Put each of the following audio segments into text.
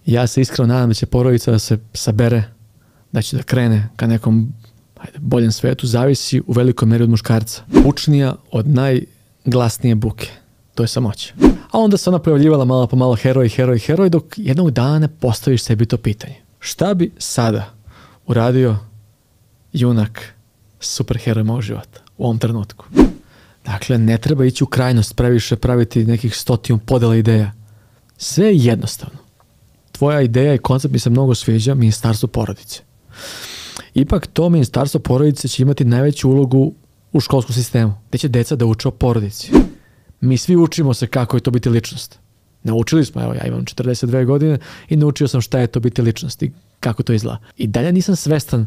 Ja se iskreno nadam da će porodica da se sabere, da će da krene ka nekom boljem svetu, zavisi u velikoj meri od muškarca. Učnija od najglasnije buke, to je samoća. A onda se ona pojavljivala malo po malo heroj, dok jednog dana ne postaviš sebi to pitanje. Šta bi sada uradio junak superheroj mog života u ovom trenutku? Dakle, ne treba ići u krajnost, previše praviti nekih 100 podela ideja. Sve je jednostavno. Tvoja ideja i koncept mi se mnogo sviđa, ministarstvo porodice. Ipak to ministarstvo porodice će imati najveću ulogu u školskom sistemu, gde će deca da uče o porodici. Mi svi učimo se kako je to biti ličnost. Naučili smo, evo ja imam 42 godine i naučio sam šta je to biti ličnost i kako to izgleda. I dalje nisam svestan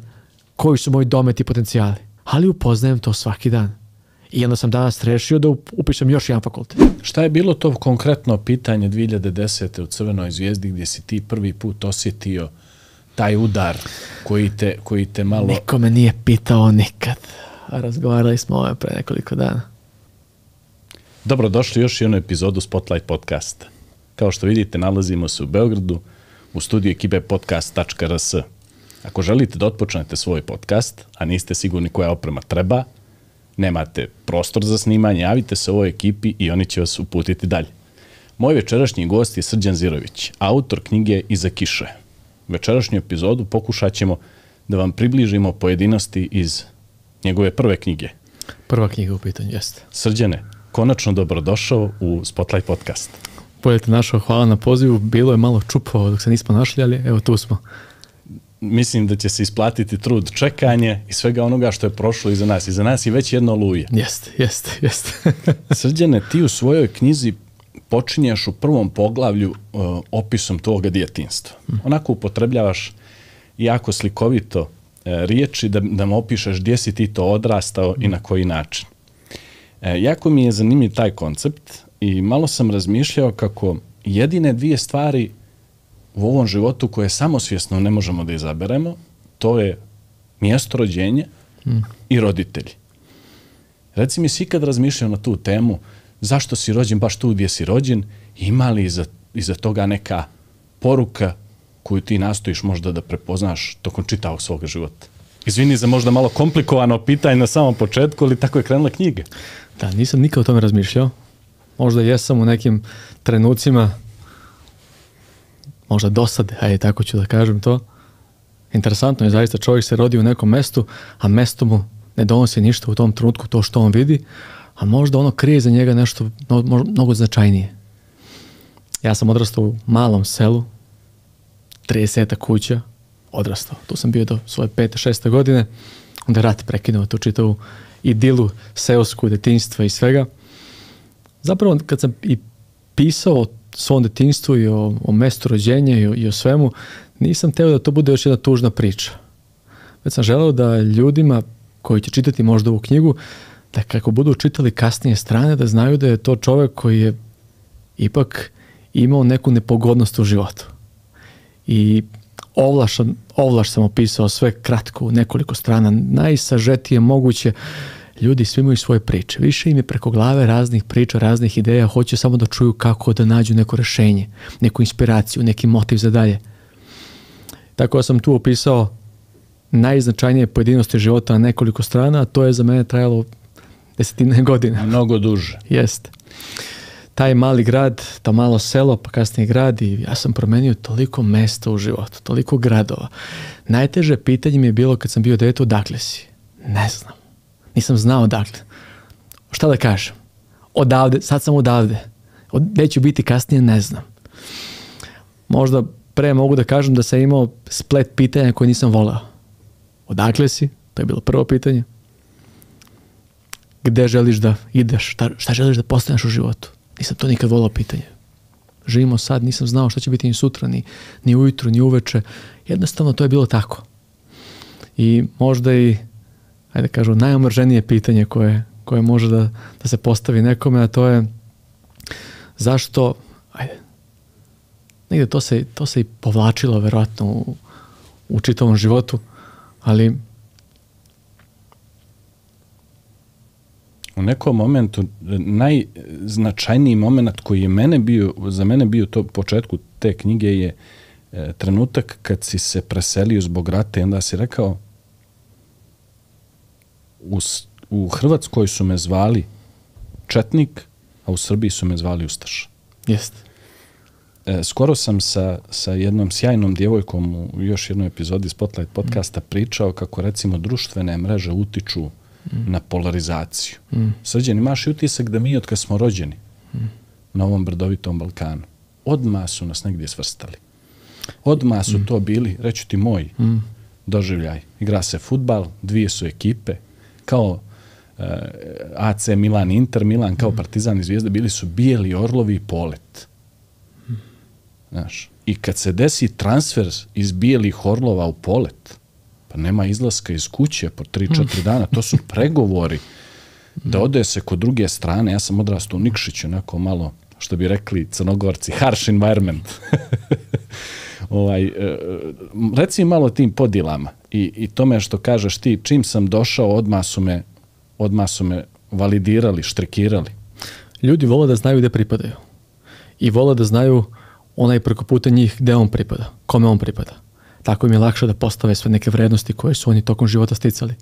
koji su moji dometi i potencijali, ali upoznajem to svaki dan. I onda sam danas rešio da upišem još jedan fakultet. Šta je bilo to konkretno pitanje 2010. u Crvenoj zvijezdi gdje si ti prvi put osjetio taj udar koji te malo... Niko me nije pitao nikad. Razgovarali smo o ovome pre nekoliko dana. Dobrodošli još i jednu epizodu Spotlight podcasta. Kao što vidite, nalazimo se u Beogradu, u studiju ekipe podcast.rs. Ako želite da otpočnete svoj podcast, a niste sigurni koja oprema treba, nemate prostor za snimanje, javite se ovoj ekipi i oni će vas uputiti dalje. Moj večerašnji gost je Srđan Zirović, autor knjige Iza kiše. Večerašnju epizodu pokušat ćemo da vam približimo pojedinosti iz njegove prve knjige. Prva knjiga u pitanju, jeste. Srđane, konačno dobrodošao u Spotlight podcast. Bolje te našao, hvala na pozivu. Bilo je malo čupavo dok se nismo našli, ali evo tu smo. Mislim da će se isplatiti trud, čekanje i svega onoga što je prošlo iza nas. Iza nas je već jedno oluje. Jeste. Srđane, ti u svojoj knjizi počinješ u prvom poglavlju opisom tvoga djetinjstva. Onako upotrebljavaš jako slikovito riječi da nam opišeš gdje si ti to odrastao i na koji način. Jako mi je zanimljiv taj koncept i malo sam razmišljao kako jedine dvije stvari u ovom životu koje samosvjesno ne možemo da izaberemo, to je mjesto rođenja i roditelji. Reci mi, si ikad razmišljao na tu temu, zašto si rođen baš tu gdje si rođen, ima li iza toga neka poruka koju ti nastojiš možda da prepoznaš tokom čitavog svoga života? Izvini za možda malo komplikovano pitanje na samom početku, ali tako je krenula knjiga. Da, nisam nikad o tome razmišljao. Možda jesam u nekim trenucima, možda dosade, ajde tako ću da kažem to. Interesantno je zaista, čovjek se rodi u nekom mestu, a mesto mu ne donosi ništa u tom trenutku, to što on vidi, a možda ono krije za njega nešto mnogo značajnije. Ja sam odrastao u malom selu, 30 kuća, odrastao. Tu sam bio do svoje 5. 6. godine, onda je rat prekinuo tu čitavu idilu seosku, detinjstva i svega. Zapravo, kad sam i pisao o svom detinjstvu i o mestu rođenja i o svemu, nisam teo da to bude još jedna tužna priča. Već sam želeo da ljudima koji će čitati možda ovu knjigu, da kako budu čitali kasnije strane, da znaju da je to čovjek koji je ipak imao neku nepogodnost u životu. I ovlaš sam opisao sve kratko u nekoliko strana, najsažetije moguće. Ljudi svi imaju svoje priče. Više im je preko glave raznih priča, raznih ideja, hoće samo da čuju kako da nađu neko rešenje, neku inspiraciju, neki motiv za dalje. Tako da sam tu opisao najznačajnije pojedinosti života na nekoliko strana, a to je za mene trajalo 10 godina. Mnogo duže. Jeste. Taj mali grad, to malo selo, pa kasnije grad, i ja sam promenio toliko mesta u životu, toliko gradova. Najteže pitanje mi je bilo kad sam bio dete, odakle si? Ne znam. Nisam znao odakle. Šta da kažem? Odavde, sad sam odavde. Gde ću biti kasnije, ne znam. Možda pre mogu da kažem da sam imao splet pitanja koje nisam voleo. Odakle si? To je bilo prvo pitanje. Gde želiš da ideš? Šta želiš da postaneš u životu? Nisam to nikad volao pitanje. Živimo sad, nisam znao šta će biti ni sutra, ni ujutru, ni uveče. Jednostavno to je bilo tako. I možda i, ajde kažu, najomrženije pitanje koje može da se postavi nekome, a to je zašto, negdje to se i povlačilo verovatno u čitavom životu, ali u nekom momentu najznačajniji moment koji je za mene bio to početku te knjige je trenutak kad si se preselio zbog rata i onda si rekao u Hrvatskoj su me zvali četnik, a u Srbiji su me zvali ustaša. Jeste. Skoro sam sa jednom sjajnom djevojkom u još jednoj epizodi Spotlight podcasta pričao kako recimo društvene mreže utiču na polarizaciju. Srđan, imaš i utisak da mi od kad smo rođeni na ovom brdovitom Balkanu, odmah su nas negdje svrstali. Odmah su to bili, reću ti moj doživljaj. Igra se fudbal, dvije su ekipe, kao AC Milan, Inter Milan, kao Partizan i Zvijezda, bili su bijeli orlovi i Polet. Znaš, i kad se desi transfer iz bijelih orlova u Polet, pa nema izlaska iz kuće po 3-4 dana, to su pregovori da ode se kod druge strane. Ja sam odrastao u Nikšiću, onako malo, što bi rekli Crnogorci, harsh environment. Reci malo o tim podjelama i tome što kažeš ti, čim sam došao, odmah su me validirali, štrikirali. Ljudi vole da znaju gdje pripadaju. I vole da znaju onaj preko puta njih gdje on pripada, kome on pripada. Tako im je lakše da postave sve neke vrednosti koje su oni tokom života sticali.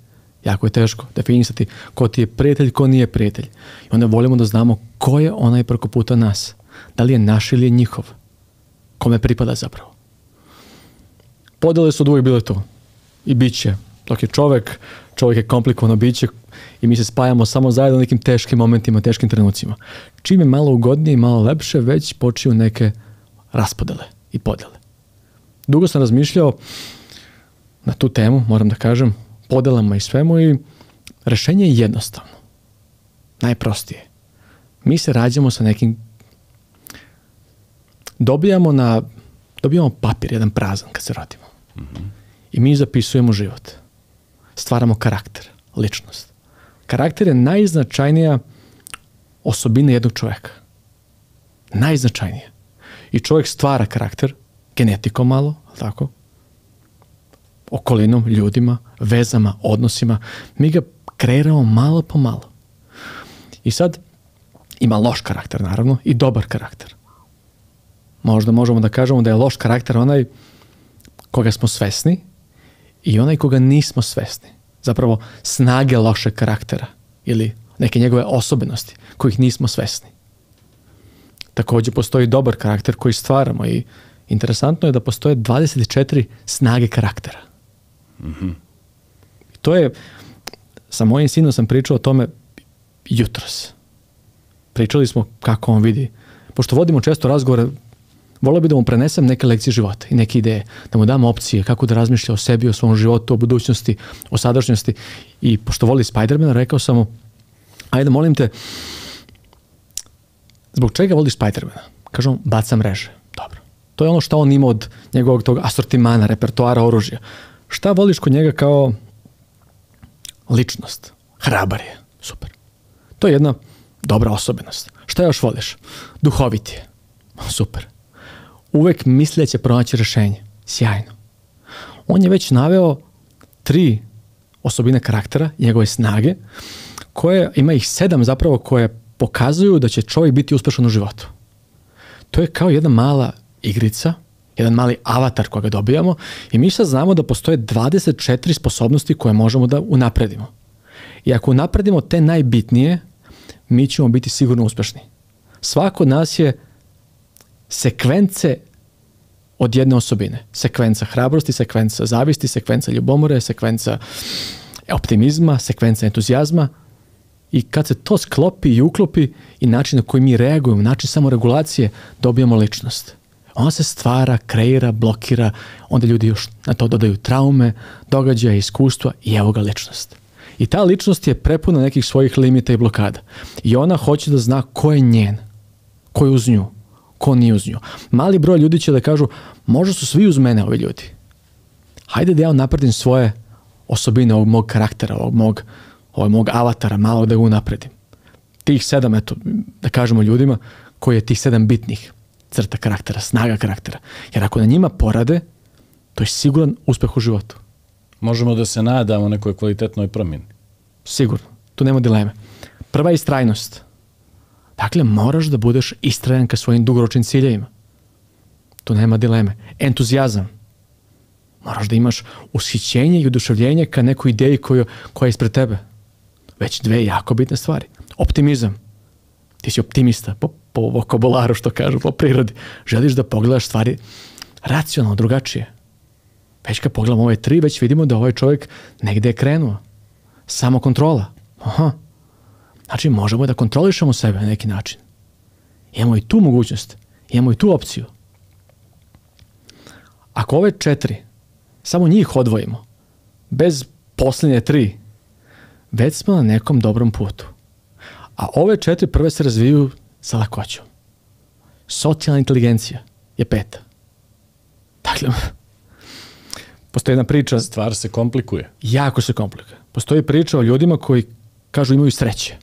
Jako je teško definisati ko ti je prijatelj, ko nije prijatelj. I onda volimo da znamo ko je onaj preko puta nas. Da li je naš ili je njihov. Kome pripada zapravo. Podjele su uvijek bile tu. I bit će. Dok je čovjek je komplikovano biće i mi se spajamo samo zajedno u nekim teškim momentima, teškim trenucima. Čim je malo ugodnije i malo lepše, već počiju neke raspodele i podjele. Dugo sam razmišljao na tu temu, moram da kažem, podelama i svemu i rješenje je jednostavno. Najprostije. Mi se rađamo sa nekim... Dobijamo papir, jedan prazan kad se rodimo. I mi zapisujemo život. Stvaramo karakter, ličnost. Karakter je najznačajnija osobina jednog čovjeka. Najznačajnija. I čovjek stvara karakter, genetikom malo, tako? Okolinom, ljudima, vezama, odnosima. Mi ga kreiramo malo po malo. I sad ima loš karakter, naravno, i dobar karakter. Možda možemo da kažemo da je loš karakter onaj koga smo svesni i onaj koga nismo svesni. Zapravo snage lošeg karaktera ili neke njegove osobenosti kojih nismo svesni. Također postoji dobar karakter koji stvaramo i interesantno je da postoje 24 snage karaktera. I to je, sa mojim sinom sam pričao o tome jutros. Pričali smo kako on vidi. Pošto vodimo često razgovore, volio bi da mu prenesem neke lekcije života i neke ideje, da mu dam opcije kako da razmišlja o sebi, o svom životu, o budućnosti, o sadašnjosti. I pošto voli Spidermana, rekao sam mu, ajde molim te, zbog čega voliš Spidermana? Kažem, baca mreže. Dobro. To je ono što on ima od njegovog tog asortimana, repertoara, oružja. Šta voliš kod njega kao ličnost? Hrabar je. Super. To je jedna dobra osobenost. Šta još voliš? Duhovit je. Super. Uvek misli da će pronaći rješenje. Sjajno. On je već naveo 3 osobine karaktera, njegove snage, koje, ima ih 7 zapravo, koje pokazuju da će čovjek biti uspješan u životu. To je kao jedna mala igrica, jedan mali avatar koga dobijamo i mi sad znamo da postoje 24 sposobnosti koje možemo da unapredimo. I ako unapredimo te najbitnije, mi ćemo biti sigurno uspješni. Svako od nas je sekvence od jedne osobine. Sekvenca hrabrosti, sekvenca zavisti, sekvenca ljubomore, sekvenca optimizma, sekvenca entuzijazma. I kad se to sklopi i uklopi i način na koji mi reagujemo, način samoregulacije, dobijamo ličnost. Ona se stvara, kreira, blokira, onda ljudi još na to dodaju traume, događaje, iskustva i evo ga ličnost. I ta ličnost je prepuna nekih svojih limita i blokada. I ona hoće da zna ko je njen, ko je uz nju, ko nije uz nju. Mali broj ljudi će da kažu, možda su svi uz mene ovi ljudi. Hajde da ja napredim svoje osobine ovog mog karaktera, ovog mog avatara, malo da ga unapredim. Tih 7, eto, da kažemo ljudima, koji je tih 7 bitnih crta karaktera, snaga karaktera. Jer ako na njima porade, to je siguran uspjeh u životu. Možemo da se nadamo nekoj kvalitetnoj promjeni. Sigurno, tu nema dileme. Prva je istrajnost. Dakle, moraš da budeš istrajan ka svojim dugoročnim ciljevima. tu nema dileme. Entuzijazam. Moraš da imaš ushićenje i oduševljenje ka nekoj ideji koja je ispred tebe. Već dve jako bitne stvari. Optimizam. Ti si optimista po vokabularu, što kažu, po prirodi. Želiš da pogledaš stvari racionalno, drugačije. Već kad pogledamo ove tri, već vidimo da ovaj čovjek negde je krenuo. Samo kontrola. Aha. Znači, možemo da kontrolišemo sebe na neki način. Imamo i tu mogućnost. Imamo i tu opciju. Ako ove četiri, samo njih odvojimo, bez posljednje tri, već smo na nekom dobrom putu. A ove četiri prve se razviju sa lakoćom. Socijalna inteligencija je peta. Dakle, postoji jedna priča... Stvar se komplikuje. Jako se komplikuje. Postoji priča o ljudima koji kažu imaju sreće.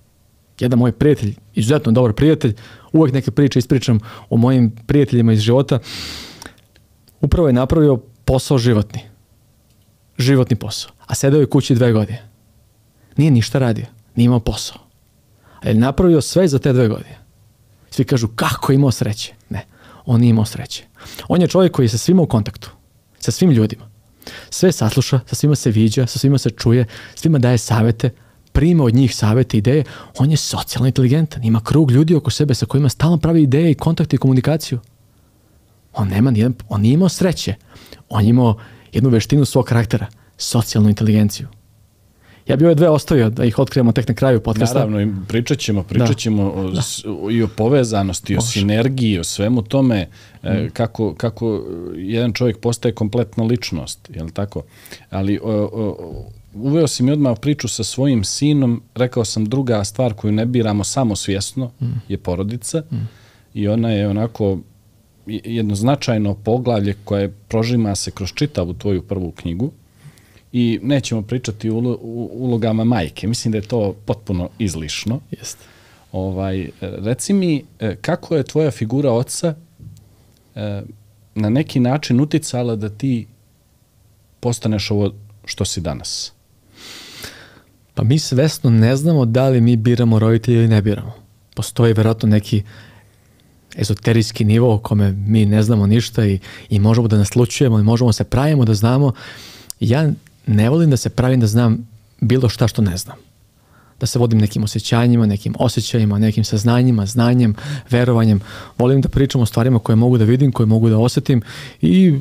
Jedan moj prijatelj, izuzetno dobar prijatelj, uvek neke priče ispričam o mojim prijateljima iz života, upravo je napravio posao životni. Životni posao. A sedeo je kući 2 godine. Nije ništa radio. Nije imao posao. Ali je napravio sve za te 2 godine. Svi kažu kako je imao sreće. Ne, on nije imao sreće. On je čovjek koji je sa svima u kontaktu. Sa svim ljudima. Sve sasluša, sa svima se viđa, sa svima se čuje, svima daje savete, prima od njih savete, ideje. On je socijalno inteligentan. Ima krug ljudi oko sebe sa kojima stalno pravi ideje i kontakte i komunikaciju. On nije imao sreće. On je imao jednu veštinu svog karaktera. Socijalnu inteligenciju. Ja bi ove 2 ostavio da ih otkrijemo tek na kraju podcasta. Naravno, pričat ćemo i o povezanosti, o sinergiji, o svemu tome, kako jedan čovjek postaje kompletna ličnost, je li tako? Ali uveo si mi odmah priču sa svojim sinom, rekao sam druga stvar koju ne biramo samosvjesno je porodica i ona je onako jedno značajno poglavlje koje prožima se kroz čitavu tvoju prvu knjigu. I nećemo pričati o ulogama majke. Mislim da je to potpuno izlišno. Jeste. Reci mi, kako je tvoja figura oca na neki način uticala da ti postaneš ovo što si danas? Pa mi svesno ne znamo da li mi biramo roditelje ili ne biramo. Postoji vjerojatno neki ezoterijski nivo o kome mi ne znamo ništa i možemo da naslučujemo i možemo se pravimo da znamo. Ja ne volim da se pravim da znam bilo šta što ne znam. Da se vodim nekim osjećanjima, nekim osjećajima, nekim saznanjima, znanjem, verovanjem. Volim da pričam o stvarima koje mogu da vidim, koje mogu da osjetim i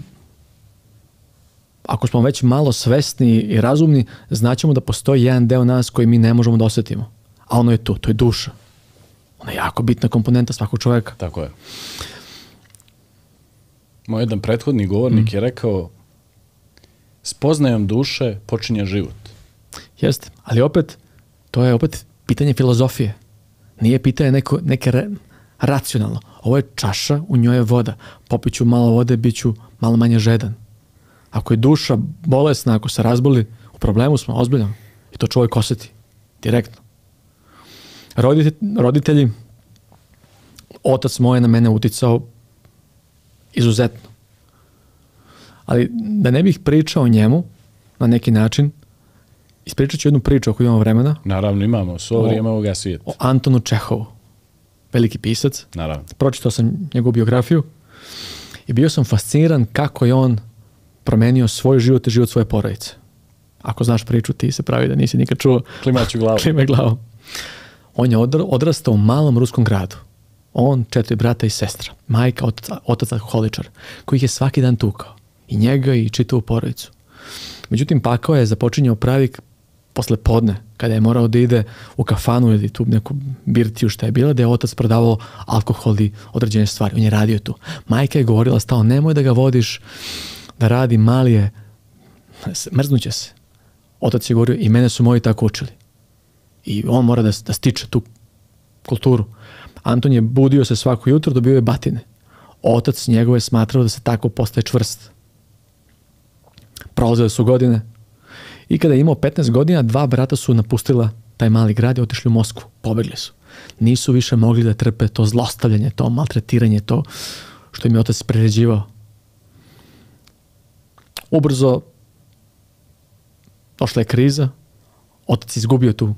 ako smo već malo svesni i razumni, znaćemo da postoji jedan deo nas koji mi ne možemo da osjetimo. A ono je tu, to je duša. Ona je jako bitna komponenta svakog čovjeka. Tako je. Moj jedan prethodni govornik je rekao spoznajom duše počinje život. Jeste, ali opet, to je opet pitanje filozofije. Nije pitanje neke racionalno. Ovo je čaša, u njoj je voda. Popit ću malo vode, bit ću malo manje žedan. Ako je duša bolesna, ako se razboli, u problemu smo, ozbiljno. I to čovjek osjeti. Direktno. Roditelji, otac moj je na mene uticao izuzetno. Ali da ne bih pričao o njemu na neki način, ispričat ću jednu priču ako imamo vremena. Naravno imamo, svo vrijeme ovoga svijeta. O Antonu Čehovu, veliki pisac. Naravno. Pročitao sam njegovu biografiju i bio sam fasciniran kako je on promenio svoj život i život svoje porodice. Ako znaš priču, ti se pravi da nisi nikad čuo. Klimaću glavu. Klime glavom. On je odrastao u malom ruskom gradu. On, 4 brata i sestra. Majka, otac alkoholičar, koji ih je svaki dan tukao. I njega i čitavu porodicu. Međutim, pakao je započinjao pravi posle podne, kada je morao da ide u kafanu ili tu neku birtiju šta je bila, da je otac prodavao alkohol i određene stvari. On je radio tu. Majka je govorila stalno, nemoj da ga vodiš da radi, mali je, mrznuće se. Otac je govorio, i mene su moji tako učili. I on mora da stiče tu kulturu. Anton je budio se svako jutro, dobio je batine. Otac njegov je smatrao da se tako postaje čvrst. Prolazile su godine i kada je imao 15 godina, 2 brata su napustila taj mali grad i otišli u Moskvu. Pobegli su. Nisu više mogli da trpe to zlostavljanje, to maltretiranje, to što im je otac priređivao. Ubrzo došla je kriza, otac izgubio tu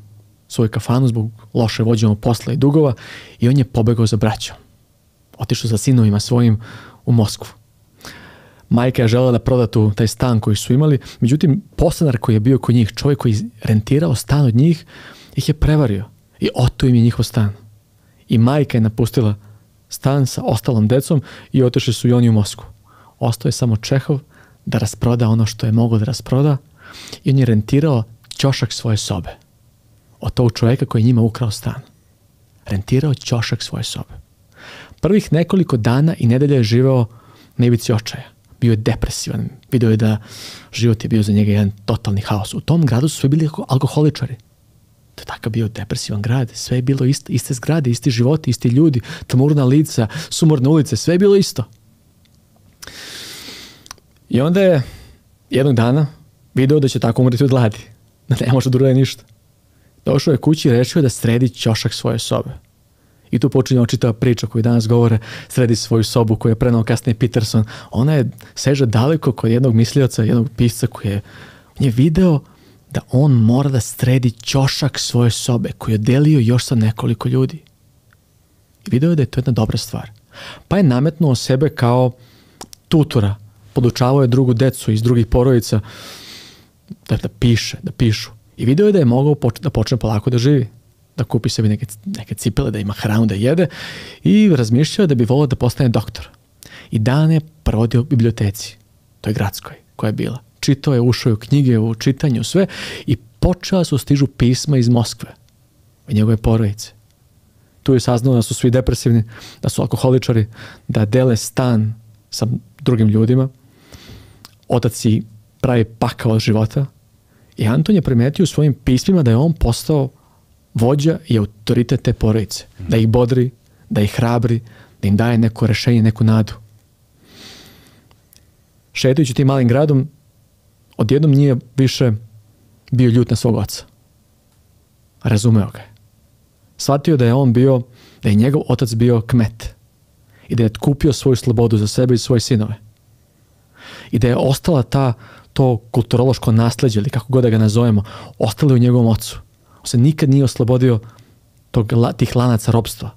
svoju kafanu zbog loše vođenog posla i dugova i on je pobegao za braćom. Otišao sa sinovima svojim u Moskvu. Majka je želela da proda taj stan koji su imali, međutim, podstanar koji je bio kod njih, čovjek koji je rentirao stan od njih, ih je prevario i oto im je njihov stan. I majka je napustila stan sa ostalom decom i otišli su i oni u Moskvu. Ostao je samo Čehov da rasproda ono što je moglo da rasproda i on je rentirao ćošak svoje sobe od tog čovjeka koji je njima ukrao stan. Rentirao ćošak svoje sobe. Prvih nekoliko dana i nedelja je živeo na ivici očaja. Bio je depresivan. Video je da život je bio za njega jedan totalni haos. U tom gradu su svi bili alkoholičari. To je takav bio depresivan grad. Sve je bilo isto. Iste zgrade, isti životi, isti ljudi, tmurna lica, sumorne ulice. Sve je bilo isto. I onda je jednog dana video da će tako umreti od gladi. Da ne može da uradi ništa. Došao je kući i rešio da sredi ćošak svoje sobe. I tu počinje čitava priča koju danas govore, sredi svoju sobu koju je prenao kasnije Peterson. Ona je seže daleko kod jednog mislioca, jednog pisca koji je video da on mora da sredi ćošak svoje sobe koju je delio još sa nekoliko ljudi. I video je da je to jedna dobra stvar. Pa je nametnuo sebe kao tutora. Podučavao je drugu decu iz drugih porodica da pišu. I video je da je mogao da počne polako da živi. Da kupi sebi neke cipele, da ima hranu, da jede i razmišljao da bi volio da postane doktor. I dan je provodio u biblioteci, toj gradskoj, koja je bila. Čitao je, ušao je u knjige, u čitanju, sve i počela su stižu pisma iz Moskve i njegove porodice. Tu je saznao da su svi depresivni, da su alkoholičari, da dele stan sa drugim ljudima. Otac si pravi pakao od života i Anton je primetio u svojim pismima da je on postao vođa i autoritet te porodice. Da ih bodri, da ih hrabri, da im daje neko rešenje, neku nadu. Šetajući tim malim gradom, odjednom nije više bio ljut na svog oca. Razumeo ga je. Shvatio da je njegov otac bio kmet i da je kupio svoju slobodu za sebe i svoje sinove. I da je ostala to kulturološko nasleđe, ili kako god da ga nazovemo, ostalo u njegovom ocu. On se nikad nije oslobodio tih lanaca ropstva.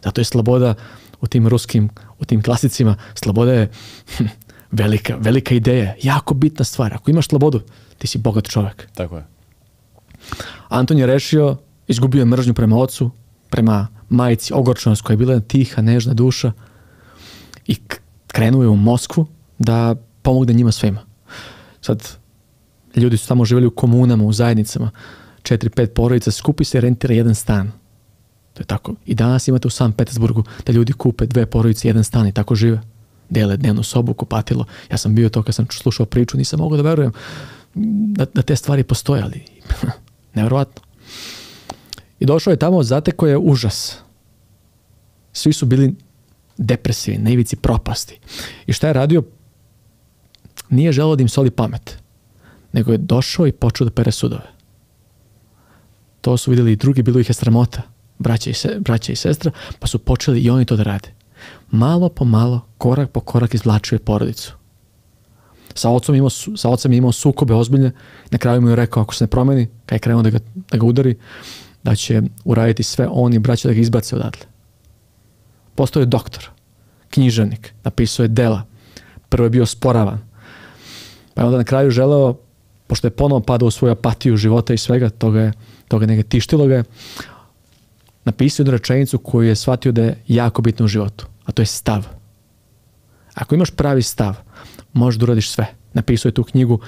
Zato je sloboda u tim klasicima, sloboda je velika ideja, jako bitna stvar. Ako imaš slobodu, ti si bogat čovjek. Tako je. Anton je rešio, izgubio je mržnju prema ocu, prema majici, ogorčenost koja je bila tiha, nežna duša i krenuo je u Moskvu da pomogne njima svima. Sad, ljudi su tamo živjeli u komunama, u zajednicama, 4-5 porodica, skupi se i rentira jedan stan. To je tako. I danas imate u Sankt Petersburgu da ljudi kupe 2 porodice, jedan stan i tako žive. Dele dnevnu sobu, kupatilo. Ja sam bio to kad sam slušao priču, nisam mogao da verujem da te stvari postoje, ali nevjerovatno. I došao je tamo, zatekao je užas. Svi su bili depresivni, na ivici propasti. I šta je radio? Nije želeo da im soli pamet, nego je došao i počeo da pere sudove. To su vidjeli i drugi, bilo ih je sramota, braća i sestra, pa su počeli i oni to da rade. Malo po malo, korak po korak izvlačio je porodicu. Sa ocem je imao sukobe ozbiljne, na kraju mu je rekao ako se ne promeni, kad je krenuo da ga udari, da će uraditi sve on i braća da ga izbace odatle. Postao je doktor, književnik, napisao je dela, prvo je bio sporavan, pa je onda na kraju želeo, pošto je ponovo padao u svoju apatiju života i svega, toga neka tištilo ga je, napisao jednu rečenicu koju je shvatio da je jako bitno u životu, a to je stav. Ako imaš pravi stav, možeš da uradiš sve. Napisao je tu knjigu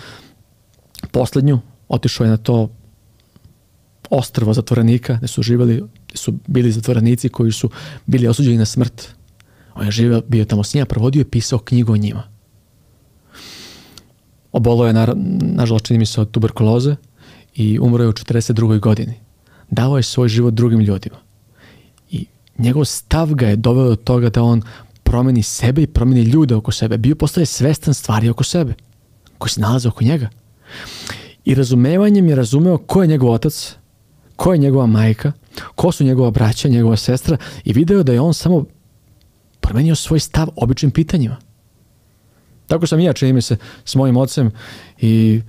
poslednju, otišao je na to ostrvo zatvorenika, gde su bili zatvorenici koji su bili osuđeni na smrt. On je bio tamo s njima, provodio i pisao knjigu o njima. Obolao je, nažalost, čini mi se, od tuberkuloze i umro je u 42. godini. Dao je svoj život drugim ljudima. I njegov stav ga je doveo do toga da on promeni sebe i promeni ljude oko sebe. Postaje svestan stvari oko sebe, koji se nalaze oko njega. I razumevanjem je razumeo ko je njegov otac, ko je njegova majka, ko su njegova braća, njegova sestra i video da je on samo promenio svoj stav običnim pitanjima. Tako sam i ja, čini mi se, s mojim ocem i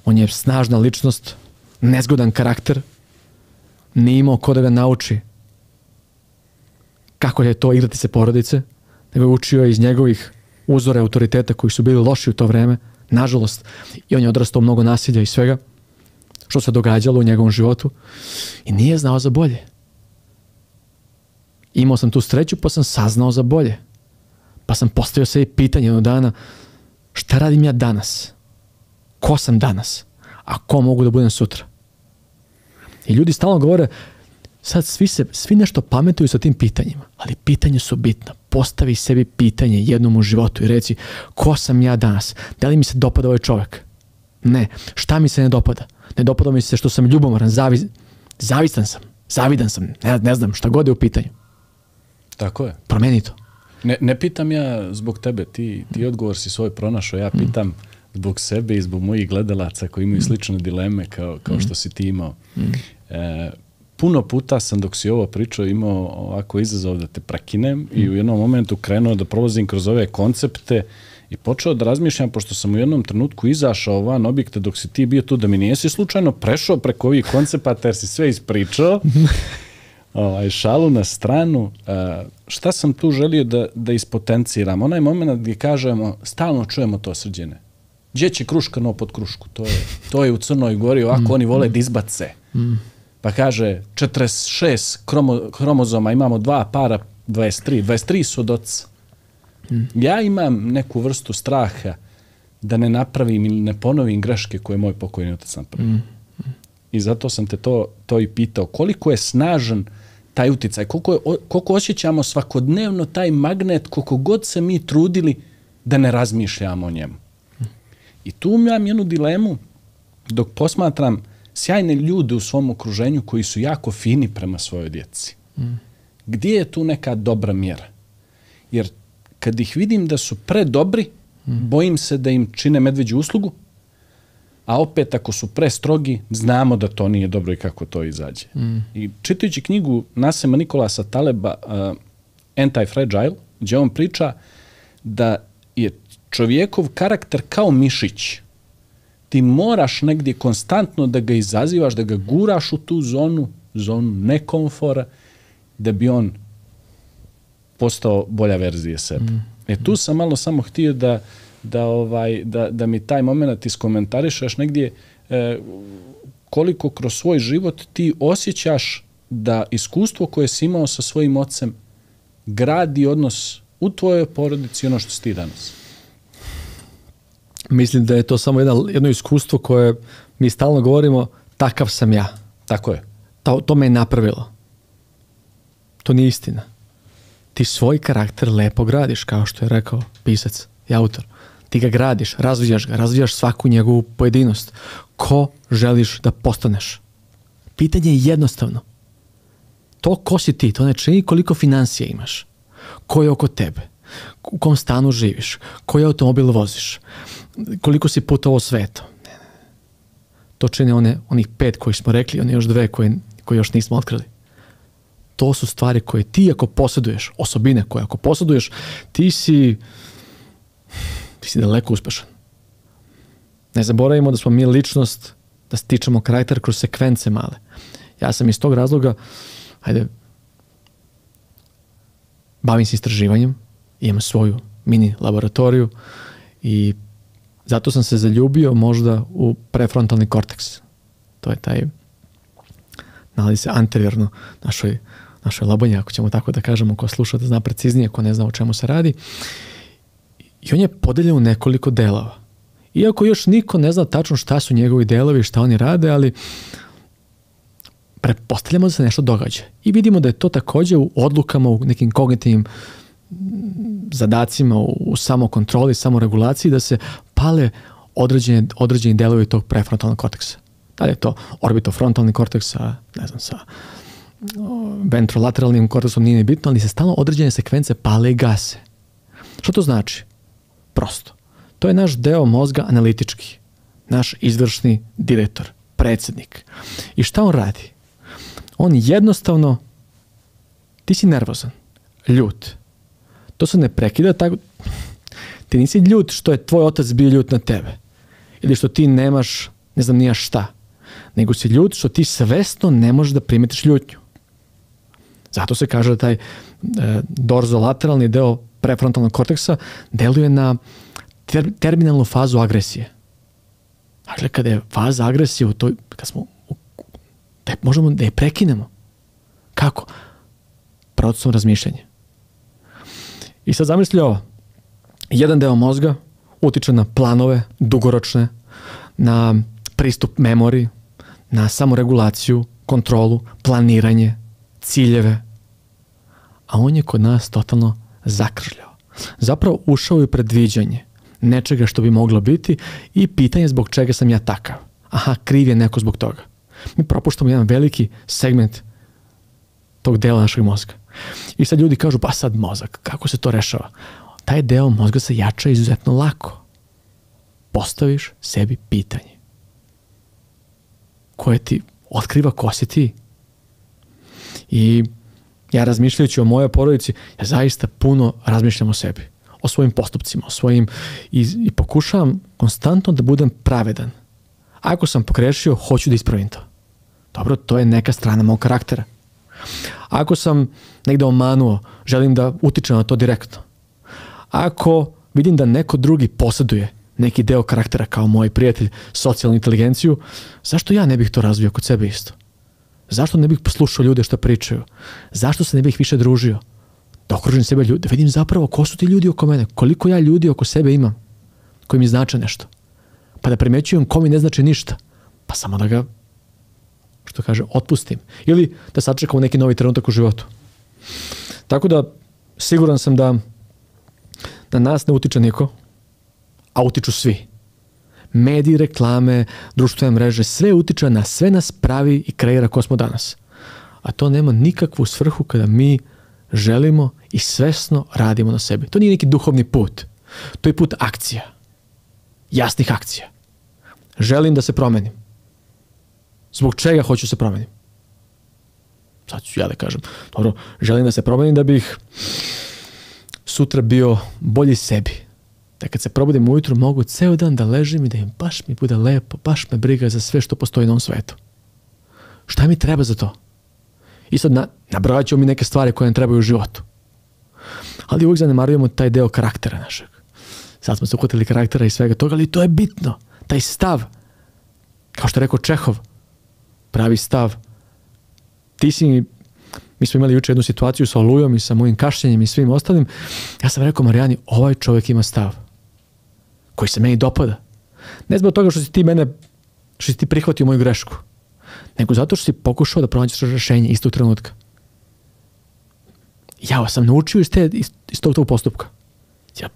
on je snažna ličnost, nezgodan karakter, nije imao ko da ga nauči kako je to igrati se porodice, nego je učio iz njegovih uzore autoriteta koji su bili loši u to vreme, nažalost, i on je odrastao mnogo nasilja i svega što se događalo u njegovom životu i nije znao za bolje. Imao sam tu sreću pa sam saznao za bolje. Pa sam postavio sebi pitanje jednog dana, šta radim ja danas? Ko sam danas? A ko mogu da budem sutra? I ljudi stalno govore, sad svi nešto pametuju sa tim pitanjima, ali pitanje su bitna. Postavi sebi pitanje jednom u životu i reci, ko sam ja danas? Da li mi se dopada ovaj čovjek? Ne. Šta mi se ne dopada? Ne dopada mi se što sam ljubomoran, zavidan sam, ne znam, šta god je u pitanju. Tako je. Promeni to. Ne pitam ja zbog tebe, ti odgovor si svoj pronašao, ja pitam zbog sebe i zbog mojih gledalaca koji imaju slične dileme kao što si ti imao. Puno puta sam dok si ovo pričao imao ovako izazov da te prekinem i u jednom momentu krenuo da prolazim kroz ove koncepte i počeo da razmišljam, pošto sam u jednom trenutku izašao van objekta dok si ti bio tu, da mi nijesi slučajno prešao preko ovih koncepata jer si sve ispričao. Šalu na stranu, šta sam tu želio da ispotenciram? Onaj moment gdje kažemo, stalno čujemo to, Srđene. Gdje će kruška no pod krušku? To je u Crnoj Gori, ovako oni vole da izbace. Pa kaže, 46 hromozoma, imamo 2 para, 23 su od oca. Ja imam neku vrstu straha da ne napravim ili ne ponovim greške koje je moj pokojni otac napravio. I zato sam te to i pitao. Koliko je snažan taj uticaj? Koliko osjećamo svakodnevno taj magnet, koliko god se mi trudili da ne razmišljamo o njemu. I tu imam jednu dilemu dok posmatram sjajne ljude u svom okruženju koji su jako fini prema svojoj djeci. Gdje je tu neka dobra mjera? Jer kad ih vidim da su predobri, bojim se da im čine medveđu uslugu, a opet ako su prestrogi, znamo da to nije dobro i kako to izađe. I čitajući knjigu Nasema Nikolasa Taleba Anti-Fragile, gdje on priča da je čovjekov karakter kao mišić. Ti moraš negdje konstantno da ga izazivaš, da ga guraš u tu zonu nekomfora, da bi on postao bolja verzija sebe. Tu sam malo samo htio da mi taj moment iskomentarišeš negdje koliko kroz svoj život ti osjećaš da iskustvo koje si imao sa svojim ocem gradi odnos u tvojoj porodici ono što si ti danas. Mislim da je to samo jedno iskustvo koje mi stalno govorimo, takav sam ja. Tako je. To me je napravilo. To nije istina. Ti svoj karakter lepo gradiš, kao što je rekao pisac i autor. Ti ga gradiš, razvijaš svaku njegovu pojedinost. Ko želiš da postaneš? Pitanje je jednostavno. To ko si ti, to ne čini koliko financija imaš. Ko je oko tebe? U kom stanu živiš? Koji automobil voziš? Koliko si putovao svetom? To čini onih 5 koji smo rekli, one još 2 koje još nismo otkrili. To su stvari koje ti ako posjeduješ, osobine koje ako posjeduješ, ti si daleko uspešan. Ne zaboravimo da smo mi ličnost, da stičemo karakter kroz sekvence male. Ja sam iz tog razloga, bavim se istraživanjem, imam svoju mini laboratoriju i zato sam se zaljubio možda u prefrontalni korteks. To je taj, nalazi se anteriorno našoj labonji, ako ćemo tako da kažemo, ko sluša da zna preciznije, ko ne zna o čemu se radi. I on je podeljen u nekoliko delova. Iako još niko ne zna tačno šta su njegovi delovi, šta oni rade, ali pretpostavljamo da se nešto događa. I vidimo da je to također u odlukama, u nekim kognitivnim zadacima, u samokontroli, samoregulaciji, da se pale određeni delovi tog prefrontalnog korteksa. Da li je to orbitofrontalni korteks sa ventrolateralnim korteksom, nije bitno, ali se stalno određene sekvence pale i gase. Što to znači? Prosto. To je naš deo mozga analitički. Naš izvršni direktor, predsjednik. I šta on radi? On jednostavno, ti si nervozan, ljut. To se ne prekida tako. Ti nisi ljut što je tvoj otac bio ljut na tebe. Ili što ti nemaš, ne znam nija šta. Nego si ljut što ti svesno ne možeš da primetiš ljutnju. Zato se kaže da taj dorzolateralni deo prefrontalnog korteksa deluje na terminalnu fazu agresije. Dakle, kada je faza agresije u toj, da možemo da je prekinemo. Kako? Procesom razmišljanja. I sad zamisli ovo. Jedan deo mozga utiče na planove, dugoročne, na pristup memoriji, na samoregulaciju, kontrolu, planiranje, ciljeve. A on je kod nas totalno zakržljao. Zapravo ušao je u predviđanje nečega što bi moglo biti i pitanje zbog čega sam ja takav. Aha, kriv je neko zbog toga. Mi propuštamo jedan veliki segment tog dela našeg mozga. I sad ljudi kažu, pa sad mozak, kako se to rešava? Taj deo mozga se jača izuzetno lako. Postaviš sebi pitanje koje ti otkriva ko si ti. I ja razmišljajući o mojoj porodici, ja zaista puno razmišljam o sebi, o svojim postupcima, o svojim i pokušavam konstantno da budem pravedan. Ako sam pogrešio, hoću da ispravim to. Dobro, to je neka strana mog karaktera. Ako sam negde omanuo, želim da utičem na to direktno. Ako vidim da neko drugi posjeduje neki deo karaktera kao moj prijatelj, socijalnu inteligenciju, zašto ja ne bih to razvio kod sebe isto? Zašto ne bih poslušao ljude što pričaju? Zašto se ne bih više družio? Da okružim sebe ljude, da vidim zapravo ko su ti ljudi oko mene, koliko ja ljudi oko sebe imam, koji mi znače nešto. Pa da primećujem ko mi ne znači ništa, pa samo da ga, što kaže, otpustim. Ili da sačekam neki novi trenutak u životu. Tako da, siguran sam da na nas ne utiče niko, a utiču svi. Mediji, reklame, društvene mreže, sve utiče na sve nas pravi i kreira ko smo danas. A to nema nikakvu svrhu kada mi želimo i svesno radimo na sebi. To nije neki duhovni put. To je put akcija. Jasnih akcija. Želim da se promenim. Zbog čega hoću se promenim? Sad ću ja da kažem. Dobro, želim da se promenim da bih sutra bio bolji sebi. Da kad se probudim ujutru mogu ceo dan da ležim i da im baš mi bude lepo, baš me briga za sve što postoji na ovom svetu. Šta mi treba za to? I sad nabrojat ću mi neke stvari koje nam trebaju u životu. Ali uvijek zanemarujemo taj deo karaktera našeg. Sad smo se uhvatili karaktera i svega toga, ali to je bitno. Taj stav, kao što je rekao Čehov, pravi stav. Mi smo imali juče jednu situaciju sa olujom i sa mojim kašljenjem i svim ostalim. Ja sam rekao Marijani, ovaj čovjek ima stav koji se meni dopada. Ne zbog toga što si ti prihvatio moju grešku, nego zato što si pokušao da pronađeš rešenje istog trenutka. Ja sam naučio iz tog postupka. Ja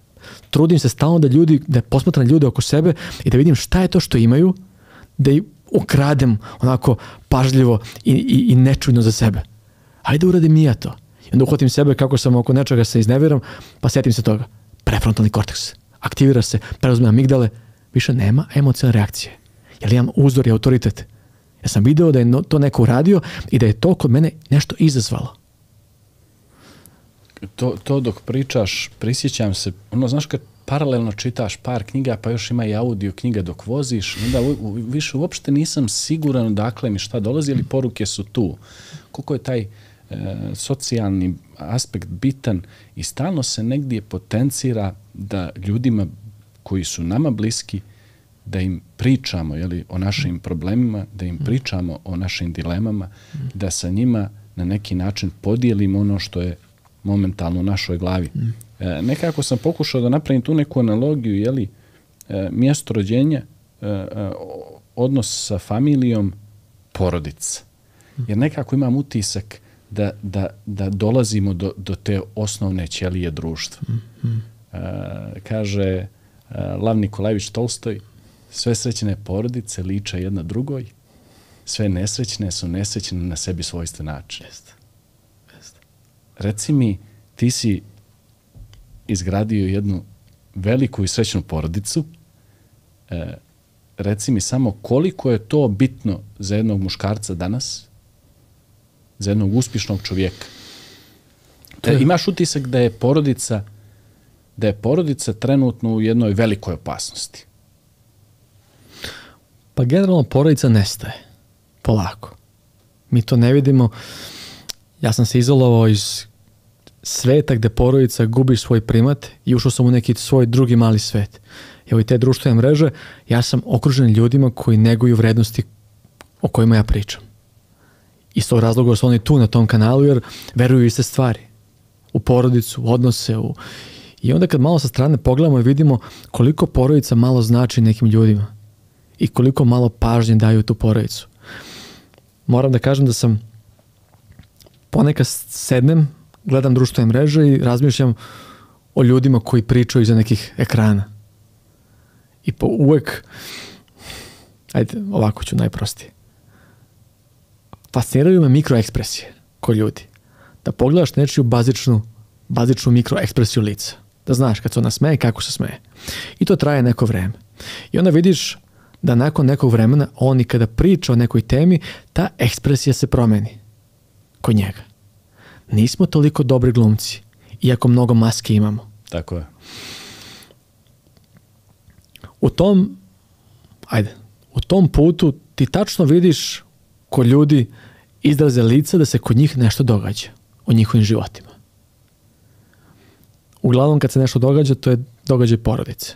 trudim se stalno da posmatram ljude oko sebe i da vidim šta je to što imaju, da ih ukradem onako pažljivo i nečujno za sebe. Hajde uradim i ja to. I onda uhvatim sebe kako sam oko nečega se izneviram, pa sjetim se toga. Prefrontalni korteks. Aktivira se, preuzme amigdale, više nema emocionalne reakcije. Jer imam uzor i autoritet. Ja sam video da je to neko uradio i da je to kod mene nešto izazvalo. To dok pričaš, prisjećam se, znaš kad paralelno čitaš par knjiga, pa još ima i audio knjiga dok voziš, onda više uopšte nisam siguran odakle mi šta dolazi, ali poruke su tu. Koliko je taj socijalni aspekt bitan i stalno se negdje potencira da ljudima koji su nama bliski, da im pričamo o našim problemima, da im pričamo o našim dilemama, da sa njima na neki način podijelimo ono što je momentalno u našoj glavi. Nekako sam pokušao da napravim tu neku analogiju, mjesto rođenja, odnos sa familijom, porodica. Jer nekako imam utisak da dolazimo do te osnovne ćelije društva. Kaže Lav Nikolajević Tolstoj, sve srećne porodice liče jedna drugoj, sve nesrećne su nesrećne na sebi svojstven način. Reci mi, ti si izgradio jednu veliku i srećnu porodicu, reci mi samo koliko je to bitno za jednog muškarca danas, za jednog uspješnog čovjeka. Imaš utisak da je porodica trenutno u jednoj velikoj opasnosti? Pa generalno porodica nestaje. Polako. Mi to ne vidimo. Ja sam se izolovao iz sveta gde porodica gubi svoj primat i ušao sam u neki svoj drugi mali svet. Evo i te društvene mreže, ja sam okružen ljudima koji neguju vrednosti o kojima ja pričam. Iz tog razloga su oni tu na tom kanalu jer veruju iste stvari. U porodicu, u odnose. I onda kad malo sa strane pogledamo i vidimo koliko porodica malo znači nekim ljudima i koliko malo pažnje daju tu porodicu. Moram da kažem da sam ponekad sednem, gledam društvene mreže i razmišljam o ljudima koji pričaju iza nekih ekrana. I uvek, ajde, ovako ću najprostije. Fasciniraju me mikroekspresije kod ljudi. Da pogledaš nečiju bazičnu mikroekspresiju lica. Da znaš kad se ona smeje, kako se smeje. I to traje neko vreme. I onda vidiš da nakon nekog vremena on i kada priča o nekoj temi, ta ekspresija se promeni kod njega. Nismo toliko dobri glumci, iako mnogo maske imamo. Tako je. U tom putu ti tačno vidiš kod ljudi izraze lica da se kod njih nešto događa u njihovim životima. Uglavnom kad se nešto događa, to je događaj porodice.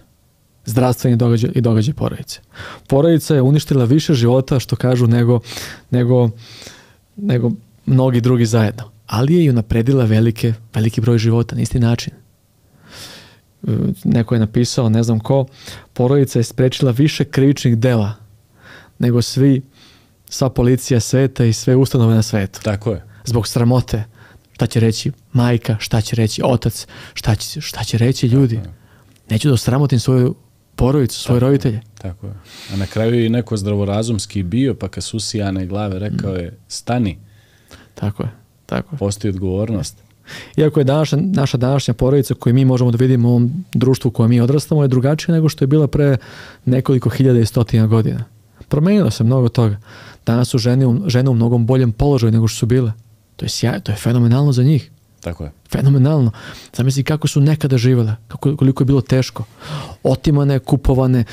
Zdravstveni događaj i događaj porodice. Porodica je uništila više života, što kažu, nego mnogi drugi zajedno. Ali je i unapredila veliki broj života na isti način. Neko je napisao, ne znam ko, porodica je sprečila više krivičnih dela nego sva policija sveta i sve ustanove na svetu. Tako je. Zbog sramote. Šta će reći majka, šta će reći otac, šta će reći ljudi. Neću da osramotim svoju porodicu, svoje roditelje. Tako je. A na kraju je i neko zdravorazumski bio, pa kad su usijane glave rekao je stani. Tako je. Postoji odgovornost. Iako je naša današnja porodica koju mi možemo da vidimo u ovom društvu u kojem mi odrastamo je drugačija nego što je bila pre nekoliko hiljada i stotina godina. Promenilo se mnogo toga. Danas su žene u mnogom boljem položaju nego što su bile. To je sjajno, to je fenomenalno za njih. Tako je. Fenomenalno. Zamisli kako su nekada živele, koliko je bilo teško. Otimane, kupovane,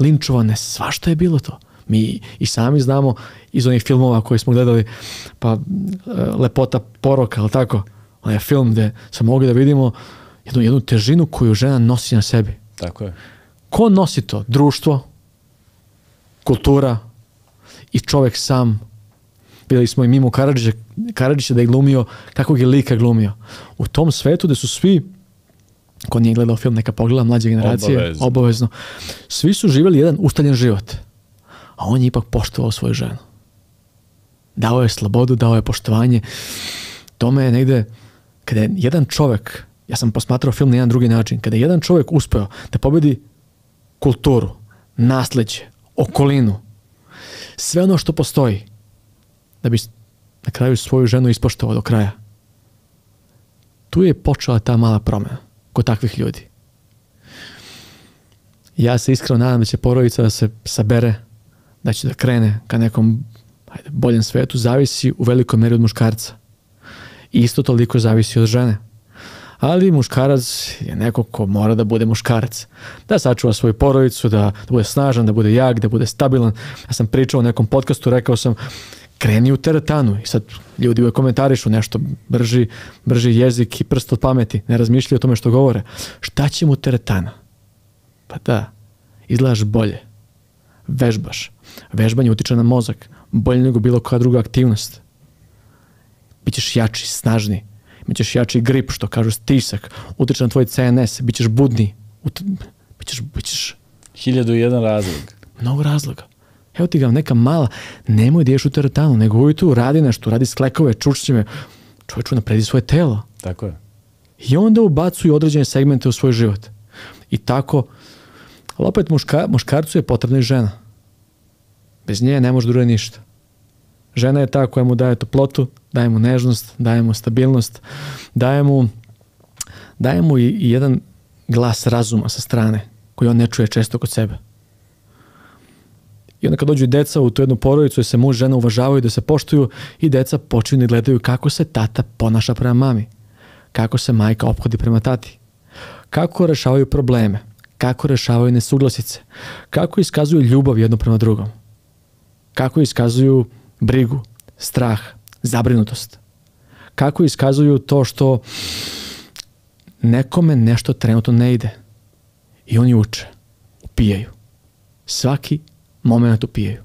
linčovane, svašta je bilo to. Mi i sami znamo iz onih filmova koje smo gledali, pa Lepota poroka, ali tako? Onaj film gde smo mogli da vidimo jednu težinu koju žena nosi na sebi. Tako je. Ko nosi to? Društvo, kultura i čovek sam. Vidjeli smo i Mimu Karadžića da je glumio, kakvog je lika glumio. U tom svetu gde su svi, ko nije gledao film, neka pogleda, mlađe generacije, obavezno. Svi su živjeli jedan ustaljen život. A on je ipak poštovao svoju ženu. Dao je slobodu, dao je poštovanje. Tome je negde, kada je jedan čovek, ja sam posmatrao film na jedan drugi način, kada je jedan čovek uspeo da pobedi kulturu, nasleđe, okolinu, sve ono što postoji, da bi na kraju svoju ženu ispoštovao do kraja. Tu je počela ta mala promena kod takvih ljudi. Ja se iskreno nadam da će porodica da se sabere, da će da krene ka nekom boljem svetu, zavisi u velikoj meri od muškarca. I isto toliko zavisi od žene. Ali muškarac je neko ko mora da bude muškarac. Da sačuva svoju porodicu, da bude snažan, da bude jak, da bude stabilan. Ja sam pričao u nekom podcastu, rekao sam, kreni u teretanu. I sad ljudi uvek komentarišu nešto, brži jezik i prst od pameti. Ne razmišljaju o tome što govore. Šta će mu teretana? Pa da, izgledaš bolje. Vežbaš. Vežbanje utiče na mozak. Bolje nego bilo koja druga aktivnost. Bićeš jači, snažniji. Bićeš jači grip, što kažu stisak. Utiče na tvoj CNS. Bićeš budniji. Bićeš... 1001 razlog. Mnogo razloga. Evo ti ga neka mala. Nemoj da ješ u teretanu, nego ujutru radi nešto. Radi sklekove, čučnjeve. Čovječu napredi svoje telo. Tako je. I onda ubacuju određene segmente u svoj život. I tako... Ali opet muškarcu je potrebna i žena. Bez nje ne može da uradi ništa. Žena je ta koja mu daje toplotu, daje mu nežnost, daje mu stabilnost, daje mu i jedan glas razuma sa strane koji on ne čuje često kod sebe. I onda kad dođu deca u tu jednu porodicu, da se muž i žena uvažavaju, da se poštuju i deca počinju da gledaju kako se tata ponaša prema mami, kako se majka ophodi prema tati, kako rešavaju probleme, kako rešavaju nesuglasice, kako iskazuju ljubav jedno prema drugom, kako iskazuju brigu, strah, zabrinutost, kako iskazuju to što nekome nešto trenutno ne ide. I oni uče, upijaju. Svaki moment upijaju.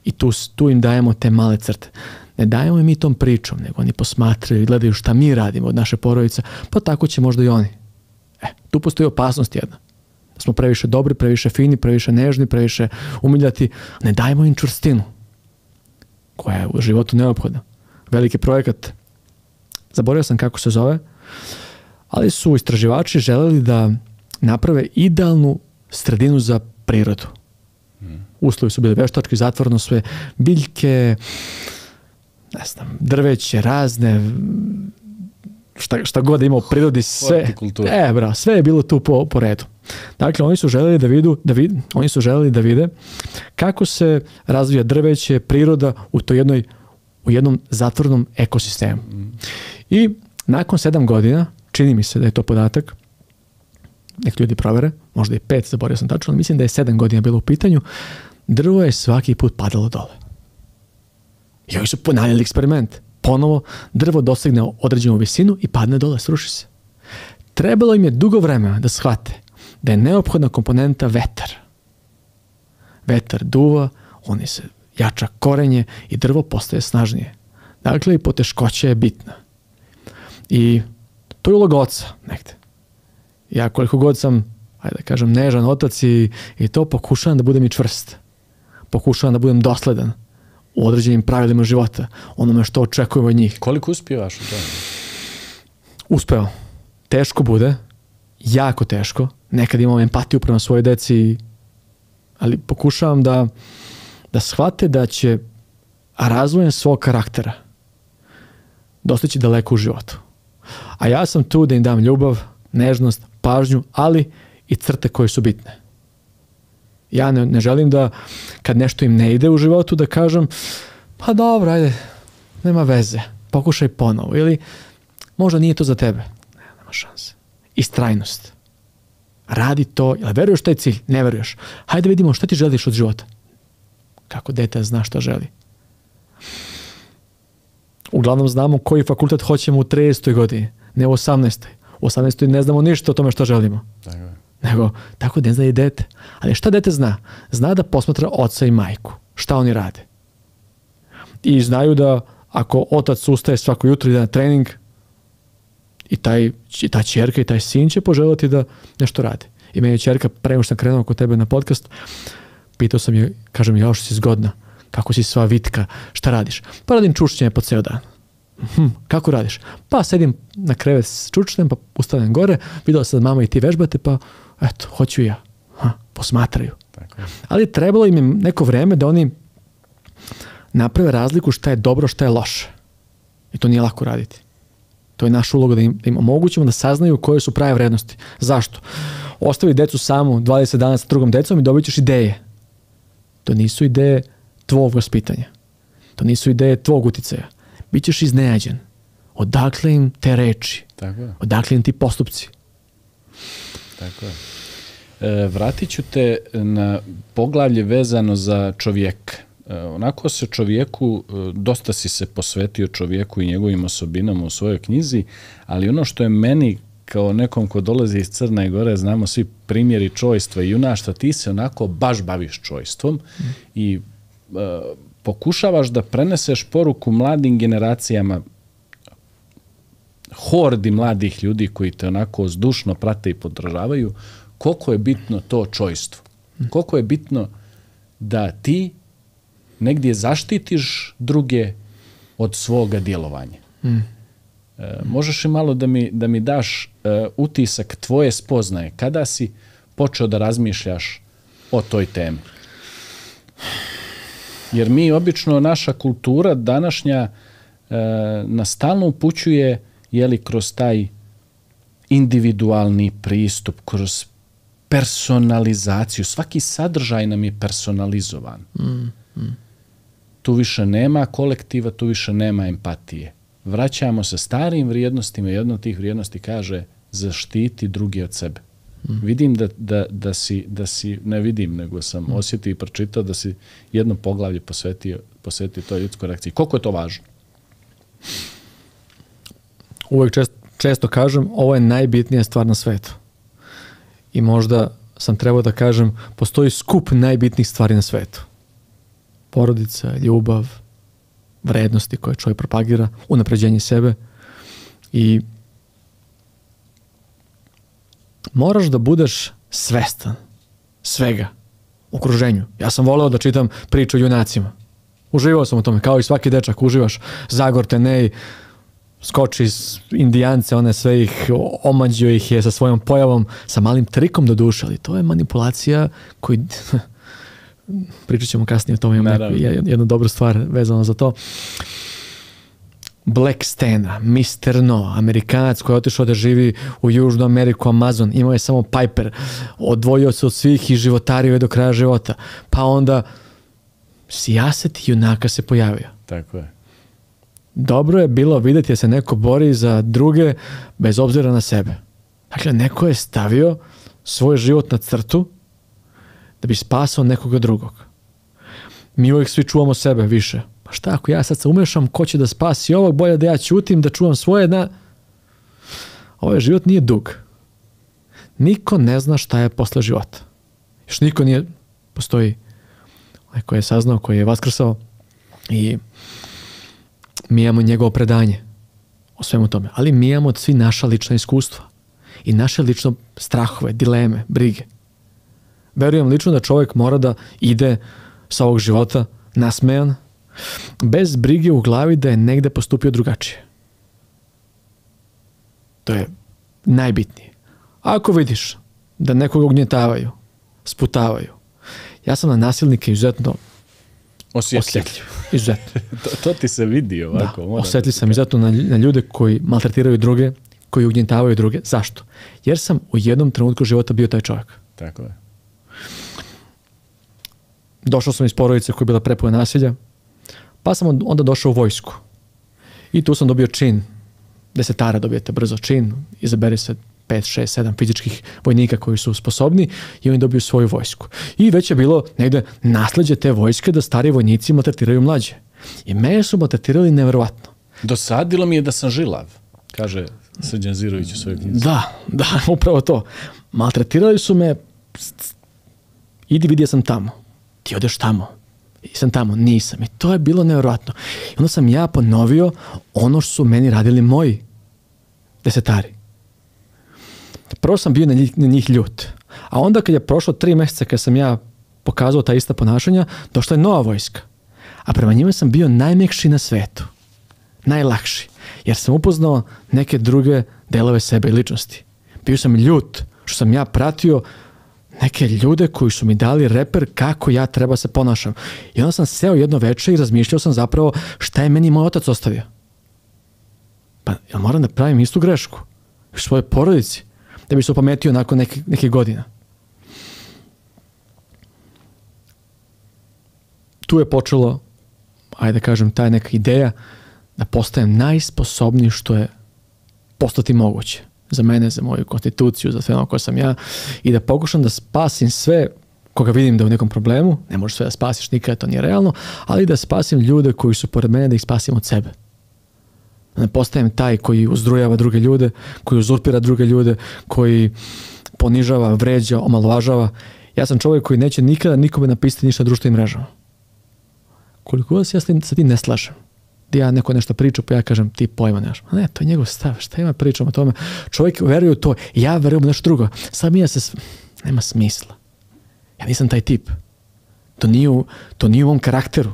I tu im dajemo te male crte. Ne dajemo im mi tom pričom, nego oni posmatraju i gledaju šta mi radimo od naše porodice, pa tako će možda i oni. Tu postoji opasnost jedna. Da smo previše dobri, previše fini, previše nežni, previše umiljati. Ne dajemo im čvrstinu, koja je u životu neophodna. Veliki projekat, zaboravio sam kako se zove, ali su istraživači želeli da naprave idealnu sredinu za prirodu. Uslovi su bili veštački, zatvoreno sve, biljke, ne znam, drveće, razne, šta god ima u prirodi, sve. Sve je bilo tu po redu. Dakle, oni su želeli da vide kako se razvija drveće, priroda u jednom zatvornom ekosistemu. I nakon 7 godina, čini mi se da je to podatak, neki ljudi provere, možda i 5, zaboravio sam tačno, ali mislim da je 7 godina bilo u pitanju, drvo je svaki put padalo dole. I oni su ponavljali eksperiment. Ponovo drvo dosegne određenu visinu i padne dole, sruši se. Trebalo im je dugo vremena da shvate da je neophodna komponenta vetar. Vetar duva, oni se jača korenje i drvo postaje snažnije. Dakle, i poteškoća je bitna. I to je uloga oca negde. Ja koliko god sam, ajde da kažem, nežan otac i to pokušavam da budem i čvrst. Pokušavam da budem dosledan u određenim pravilima života, onome što očekujemo od njih. Koliko uspijevaš u tome? Uspeo. Teško bude, jako teško. Nekad imam empatiju prema svojoj deci, ali pokušavam da shvate da će razvojem svog karaktera dostići daleko u životu. A ja sam tu da im dam ljubav, nežnost, pažnju, ali i crte koje su bitne. Ja ne želim da kad nešto im ne ide u životu da kažem pa dobro, ajde, nema veze, pokušaj ponovo ili možda nije to za tebe. Nema šanse. Istrajnost. Radi to, jel veruješ taj cilj? Ne veruješ. Hajde vidimo šta ti želiš od života. Kako dete zna šta želi. Uglavnom znamo koji fakultet hoćemo u 30. godini, ne u 18. U 18. ne znamo ništa o tome što želimo. Nego, tako ne zna i dete. Ali šta dete zna? Zna da posmatra oca i majku. Šta oni rade? I znaju da ako otac ustaje svako jutro ide na trening i ta ćerka i taj sin će poželjeti da nešto rade. I meni je ćerka, pre nego što sam krenuo kod tebe na podcast, pitao sam je, kažem, ja što si zgodna, kako si sva vitka, šta radiš? Pa radim čučnjenje po ceo dan. Kako radiš? Pa sedim na krevet s čučnjem, pa ustavljam gore, videla sam da mama i ti vežbate, pa eto, hoću i ja. Posmatraju. Tako. Ali trebalo im je neko vreme da oni naprave razliku šta je dobro, šta je loše. I to nije lako raditi. To je naša uloga da im omogućimo da saznaju koje su prave vrednosti. Zašto? Ostavi decu samu 20 dana sa drugom decom i dobit ćeš ideje. To nisu ideje tvog vaspitanja. To nisu ideje tvog uticaja. Bićeš iznenađen. Odakle im te reči? Odakle im ti postupci? Tako je. Vratit ću te na poglavlje vezano za čovjeka. Onako se čovjeku, dosta si se posvetio čovjeku i njegovim osobinama u svojoj knjizi, ali ono što je meni kao nekom ko dolazi iz Crne Gore, znamo svi primjeri čojstva i junaštva, ti se onako baš baviš čojstvom i pokušavaš da preneseš poruku mladim generacijama, hordi mladih ljudi koji te onako zdušno prate i podržavaju, koliko je bitno to čojstvo. Koliko je bitno da ti negdje zaštitiš druge od svoga djelovanja. Možeš li malo da mi daš utisak tvoje spoznaje? Kada si počeo da razmišljaš o toj temi? Jer mi obično, naša kultura današnja nas stalno upućuje kroz taj individualni pristup, kroz personalizaciju. Svaki sadržaj nam je personalizovan. Tu više nema kolektiva, tu više nema empatije. Vraćamo se starim vrijednostima. Jedna od tih vrijednosti kaže zaštiti drugi od sebe. Vidim da si, ne vidim, nego sam osjetio i pročitao da si jedno poglavlje posvetio toj ljudskoj reakciji. Koliko je to važno? uvek često kažem, ovo je najbitnija stvar na svetu. I možda sam trebao da kažem, postoji skup najbitnijih stvari na svetu. Porodica, ljubav, vrednosti koje čovjek propagira, unapređenje sebe i moraš da budeš svestan svega u okruženju. Ja sam voleo da čitam priče o junacima. Uživao sam u tome, kao i svaki dečak, uživaš. Zagor Tenej skoči iz Indijance, one sve ih, omađio ih je sa svojom pojavom, sa malim trikom do duše, ali to je manipulacija koji... Pričat ćemo kasnije o tome, imam jednu dobru stvar vezano za to. Black Stena, Mr. No, Amerikanac koji je otišao da živi u Južnu Ameriku, Amazon, imao je samo Piper, odvojio se od svih i životario je do kraja života. Pa onda sijaset junaka se pojavio. Tako je. Dobro je bilo vidjeti da se neko bori za druge bez obzira na sebe. Dakle, neko je stavio svoj život na crtu da bi spasao nekoga drugog. Mi uvijek svi čuvamo sebe više. Pa šta ako ja sad se umešam, ko će da spasi ovog, bolje da ja ćutim, da čuvam svoje. Ovaj život nije dug. Niko ne zna šta je posle života. Još niko nije, postoji onaj koji je saznao, koji je vaskrsao i mi imamo njegovo predanje o svemu tome. Ali mi imamo svi naša lična iskustva i naše lično strahove, dileme, brige. Verujem lično da čovjek mora da ide sa ovog života nasmejan, bez brige u glavi da je negde postupio drugačije. To je najbitnije. Ako vidiš da nekoga ugnjetavaju, sputavaju, ja sam na nasilnike izuzetno osjetljiv. Izuzetno. to ti se vidi ovako. Da, osjetljiv sam izuzetno na ljude koji maltretiraju druge, koji ugnjetavaju druge. Zašto? Jer sam u jednom trenutku života bio taj čovjek. Tako je. Došao sam iz porodice koja je bila prepuna nasilja, pa sam onda došao u vojsku. I tu sam dobio čin, desetara dobijete brzo čin, izabere se 5, 6, 7 fizičkih vojnika koji su sposobni i oni dobiju svoju vojsku. I već je bilo negde nasleđe te vojske da stari vojnici maltretiraju mlađe. I mene su maltretirali neverovatno. Dosadilo mi je da sam žilav, kaže Srđan Zirović u svojoj knjizi. Da, upravo to. Maltretirali su me, idi vidi, ja sam tamo. Ti odeš tamo. I sam tamo, nisam. I to je bilo nevjerojatno. I onda sam ja ponovio ono što su meni radili moji desetari. Prvo sam bio na njih ljut. A onda kad je prošlo 3 mjeseca kad sam ja pokazao ta ista ponašanja, došla je nova vojska. A prema njima sam bio najmekši na svetu. Najlakši. Jer sam upoznao neke druge delove sebe i ličnosti. Bio sam ljut što sam ja pratio neke ljude koji su mi dali reper kako ja treba se ponašam. I onda sam seo jedno večer i razmišljao sam zapravo šta je meni moj otac ostavio. Pa ja moram da pravim istu grešku u svojoj porodici da bi se opametio nakon nekih godina. Tu je počelo, ajde da kažem, ta neka ideja da postajem najsposobniji što je postati moguće. Za mene, za moju konstituciju, za sve ono ko sam ja i da pokušam da spasim sve koga vidim da je u nekom problemu, ne možeš sve da spasiš nikada, to nije realno, ali da spasim ljude koji su pored mene, da ih spasim od sebe. Da ne postajem taj koji uzdrujava druge ljude, koji uzurpira druge ljude, koji ponižava, vređa, omalovažava. Ja sam čovjek koji neće nikada nikome napisati ništa na društvenim mrežama. Koliko da se ja sa tim ne slažem. Da ja neko nešto pričam, pa ja kažem ti pojma nemaš. Ne, to je njegov stav. Šta ima pričam o tome? Čovjek veruje u to. Ja verujem u nešto drugo. Sad mi ja se... Nema smisla. Ja nisam taj tip. To nije u mom karakteru.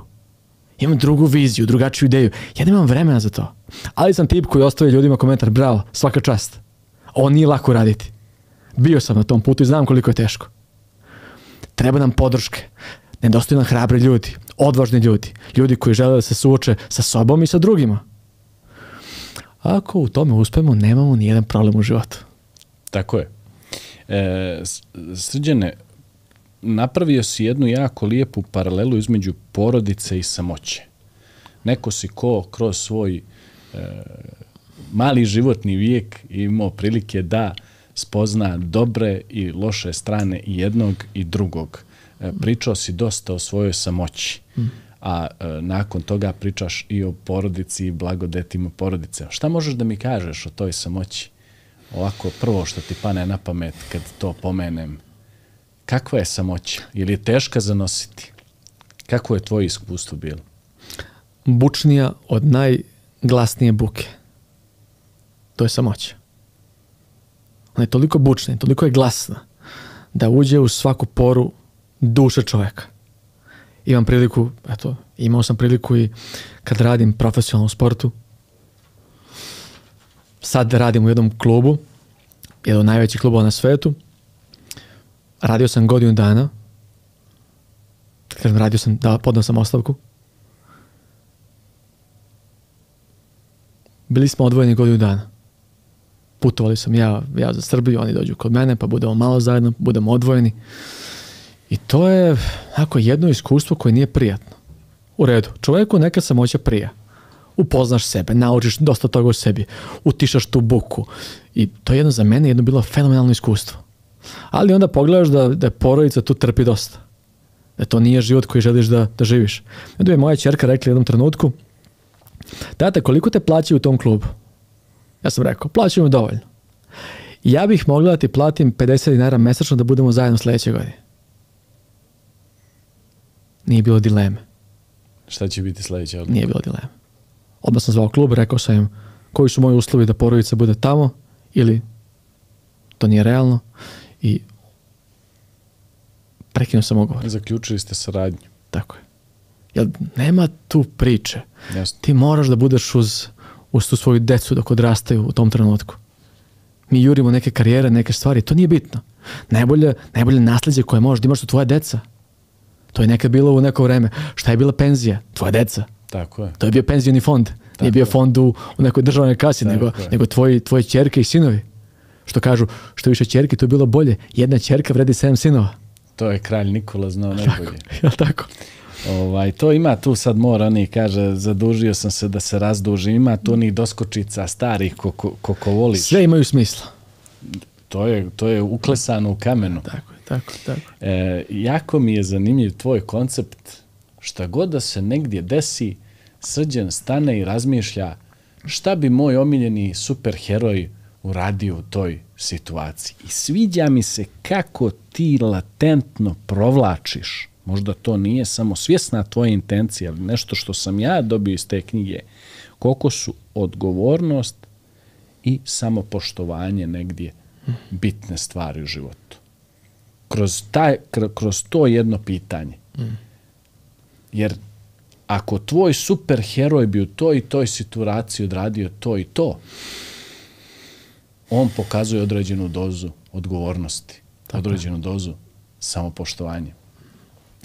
Imam drugu viziju, drugačiju ideju. Ja nemam vremena za to. Ali sam tip koji ostavlja ljudima komentar. Bravo, svaka čast. Ovo nije lako raditi. Bio sam na tom putu i znam koliko je teško. Treba nam podrške. Nedostaju nam hrabri ljudi, odvažni ljudi, ljudi koji žele da se suoče sa sobom i sa drugima. Ako u tome uspemo, nemamo nijedan problem u životu. Tako je. Srđane, napravio si jednu jako lijepu paralelu između porodice i samoće. Neko si ko kroz svoj mali životni vijek imao prilike da spozna dobre i loše strane i jednog i drugog. Pričao si dosta o svojoj samoći. a nakon toga pričaš i o porodici i blagodetima porodice. Šta možeš da mi kažeš o toj samoći? Ovako, prvo što ti pane na pamet kad to pomenem. Kakva je samoća? Ili je teška za nositi? Kako je tvoje iskustvo bilo? Bučnija od najglasnije buke. To je samoća. Ona je toliko bučna, toliko je glasna da uđe u svaku poru duše čovjeka. Imao sam priliku i kad radim profesionalno u sportu. Sad radim u jednom klubu, jedan od najvećih klubova na svetu. Radio sam godinu dana. Podao sam ostavku. Bili smo odvojeni godinu dana. Putovali sam ja za Srbiju, oni dođu kod mene, pa budemo malo zajedno, budemo odvojeni. I to je jedno iskustvo koje nije prijatno. U redu, čovjeku neka samoća prija. Upoznaš sebe, naučiš dosta toga o sebi, utišaš tu buku. I to je za mene bilo fenomenalno iskustvo. Ali onda pogledaš da je porodica tu trpi dosta. Da to nije život koji želiš da živiš. Onda je moja ćerka rekla u jednom trenutku: tata, koliko te plaćaju u tom klubu? Ja sam rekao, plaćaju mi dovoljno. Ja bih mogla da ti platim 50 dinara mesečno da budemo zajedno sljedeće godine. Nije bilo dileme. Šta će biti sljedeće odluka? Nije bilo dileme. Odmah sam zvao klub, rekao sam im koji su moji uslovi da porodica bude tamo ili to nije realno i prekinuo sam ugovor. Zaključili ste saradnju. Tako je. Jer nema tu priče. Jasno. Ti moraš da budeš uz tu svoju decu dok odrastaju u tom trenutku. Mi jurimo neke karijere, neke stvari, to nije bitno. Najbolje nasljeđe koje možeš da imaš su tvoja deca. To je nekad bilo u neko vreme. Šta je bila penzija? Tvoja deca. Tako je. To je bio penzioni fond. Nije bio fond u nekoj državnoj kasi, nego tvoje ćerke i sinovi. Što kažu, što više ćerke, to je bilo bolje. Jedna ćerka vredi 7 sinova. To je kralj Nikola znao najbolje. Jel' tako? To ima tu sad oni kaže, zadužio sam se da se razdužim, ima tu onih doskočica starih ko voliš. Sve imaju smisla. To je uklesano u kamenu. Tako. Jako mi je zanimljiv tvoj koncept. Šta god da se negdje desi, Srđan stane i razmišlja šta bi moj omiljeni superheroj uradio u toj situaciji. I sviđa mi se kako ti latentno provlačiš. Možda to nije samo svjesna tvoja intencija, ali nešto što sam ja dobio iz te knjige. Koliko su odgovornost i samopoštovanje negdje bitne stvari u životu. Kroz to jedno pitanje. Jer ako tvoj superheroj bi u toj i toj situaciji odradio to i to, on pokazuje određenu dozu odgovornosti, određenu dozu samopoštovanja.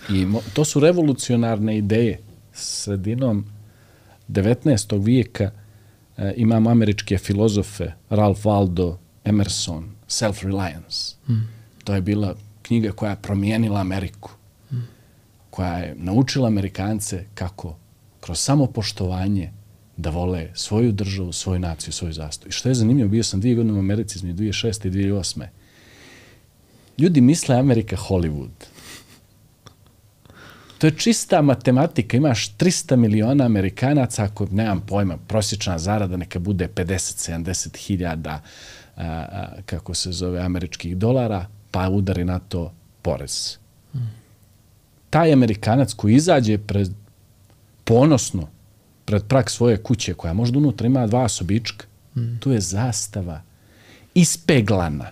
I to su revolucionarne ideje. Sredinom 19. vijeka imamo američke filozofe Ralph Waldo Emerson, Self-Reliance. To je bila knjiga koja je promijenila Ameriku, koja je naučila Amerikance kako kroz samopoštovanje da vole svoju državu, svoju naciju, svoju zastavu. I što je zanimljivo, bio sam 2 godine u Americi između 2006. i 2008. Ljudi misle Amerika Hollywood. To je čista matematika. Imaš 300 miliona Amerikanaca, ako nemam pojma, prosječna zarada neka bude 50-70 hiljada američkih dolara, pa udari na to porez. Taj Amerikanac koji izađe ponosno pred prag svoje kuće, koja možda unutra ima 2 sobička, tu je zastava ispeglana,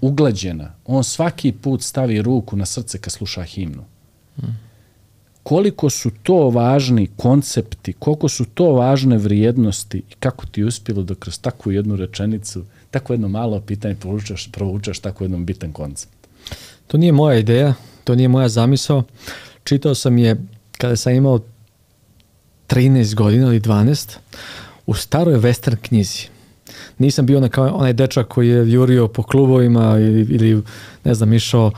uglađena. On svaki put stavi ruku na srce kad sluša himnu. Koliko su to važni koncepti, koliko su to važne vrijednosti i kako ti je uspjelo da kroz takvu jednu rečenicu, tako jedno malo pitanje provučeš tako jednom bitan koncept. To nije moja ideja, to nije moja zamisao. Čitao sam je kada sam imao 13 godina ili 12 u staroj western knjizi. Nisam bio onaj dečak koji je jurio po klubovima ili ne znam, išao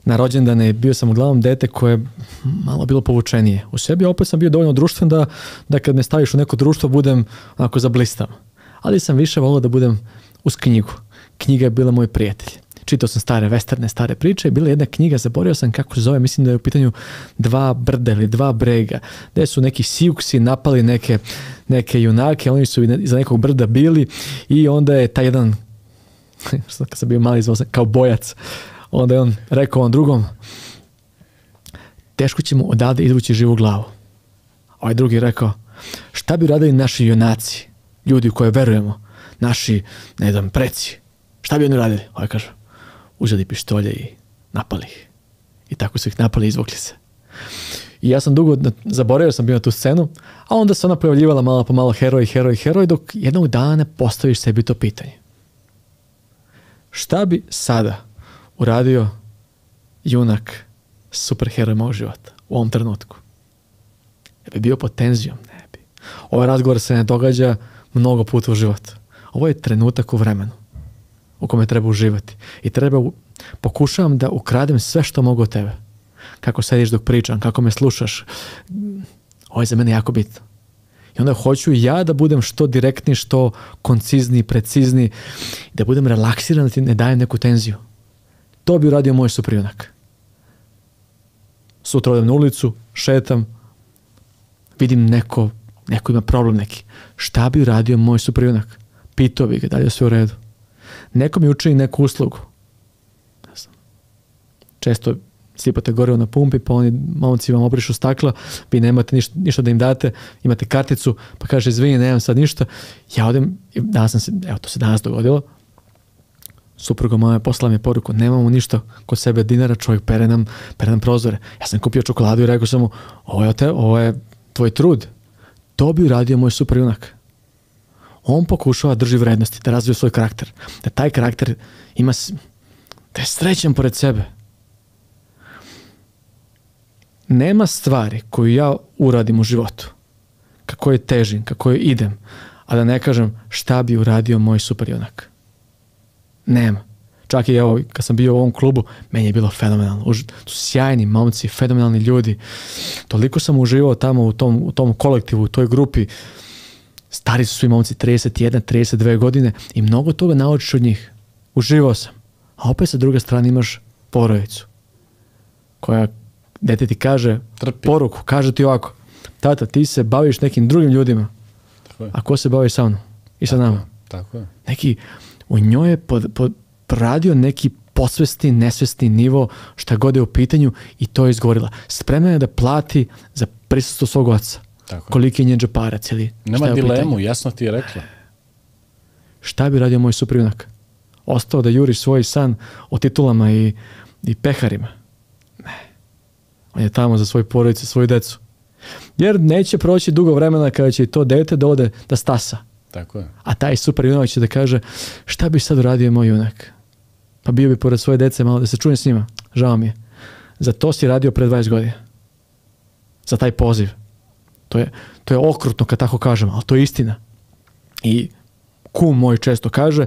na rođendane. Bio sam uglavnom dete koje je malo bilo povučenije u sebi, a opet sam bio dovoljno društven da kad me staviš u neko društvo budem onako zablistam. Ali sam više volio da budem uz knjigu. Knjiga je bila moj prijatelj. čitao sam stare westerne, stare priče, bila je jedna knjiga, zaboravio sam kako se zove, mislim da je u pitanju 2 brda ili 2 brega, gde su neki Siuksi napali neke junake, oni su iza nekog brda bili i onda je taj jedan, kad sam bio mali, zvao sam kao bojac, onda je on rekao on drugom, teško ćemo odavde izvući živu glavu. Ovaj drugi rekao, šta bi radili naši junaci, ljudi u koje verujemo, naši, ne znam, preci, šta bi oni radili? Ovaj kaže, uzeli pištolje i napali ih. I tako su ih napali i izvukli se. I ja sam dugo zaboravio sam bio na tu scenu, a onda se ona pojavljivala malo po malo heroj, dok jednog dana ne postaviš sebi to pitanje. Šta bi sada uradio junak, superheroj mog života u ovom trenutku? Ne bi bio pod tenzijom? Ne bi. Ovaj razgovor se ne događa mnogo puta u životu. Ovo je trenutak u vremenu u kome treba uživati. I pokušavam da ukradem sve što mogu od tebe. Kako sediš dok pričam, kako me slušaš. Ovo je za mene jako bitno. I onda hoću ja da budem što direktniji, što koncizniji, precizniji, da budem relaksiran, da ti ne dajem neku tenziju. To bi uradio moj suprjunak. Sutra odem na ulicu, šetam, vidim neko ima problem neki. Šta bi uradio moj suprjunak? Pitao bi ga, da li je sve u redu. Neko mi učini neku uslugu. Često sipate gorivo na pumpi, pa oni momci vam obrišu stakla, vi nemate ništa da im date, imate karticu, pa kaže, izvini, nemam sad ništa. Ja odem, to se danas dogodilo, supruga moja poslala mi poruku, nemamo ništa kod sebe dinara, čovjek pere nam prozore. Ja sam kupio čokoladu i rekao sam mu, ovo je tvoj trud. To bi uradio moj superjunak. On pokušava da drži vrednosti, da razvije svoj karakter. Da taj karakter da je srećan pored sebe. Nema stvari koju ja uradim u životu, kako je težim, kako je idem, a da ne kažem šta bi uradio moj superjunak. Nema. Čak i evo, kad sam bio u ovom klubu, meni je bilo fenomenalno. Tu su sjajni momci, fenomenalni ljudi. Toliko sam uživao tamo u tom kolektivu, u toj grupi. Stari su svi momci, 31, 32 godine i mnogo toga naučiš od njih. Uživao sam. A opet sa druge strane imaš porodicu koja dete ti kaže poruku, kaže ti ovako, tata, ti se baviš nekim drugim ljudima, a ko se bavi sa mnom i sa nama? Tako je. Neki, u njoj je poradio neki posvesni, nesvesni nivo, šta god je u pitanju i to je izgovorila. Spremna je da plati za prisustvo svog oca. Koliki je njen džeparac ili nema dilemu, jasno ti je rekla. Šta bi radio moj suprjunak? Ostao da juri svoj san o titulama i peharima? Ne. On je tamo za svoju porodicu, svoju decu. Jer neće proći dugo vremena kada će to dete da ode da stasa. Tako je. A taj superjunak će da kaže, šta bi sad uradio moj junak? Pa bio bi pored svoje dece malo da se čujem s njima. Žao mi je. Za to si radio pre 20 godina. Za taj poziv. To je okrutno kad tako kažem, ali to je istina. I kum moj često kaže,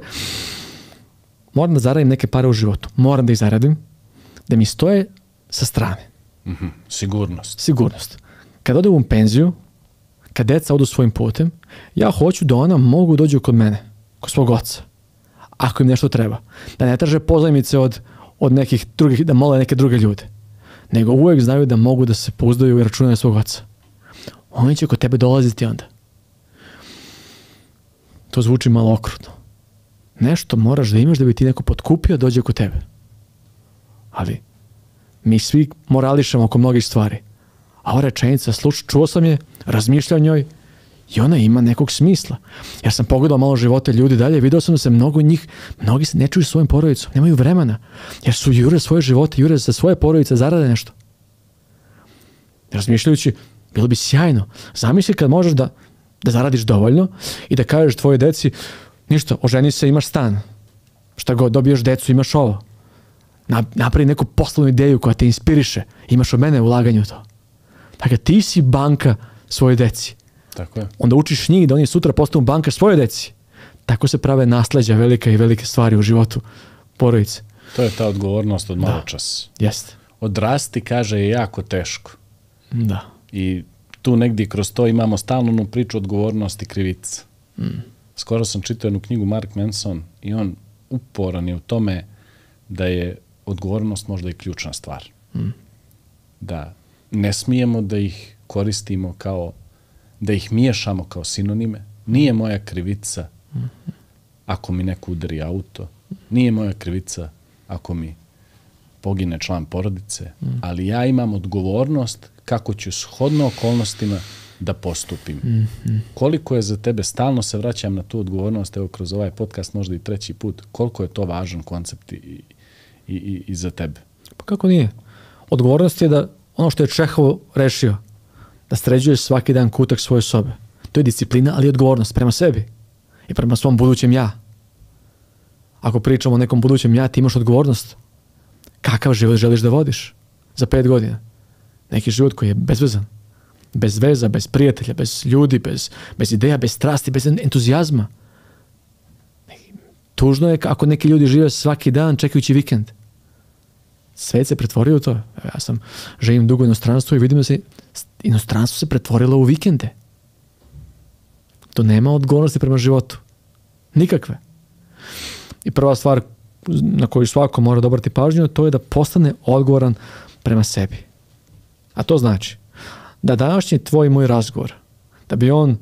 moram da zaradim neke pare u životu. Moram da ih zaradim, da mi stoje sa strane. Sigurnost. Kad odem u penziju, kad deca odu svojim putem, ja hoću da ona mogu dođu kod mene, kod svog oca. Ako im nešto treba. Da ne traže pozajmice od nekih drugih, da mole neke druge ljude. Nego uvijek znaju da mogu da se pouzdaju i računaju svog oca. Oni će kod tebe dolaziti onda. To zvuči malo okrutno. Nešto moraš da imaš da bi ti neko potkupio dođe kod tebe. Ali mi svi morališemo oko mnogih stvari. A ova rečenica, čuo sam je, razmišljao o njoj i ona ima nekog smisla. Ja sam pogledao malo živote ljudi dalje, vidio sam da se mnogi se ne čuju svojim porodicom, nemaju vremena, jer su jure svoje živote, jure za svoje porodice, zarade nešto. Razmišljajući, bilo bi sjajno. Zamisli kad možeš da zaradiš dovoljno i da kažeš tvojoj deci, ništa, oženi se, imaš stan. Šta god, dobiješ decu, imaš ovo. Napravi neku poslovnu ideju koja te inspiriše. Imaš od mene ulaganje u to. Dakle, ti si banka svoje deci. Tako je. Onda učiš njih da oni sutra postanu banka svoje deci. Tako se prave nasleđa velike i velike stvari u životu porodice. To je ta odgovornost od malo čas. Jeste. Odrasti, kaže, je jako teško. Da. I tu negdje kroz to imamo stalnu priču odgovornosti i krivica. Skoro sam čitao jednu knjigu Mark Manson i on uporan je u tome da je odgovornost možda i ključna stvar. Da ne smijemo da ih koristimo kao, da ih miješamo kao sinonime. Nije moja krivica ako mi neko udari auto, nije moja krivica ako mi pogine član porodice, ali ja imam odgovornost kako ću shodno okolnostima da postupim. Koliko je za tebe, stalno se vraćam na tu odgovornost, evo kroz ovaj podcast možda i treći put, koliko je to važan koncept i za tebe? Pa kako nije? Odgovornost je da ono što je Čehov rešio, da sređuješ svaki dan kutak svoje sobe. To je disciplina, ali i odgovornost prema sebi i prema svom budućem ja. Ako pričamo o nekom budućem ja, ti imaš odgovornost. Kakav život želiš da vodiš za 5 godina? Neki život koji je bezvezan. Bez veza, bez prijatelja, bez ljudi, bez ideja, bez strasti, bez entuzijazma. Tužno je ako neki ljudi žive svaki dan čekajući vikend. Svet se pretvorio u to. Ja sam živim dugo u inostranstvu i vidim da se inostranstvo se pretvorilo u vikende. To nema odgovornosti prema životu. Nikakve. I prva stvar na koju svako mora da obrati pažnju, to je da postane odgovoran prema sebi. A to znači da današnji tvoj i moj razgovor, da bi on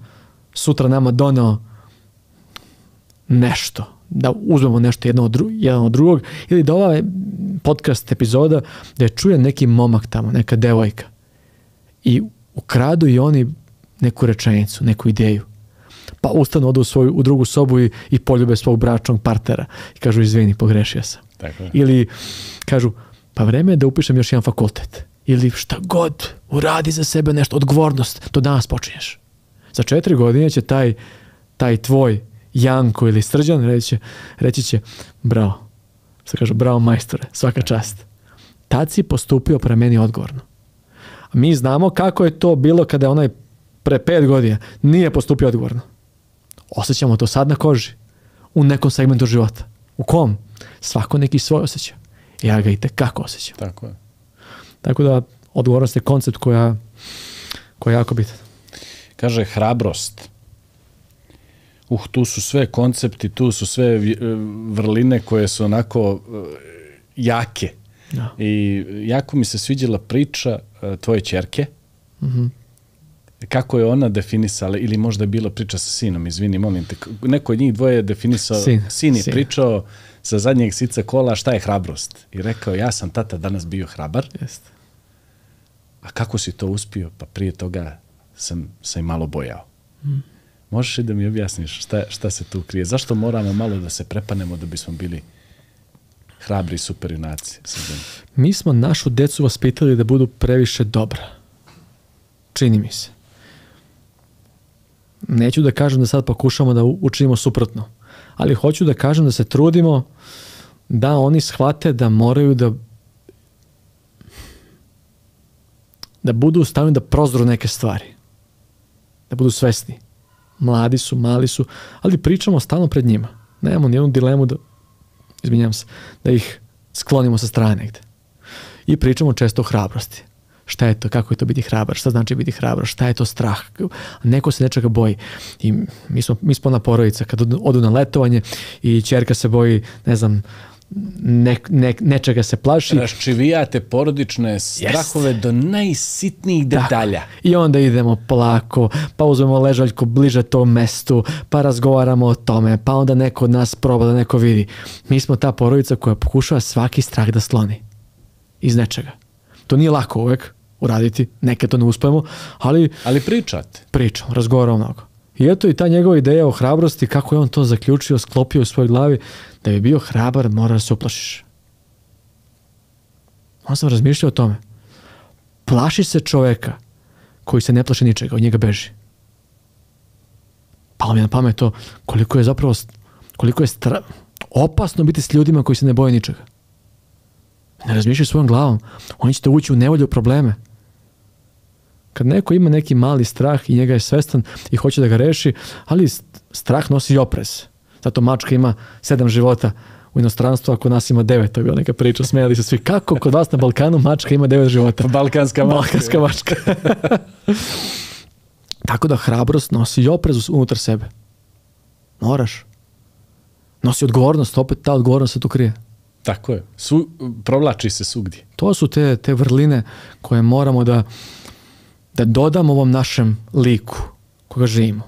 sutra nama doneo nešto, da uzmemo nešto jedan od drugog, ili da ova podcast epizoda da je čuje neki momak tamo, neka devojka i ukradu i oni neku rečenicu, neku ideju. Pa ustanu, odu u drugu sobu i poljube svog bračnog partnera i kažu izvini, pogrešio sam. Tako je. Ili kažu pa vreme je da upišem još jedan fakultet. Ili šta god, uradi za sebe nešto, odgovornost, to danas počinješ. Za 4 godine će taj tvoj Janko ili Srđan reći će bravo. Što kažu, bravo majstore, svaka čast. Tad si postupio prema meni odgovorno. A mi znamo kako je to bilo kada je onaj pre 5 godina nije postupio odgovorno. Osjećamo to sad na koži. U nekom segmentu života. U kom? Svako neki svoj osjeća. Ja ga i tekako osjećam. Tako je. Tako da odgovornost je koncept koji je jako bitan. Kaže hrabrost. Tu su sve koncepti, tu su sve vrline koje su onako jake. Ja. I jako mi se sviđala priča tvoje ćerke. Kako je ona definisala, ili možda je bila priča sa sinom, izvini, molim te, neko od njih dvoje je definisao, sin je pričao sa zadnjeg sica kola šta je hrabrost. I rekao, ja sam tata danas bio hrabar. Jeste. A kako si to uspio? Pa prije toga sam se malo bojao. Možeš li da mi objasniš šta se tu krije? Zašto moramo malo da se prepanemo da bismo bili hrabri superjunaci? Mi smo našu decu vaspitali da budu previše dobra. Čini mi se. Neću da kažem da sad pokušamo da učinimo suprotno, ali hoću da kažem da se trudimo da oni shvate da moraju da budu u stanju da prozru neke stvari. Da budu svesni. Mladi su, mali su, ali pričamo stalno pred njima. Nemamo nijednu dilemu da ih sklonimo sa strane negde. I pričamo često o hrabrosti. Šta je to, kako je to biti hrabar, šta znači biti hrabar, šta je to strah, neko se nečega boji. I mi smo ona porodica, kad odu na letovanje i ćerka se boji, ne znam, nečega se plaši. Raščivijate porodične strahove do najsitnijih detalja. I onda idemo polako, pa uzmemo ležaljku bliže tom mestu, pa razgovaramo o tome, pa onda neko od nas proba da neko vidi. Mi smo ta porodica koja pokušava svaki strah da skloni. Iz nečega. To nije lako uvek uraditi, neke to ne uspemo, ali pričate. Pričamo, razgovaramo mnogo. I eto i ta njegova ideja o hrabrosti, kako je on to zaključio, sklopio u svojoj glavi, da bi bio hrabar mora da se uplašiš. On sam razmišljao o tome. Plaši se čoveka koji se ne plaši ničega, od njega beži. Palo mi na pamet to koliko je opasno biti s ljudima koji se ne boje ničega. Ne razmišljaju svojom glavom. Oni će te ući u nevolju, u probleme. Kad neko ima neki mali strah i njega je svestan i hoće da ga reši, ali strah nosi i oprez. Zato mačka ima 7 života u inostranstvu, a kod nas ima 9. To je bila neka priča, smijali se svi. Kako kod vas na Balkanu mačka ima 9 života? Balkanska mačka. Tako da hrabrost nosi i oprez unutar sebe. Moraš. Nosi odgovornost, opet ta odgovornost se tu krije. Tako je. Provlači se svugdje. To su te vrline koje moramo da dodamo ovom našem liku koga živimo.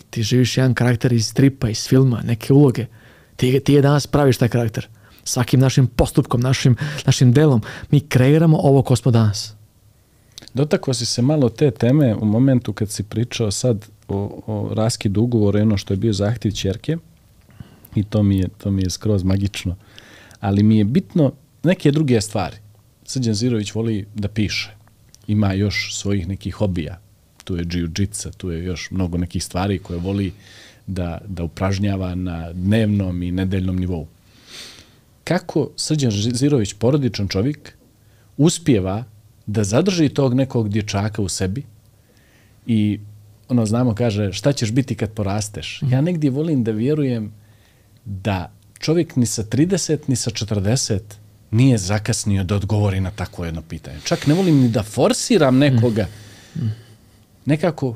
Ti živiš jedan karakter iz stripa, iz filma, neke uloge. Ti je danas praviš taj karakter. Svakim našim postupkom, našim delom. Mi kreiramo ovo ko smo danas. Dotakao si se malo te teme u momentu kad si pričao sad o raskidu ugovora i ono što je bio zahtjev ćerke. I to mi je skroz magično. Ali mi je bitno neke druge stvari. Srđan Zirović voli da piše. Ima još svojih nekih hobija. Tu je jiu-jitsu, tu je još mnogo nekih stvari koje voli da upražnjava na dnevnom i nedeljnom nivou. Kako Srđan Zirović, porodičan čovjek, uspijeva da zadrži tog nekog dječaka u sebi i znamo, kaže, šta ćeš biti kad porasteš? Ja negdje volim da vjerujem da čovjek ni sa 30 ni sa 40 nije zakasnio da odgovori na takvo jedno pitanje. Čak ne volim ni da forsiram nekoga. Nekako,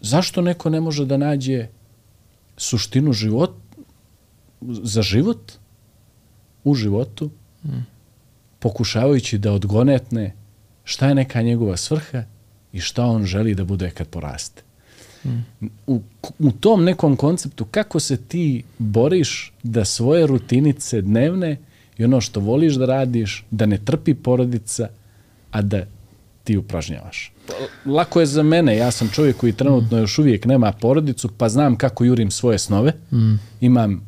zašto neko ne može da nađe suštinu za život u životu, pokušavajući da odgonetne šta je neka njegova svrha i šta on želi da bude kad poraste. U tom nekom konceptu, kako se ti boriš da svoje rutinice dnevne i ono što voliš da radiš, da ne trpi porodica, a da ti upražnjavaš. Lako je za mene, ja sam čovjek koji trenutno još uvijek nema porodicu, pa znam kako jurim svoje snove. Imam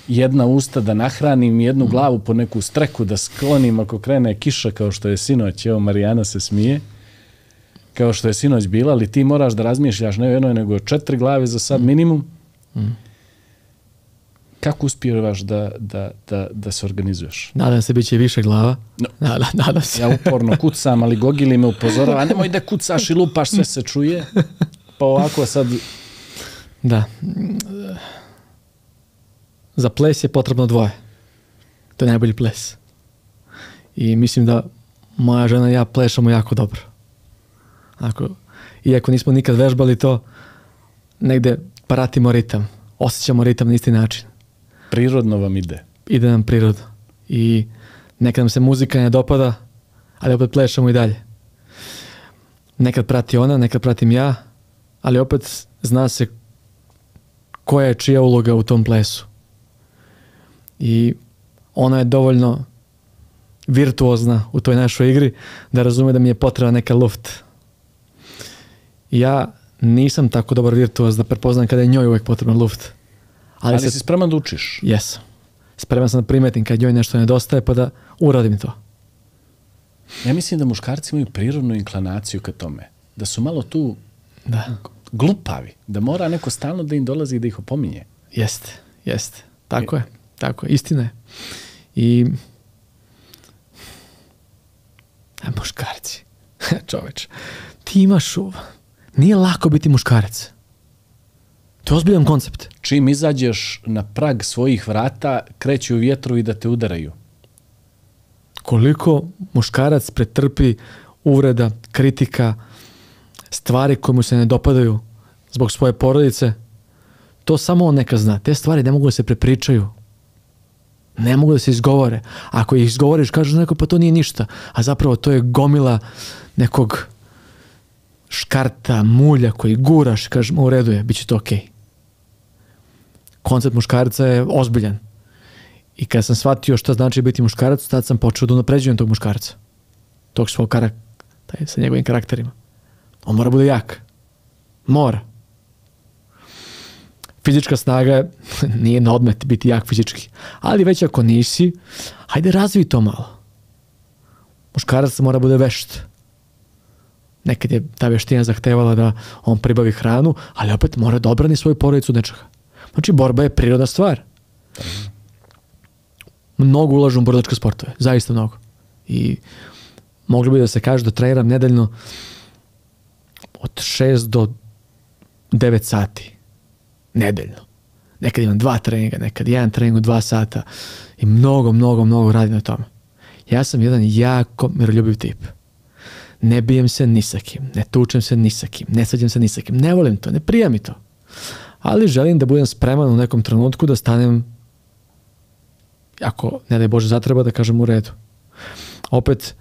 jedna usta da nahranim, jednu glavu po neku streku da sklonim ako krene kiša, kao što je sinoć. Evo, Marijana se smije. Kao što je sinoć bila, ali ti moraš da razmišljaš ne jednoj, nego 4 glave za sad minimum. Kako uspijevaš da se organizuješ? Nadam se bit će više glava. No. Nadam se. Ja uporno kucam, ali Gogili me upozorava, nemoj da kucaš i lupaš, sve se čuje. Pa ovako sad... Da. Za ples je potrebno 2. To je najbolji ples. I mislim da moja žena i ja plešamo jako dobro. Iako nismo nikad vežbali to, negde pratimo ritam. Osjećamo ritam na isti način. Prirodno vam ide. Ide nam prirodno. I nekad nam se muzika ne dopada, ali opet plešamo i dalje. Nekad prati ona, nekad pratim ja, ali opet zna se koja je čija uloga u tom plesu. I ona je dovoljno virtuozna u toj našoj igri da razume da mi je potrebna neka luft. Ja nisam tako dobar virtuoz da prepoznam kada je njoj uvijek potreban luft. Ali si spreman da učiš? Jesam. Spreman sam da primetim kad njoj nešto nedostaje pa da uradim to. Ja mislim da muškarci imaju prirodnu inklinaciju ka tome. Da su malo tu glupavi. Da mora neko stalno da im dolazi i da ih opominje. Jeste. Tako je. Istina je. I muškarci. Čoveč. Ti imaš nije lako biti muškarac. To je ozbiljan koncept. Čim izađeš na prag svojih vrata, kreću vjetrovi da te udaraju. Koliko muškarac pretrpi uvreda, kritika, stvari koje mu se ne dopadaju zbog svoje porodice, to samo on neka zna. Te stvari ne mogu da se prepričaju. Ne mogu da se izgovore. Ako ih izgovoriš, kažeš neko, pa to nije ništa. A zapravo to je gomila nekog škarta, mulja koji guraš, kažeš, u redu je, bit će to okej. Koncept muškarca je ozbiljan. I kad sam shvatio šta znači biti muškarac, tad sam počeo da unapređujem tog muškarca. Tog svog karakter, sa njegovim karakterima. On mora bude jak. Mora. Fizička snaga nije na odmet biti jak fizički. Ali već ako nisi, hajde razvij to malo. Muškarac mora bude vešt. Nekad je ta veština zahtevala da on pribavi hranu, ali opet mora da obrani svoju porodicu od nečega. Znači, borba je prirodna stvar. Mnogo ulažem u borilačke sportove. Zaista mnogo. I moglo bi da se kaže da treniram nedeljno od 6 do 9 sati. Nedeljno. Nekad imam 2 treninga, nekad 1 trening u 2 sata. I mnogo radim na tome. Ja sam jedan jako miroljubiv tip. Ne bijem se ni sa kim, ne tučem se ni sa kim, ne svađam se ni sa kim. Ne volim to, ne prija mi to. Ali želim da budem spreman u nekom trenutku da stanem ako, ne daj Bože, zatreba da kažem u redu. Opet,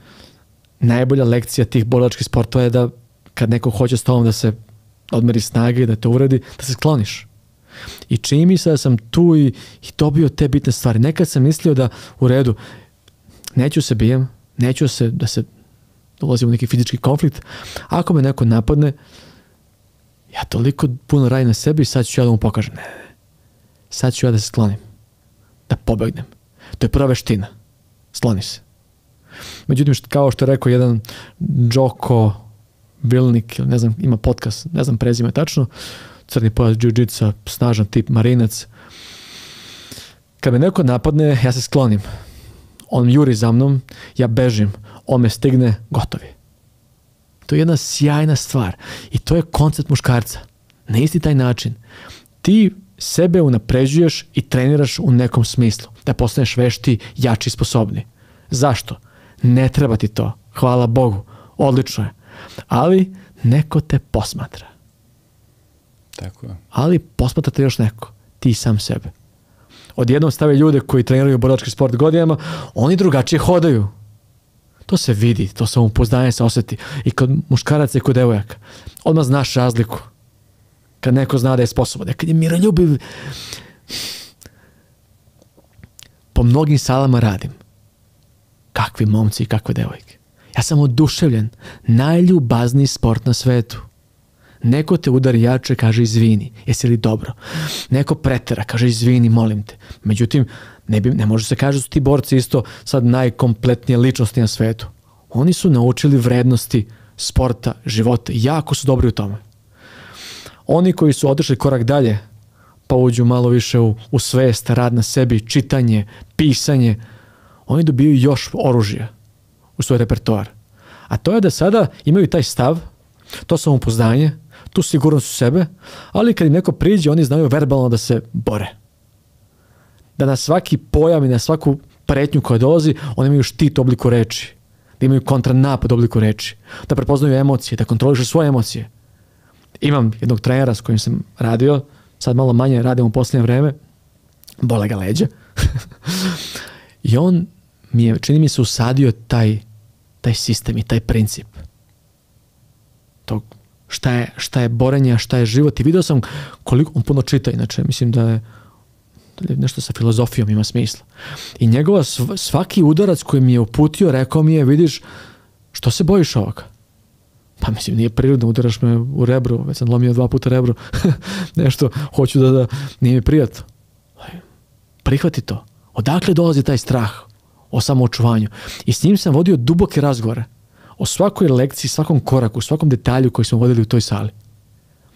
najbolja lekcija tih borilačkih sportova je da kad neko hoće s tobom da se odmeri snage i da te uredi, da se skloniš. I čini mi se da sam tu i dobio te bitne stvari. Nekad sam mislio da u redu, neću se bijem, neću da se ulazim u neki fizički konflikt. Ako me neko napadne, ja toliko puno radim na sebi i sad ću ja da mu pokažem. Ne. Sad ću ja da se sklonim. Da pobegnem. To je prva veština. Skloni se. Međutim, kao što je rekao jedan Joko Vilnik, ne znam, ima podcast, ne znam prezime tačno, crni pojas jiu-jitsa, snažan tip, marinac. Kad me neko napadne, ja se sklonim. On juri za mnom, ja bežim, on me stigne, gotovi. To je jedna sjajna stvar. I to je koncept muškarca. Na isti taj način. Ti sebe unapređuješ i treniraš u nekom smislu. Da postaneš vešti, jači, sposobni. Zašto? Ne treba ti to. Hvala Bogu. Odlično je. Ali neko te posmatra. Tako je. Ali posmatra te još neko. Ti sam sebe. Odjednom stave ljude koji treniraju borilački sport godinama, oni drugačije hodaju. To se vidi, to samopouzdanje se osjeti. I kod muškaraca i kod devojaka. Odmah znaš razliku. Kad neko zna da je sposoban. Kad je miroljubiv. Po mnogim salama radim. Kakvi momci i kakve devojke. Ja sam oduševljen. Najljubazniji sport na svetu. Neko te udari jače, kaže izvini. Jesi li dobro? Neko pretera, kaže izvini, molim te. Međutim, ne može se kaže da su ti borci isto sad najkompletnije ličnosti na svetu. Oni su naučili vrednosti sporta, života. Jako su dobri u tome. Oni koji su otišli korak dalje, pa uđu malo više u svest, rad na sebi, čitanje, pisanje, oni dobiju još oružja u svoj repertoar. A to je da sada imaju taj stav, to samopouzdanje, tu sigurnost u sebe, ali kad im neko priđe, oni znaju verbalno da se bore. Da na svaki pojam i na svaku pretnju koja dolazi, oni imaju štit u obliku reči. Da imaju kontranapad u obliku reči. Da prepoznaju emocije, da kontrolišu svoje emocije. Imam jednog trenera s kojim sam radio, sad malo manje radim u posljednje vreme, bole ga leđa. I on mi je, čini mi se, usadio taj sistem i taj princip. Tog šta je borenje, a šta je život. I vidio sam koliko on puno čita, inače mislim da je nešto sa filozofijom ima smisla. I njegova svaki udarac koji mi je uputio, rekao mi je, vidiš, što se bojiš ovoga? Pa mislim, nije prirodno, udaraš me u rebro, već sam lomio 2 puta rebro, nešto, hoću da nije mi prijatno. Prihvati to. Odakle dolazi taj strah o samoočuvanju? I s njim sam vodio duboke razgovore o svakoj lekciji, svakom koraku, svakom detalju koji smo vodili u toj sali.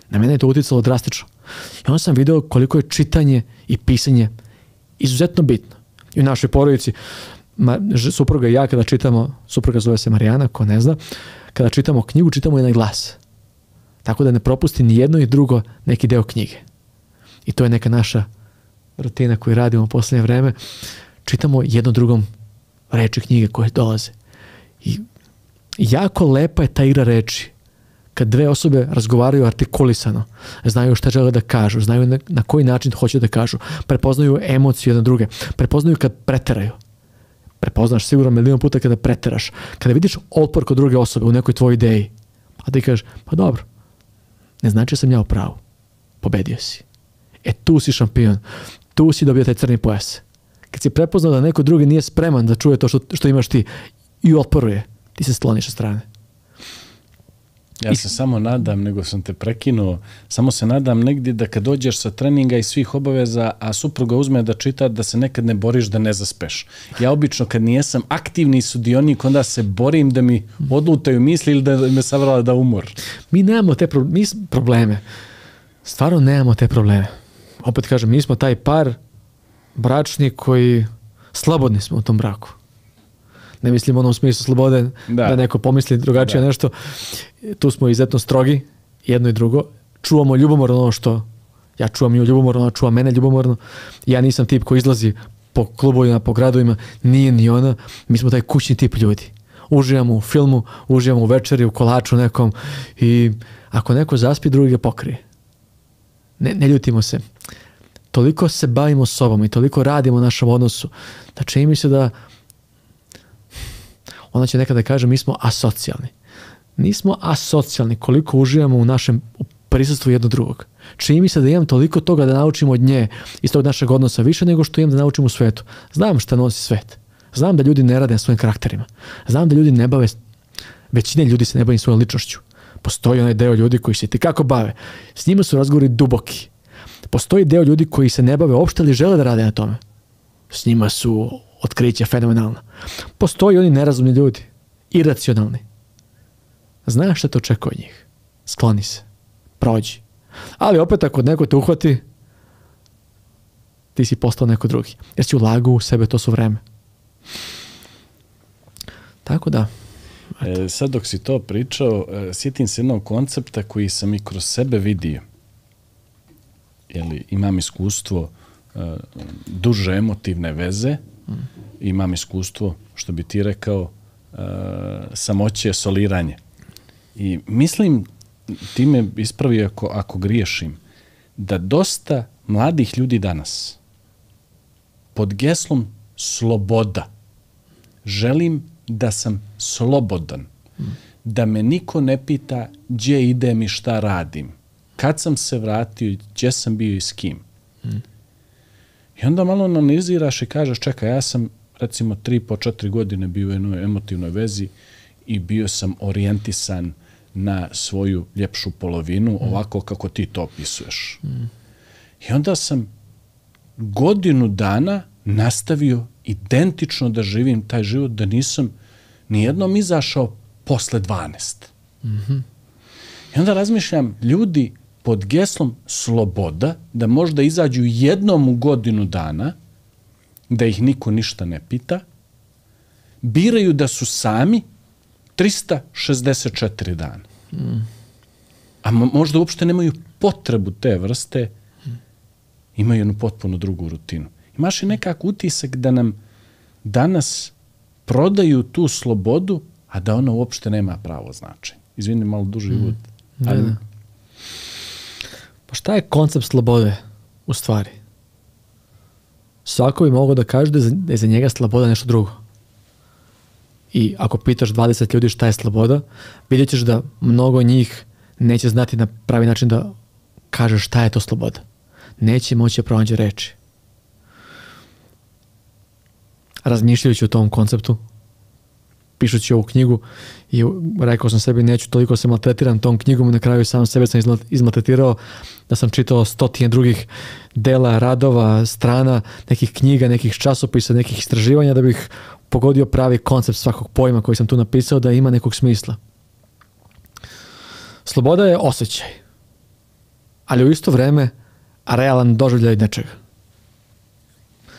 Na mene je to utjecalo drastično. I onda sam vidio koliko je čitanje i pisanje izuzetno bitno. I u našoj porodici, supruga i ja kada čitamo, supruga zove se Marijana, ko ne zna, kada čitamo knjigu, čitamo je na glas. Tako da ne propusti ni jedno i drugo neki deo knjige. I to je neka naša rutina koju radimo u posljednje vreme. Čitamo jedno drugom reči knjige koje dolaze. I jako lepa je ta igra reči. Kad dve osobe razgovaraju artikulisano, znaju šta žele da kažu, znaju na koji način hoće da kažu, prepoznaju emociju jedne druge, prepoznaju kad preteraju. Prepoznaš sigurno milion puta kada preteraš. Kada vidiš otpor kod druge osobe u nekoj tvojoj ideji, a ti kažeš, pa dobro, ne znači da sam ja u pravu. Pobedio si. Tu si šampion. Tu si dobio taj crni pojas. Kad si prepoznao da neko drugi nije spreman da čuje to što imaš ti i otporuje, ti se skloniš sa strane. Ja se samo nadam, nego sam te prekinuo, samo se nadam negdje da kad dođeš sa treninga i svih obaveza, a supruga uzme da čita, da se nekad ne boriš da ne zaspeš. Ja obično kad nijesam aktivni sudionik, onda se borim da mi odlutaju misli ili da me savrala da umor. Mi nemamo te probleme. Stvarno nemamo te probleme. Opet kažem, mi smo taj par bračni koji slobodni smo u tom braku. Ne mislim u onom smislu slobode da neko pomisli drugačije nešto. Tu smo izuzetno strogi, jedno i drugo. Čuvamo ljubomorno ono što ja čuvam nju ljubomorno, ona čuva mene ljubomorno. Ja nisam tip koji izlazi po klubovima, po gradovima, nije ni ona. Mi smo taj kućni tip ljudi. Uživamo u filmu, uživamo u večeri, u kolaču nekom i ako neko zaspi, drugi ga pokrije. Ne ljutimo se. toliko se bavimo sobom i toliko radimo u našem odnosu, da čini mi se da ona će nekada kaže mi smo asocijalni. Nismo asocijalni koliko uživamo u našem prisustvu jedno drugog. Čini mi se da imam toliko toga da naučim od nje iz tog našeg odnosa više nego što imam da naučim u svetu. Znam šta nosi svet. Znam da ljudi ne rade na svojim karakterima. Znam da ljudi ne bave, većina ljudi se ne bavi svojom ličnošću. Postoji onaj deo ljudi koji se itekako bave. S njima su razgovori duboki. Postoji deo ljudi koji se ne bave uopšte ali žele da rade na tome. S njima su otkrića fenomenalna. Postoji oni nerazumni ljudi. Iracionalni. Znaš šta te očekuje od njih. Skloni se. Prođi. Ali opet ako neko te uhvati, ti si postao neko drugi. Jer si ulagao u sebe, to su vreme. Tako da. Sad dok si to pričao, sjetim se jednog koncepta koji sam i kroz sebe vidio. Imam iskustvo duže emotivne veze, imam iskustvo, što bi ti rekao, samoće, soliranje. I mislim, ti me ispravi ako griješim, da dosta mladih ljudi danas pod geslom sloboda želim da sam slobodan, da me niko ne pita gdje idem i šta radim, kad sam se vratio, gdje sam bio i s kim. I onda malo analiziraš i kažeš, čekaj, ja sam recimo 3-4 godine bio u jednoj emotivnoj vezi i bio sam orijentisan na svoju ljepšu polovinu, ovako kako ti to opisuješ. I onda sam godinu dana nastavio identično da živim taj život, da nisam nijednom izašao posle 12. I onda razmišljam, ljudi pod geslom sloboda, da možda izađu jednom u godinu dana, da ih niko ništa ne pita, biraju da su sami 364 dana. A možda uopšte nemaju potrebu te vrste, imaju jednu potpuno drugu rutinu. Imaš i nekak utisak da nam danas prodaju tu slobodu, a da ona uopšte nema pravo značenje. Izvini, malo duži uvod. Ali... Pa šta je koncept slobode u stvari? Svako bi mogao da kaže da je za njega sloboda nešto drugo. I ako pitaš 20 ljudi šta je sloboda, vidjet ćeš da mnogo njih neće znati na pravi način da kaže šta je to sloboda. Neće moći da pronađe reči. Razmišljajući o tom konceptu, pišući ovu knjigu, i rekao sam sebi neću toliko se maltretiram tom knjigom, na kraju sam sebe sam izmaltretirao da sam čitao stotine drugih dela, radova, strana, nekih knjiga, nekih časopisa, nekih istraživanja da bih pogodio pravi koncept svakog pojma koji sam tu napisao da ima nekog smisla. Sloboda je osjećaj, ali u isto vreme realan doživljaj nečega.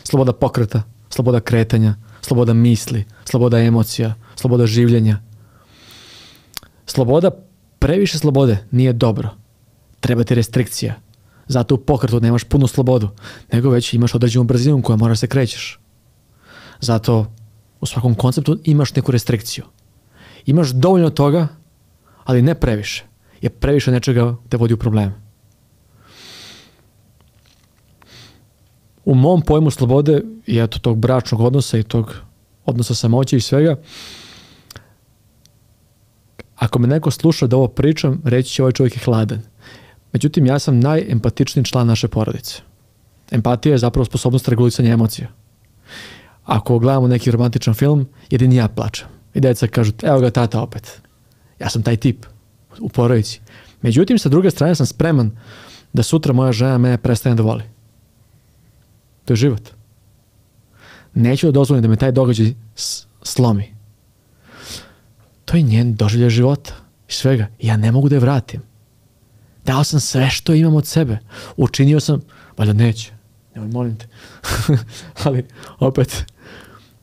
Sloboda pokreta, sloboda kretanja, sloboda misli, sloboda emocija, sloboda življenja. Sloboda, previše slobode nije dobro. Treba ti restrikcija. Zato u pokretu nemaš punu slobodu, nego već imaš određenu brzinu koja moraš se krećeš. Zato u svakom konceptu imaš neku restrikciju. Imaš dovoljno toga, ali ne previše. Jer previše nečega te vodi u probleme. U mom pojmu slobode i eto tog bračnog odnosa i tog odnosa samoće i svega, ako me neko sluša da ovo pričam, reći će ovaj čovjek je hladan. Međutim, ja sam najempatičniji član naše porodice. Empatija je zapravo sposobnost regulisanja emocija. Ako gledamo neki romantičan film, jedini ja plačem. I djeca kažu, evo ga tata opet. Ja sam taj tip u porodici. Međutim, sa druge strane sam spreman da sutra moja žena mene prestane da voli. To je život. Neću da dozvolim da me taj događaj slomi. To je njen doživljaj života i svega. Ja ne mogu da je vratim. Dao sam sve što imam od sebe. Učinio sam, valjda neće. Nemoj, molim te. Ali, opet,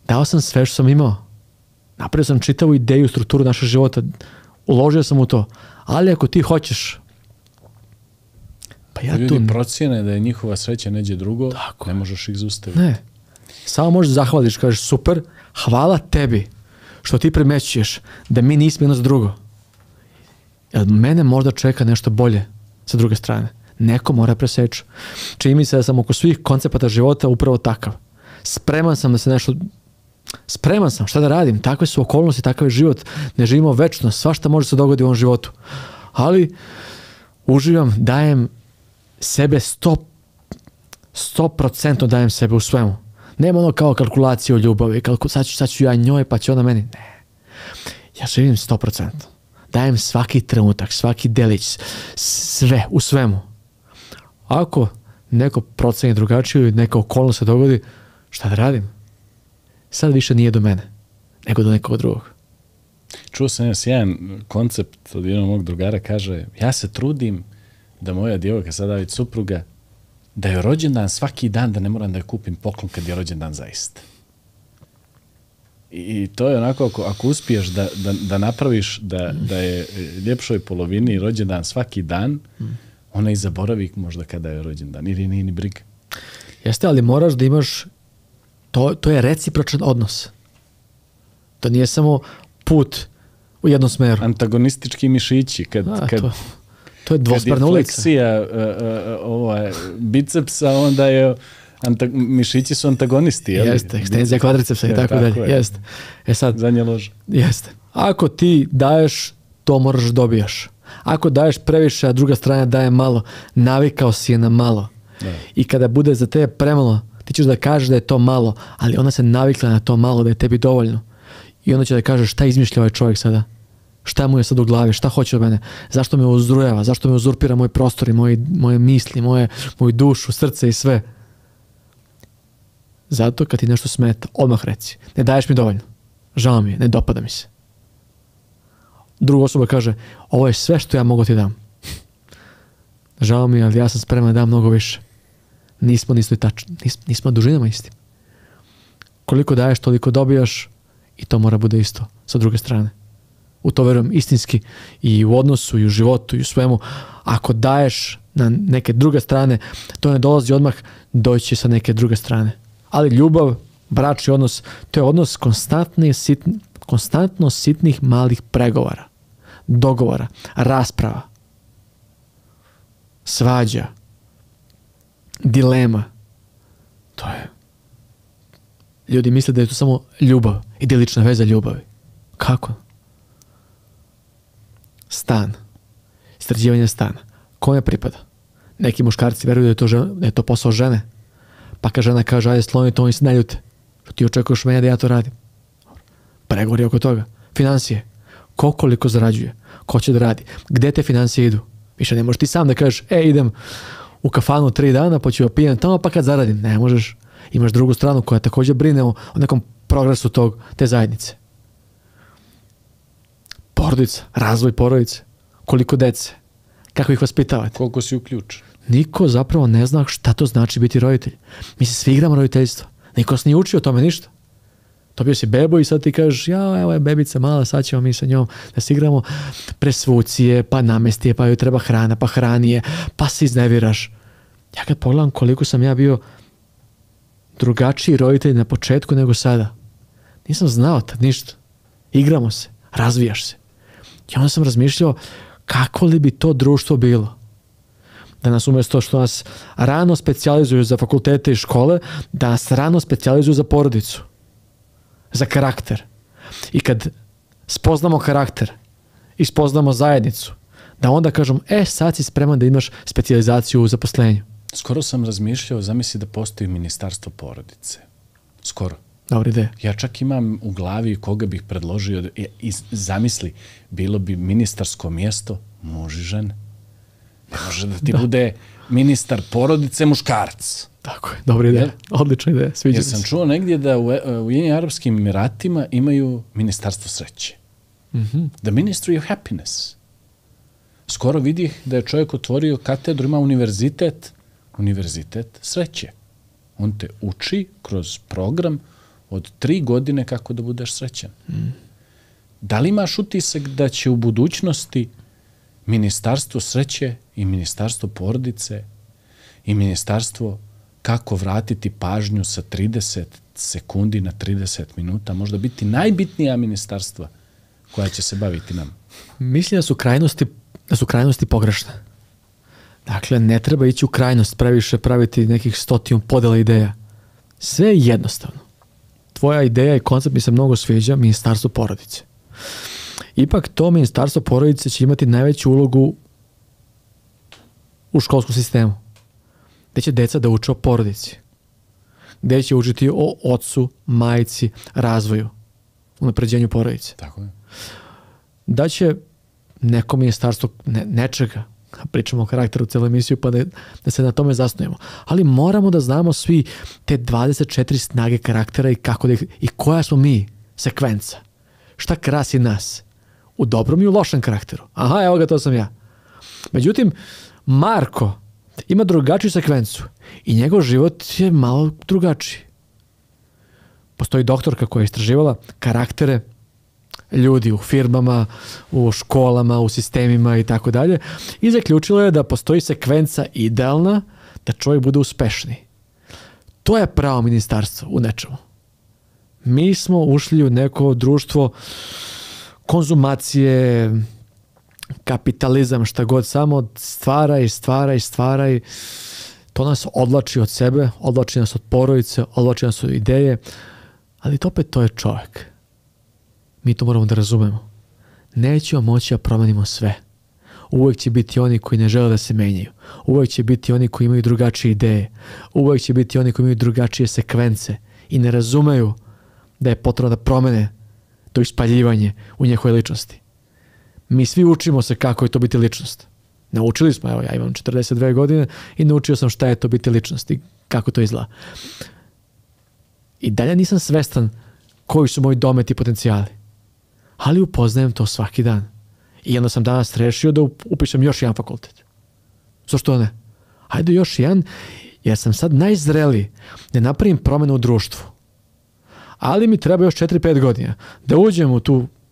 dao sam sve što sam imao. Napravio sam čitavu ideju, strukturu našeg života. Uložio sam u to. Ali ako ti hoćeš, pa ja ljudi procjene da je njihova sreća neđe drugo, tako, ne možeš ih zaustaviti. Ne. Samo možeš zahvališ, kažeš super, hvala tebi što ti primećuješ da mi nismo jedno za drugo. Jer mene možda čeka nešto bolje sa druge strane. Neko mora preseći. Čini mi se da sam oko svih koncepata života upravo takav. Spreman sam da se nešto... Spreman sam, šta da radim? Takve su okolnosti, takav je život. Ne živimo večno, svašta može se dogoditi u ovom životu. Ali uživam, dajem sebe 100% dajem sebe u svemu. Nema ono kao kalkulacije o ljubavi, sad ću ja njoj pa će ona meni. Ne. Ja živim 100%. Dajem svaki trenutak, svaki delić, sve, u svemu. Ako neko proceni drugačije ili neka okolnost se dogodi, šta da radim? Sad više nije do mene, nego do nekog drugog. Čuo sam jedan koncept od jednog mog drugara, kaže, ja se trudim da moja djevojka, sada već supruga, da je rođendan svaki dan, da ne moram da je kupim poklon kad je rođendan zaista. I to je onako, ako uspiješ da napraviš da je ljepšoj polovini rođendan svaki dan, ona i zaboravi možda kada je rođendan, ili nije ni briga. Jeste, ali moraš da imaš, to je recipročan odnos. To nije samo put u jednom smeru. Antagonistički mišići, to je dvosmerna ulica. Kad je fleksija bicepsa, onda je mišići su antagonisti. Jeste, ekstenzija kvadricepsa i tako dalje. Jeste. Sad, zadnja loža. Jeste. Ako ti daješ, to moraš dobijaš. Ako daješ previše, a druga strana daje malo, navikao si je na malo. Da. I kada bude za tebe premalo, ti ćeš da kažeš da je to malo, ali ona se navikla na to malo, da je tebi dovoljno. I onda će da kaže šta izmišlja ovaj čovjek sada? Šta mu je sad u glavi? Šta hoće od mene? Zašto me uzrujava? Zašto me uzurpira moj prostor i moje misli, moju dušu, srce i sve? Zato kad ti nešto smeta, odmah reci. Ne daješ mi dovoljno. Žao mi je, ne dopada mi se. Druga osoba kaže, ovo je sve što ja mogu ti dam. Žao mi je, ali ja sam spreman da dam mnogo više. Nismo nismo dužinama isti. Koliko daješ, toliko dobijaš i to mora bude isto sa druge strane. U to verujem istinski i u odnosu i u životu i u svemu. Ako daješ na neke druge strane, to ne dolazi odmah, doći sa neke druge strane. Ali ljubav, bračni odnos, to je odnos konstantno sitnih malih pregovora, dogovora, rasprava, svađa, dilema. To je. Ljudi misle da je to samo ljubav, idilična veza ljubavi. Kako? Stan. Istraživanje stana. Kome pripada? Neki muškarci veruju da je to posao žene. Pa kad žena kaže, ajde sloni to, oni se ne ljute. Što ti očekuješ mene da ja to radim? Pregovori oko toga. Financije. Ko koliko zarađuje? Ko će da radi? Gde te financije idu? Više ne možeš ti sam da kažeš, idem u kafanu 3 dana, pa ću ja pijem tamo, pa kad zaradim. Ne možeš. Imaš drugu stranu koja također brine o nekom progresu te zajednice. Porodica, razvoj porodice. Koliko dece? Kako ih vaspitavate? Koliko si uključen? Niko zapravo ne zna šta to znači biti roditelj. Mi se svi igramo roditeljstvo. Niko se nije učio o tome ništa. Dobio si bebu i sad ti kažeš, evo je bebica mala, sad ćemo mi sa njom da se igramo, presvucije, pa namesti je, pa joj treba hrana, pa hrani je, pa se izneviraš. Ja kad pogledam koliko sam ja bio drugačiji roditelj na početku nego sada. Nisam znao tad ništa. Igramo se, razvijaš se. I onda sam razmišljao kako li bi to društvo bilo. Da nas umjesto što nas rano specijalizuju za fakultete i škole, da nas rano specijalizuju za porodicu. Za karakter. I kad spoznamo karakter i spoznamo zajednicu, da onda kažem, sad si spreman da imaš specijalizaciju u zaposlenju. Skoro sam razmišljao, zamisli da postoji ministarstvo porodice. Skoro. Dobra ideja. Ja čak imam u glavi koga bih predložio, zamisli, bilo bi ministarsko mjesto muž i žene. Ne može da ti bude ministar porodice muškarac. Tako je, dobra ideja, odlična ideja, sviđa mi se. Ja sam čuo negdje da u Ujedinjenim Arapskim Emiratima imaju ministarstvo sreće. The Ministry of Happiness. Skoro vidih da je čovjek otvorio katedru, ima univerzitet sreće. On te uči kroz program od 3 godine kako da budeš srećan. Da li imaš utisak da će u budućnosti ministarstvo sreće i ministarstvo porodice i ministarstvo kako vratiti pažnju sa 30 sekundi na 30 minuta možda biti najbitnija ministarstva koja će se baviti nam? Mislim da su krajnosti pogrešne. Dakle, ne treba ići u krajnost, previše praviti nekih 100 podela ideja. Sve je jednostavno. Tvoja ideja i koncept mi se mnogo sviđa, ministarstvo porodice. Ipak to ministarstvo porodice će imati najveću ulogu u školskom sistemu. Gde će deca da uče o porodici. Gde će učiti o ocu, majci, razvoju, unapređenju porodice. Tako je. Da će neko ministarstvo nečega, pričamo o karakteru celu emisiju, pa da se na tome zasnujemo. Ali moramo da znamo svi te 24 snage karaktera i kako i koja smo mi, sekvenca. Šta krasi nas? U dobrom i u lošem karakteru. Aha, evo ga, to sam ja. Međutim, Marko ima drugačiju sekvencu i njegov život je malo drugačiji. Postoji doktorka koja je istraživala karaktere ljudi u firmama, u školama, u sistemima i tako dalje i zaključila je da postoji sekvenca idealna da čovjek bude uspešniji. To je pravo ministarstvo u nečemu. Mi smo ušli u neko društvo konzumacije, kapitalizam, šta god, samo stvaraj. To nas odvlači od sebe, odvlači nas od porodice, odvlači nas od ideje, ali to je čovjek. Mi to moramo da razumemo. Nećemo moći da promenimo sve. Uvijek će biti oni koji ne žele da se menjaju. Uvijek će biti oni koji imaju drugačije ideje. Uvijek će biti oni koji imaju drugačije sekvence i ne razumeju da je potrebno da promene to ispaljivanje u njihovoj ličnosti. Mi svi učimo se kako je to biti ličnost. Naučili smo, evo ja imam 42 godine i naučio sam šta je to biti ličnost i kako to izgleda. I dalje nisam svestan koji su moji dometi i potencijali. Ali upoznajem to svaki dan. I onda sam danas rešio da upišem još jedan fakultet. Zašto ne? Hajde još jedan, jer sam sad najzreliji da napravim promenu u društvu. Ali mi treba još 4-5 godina da uđem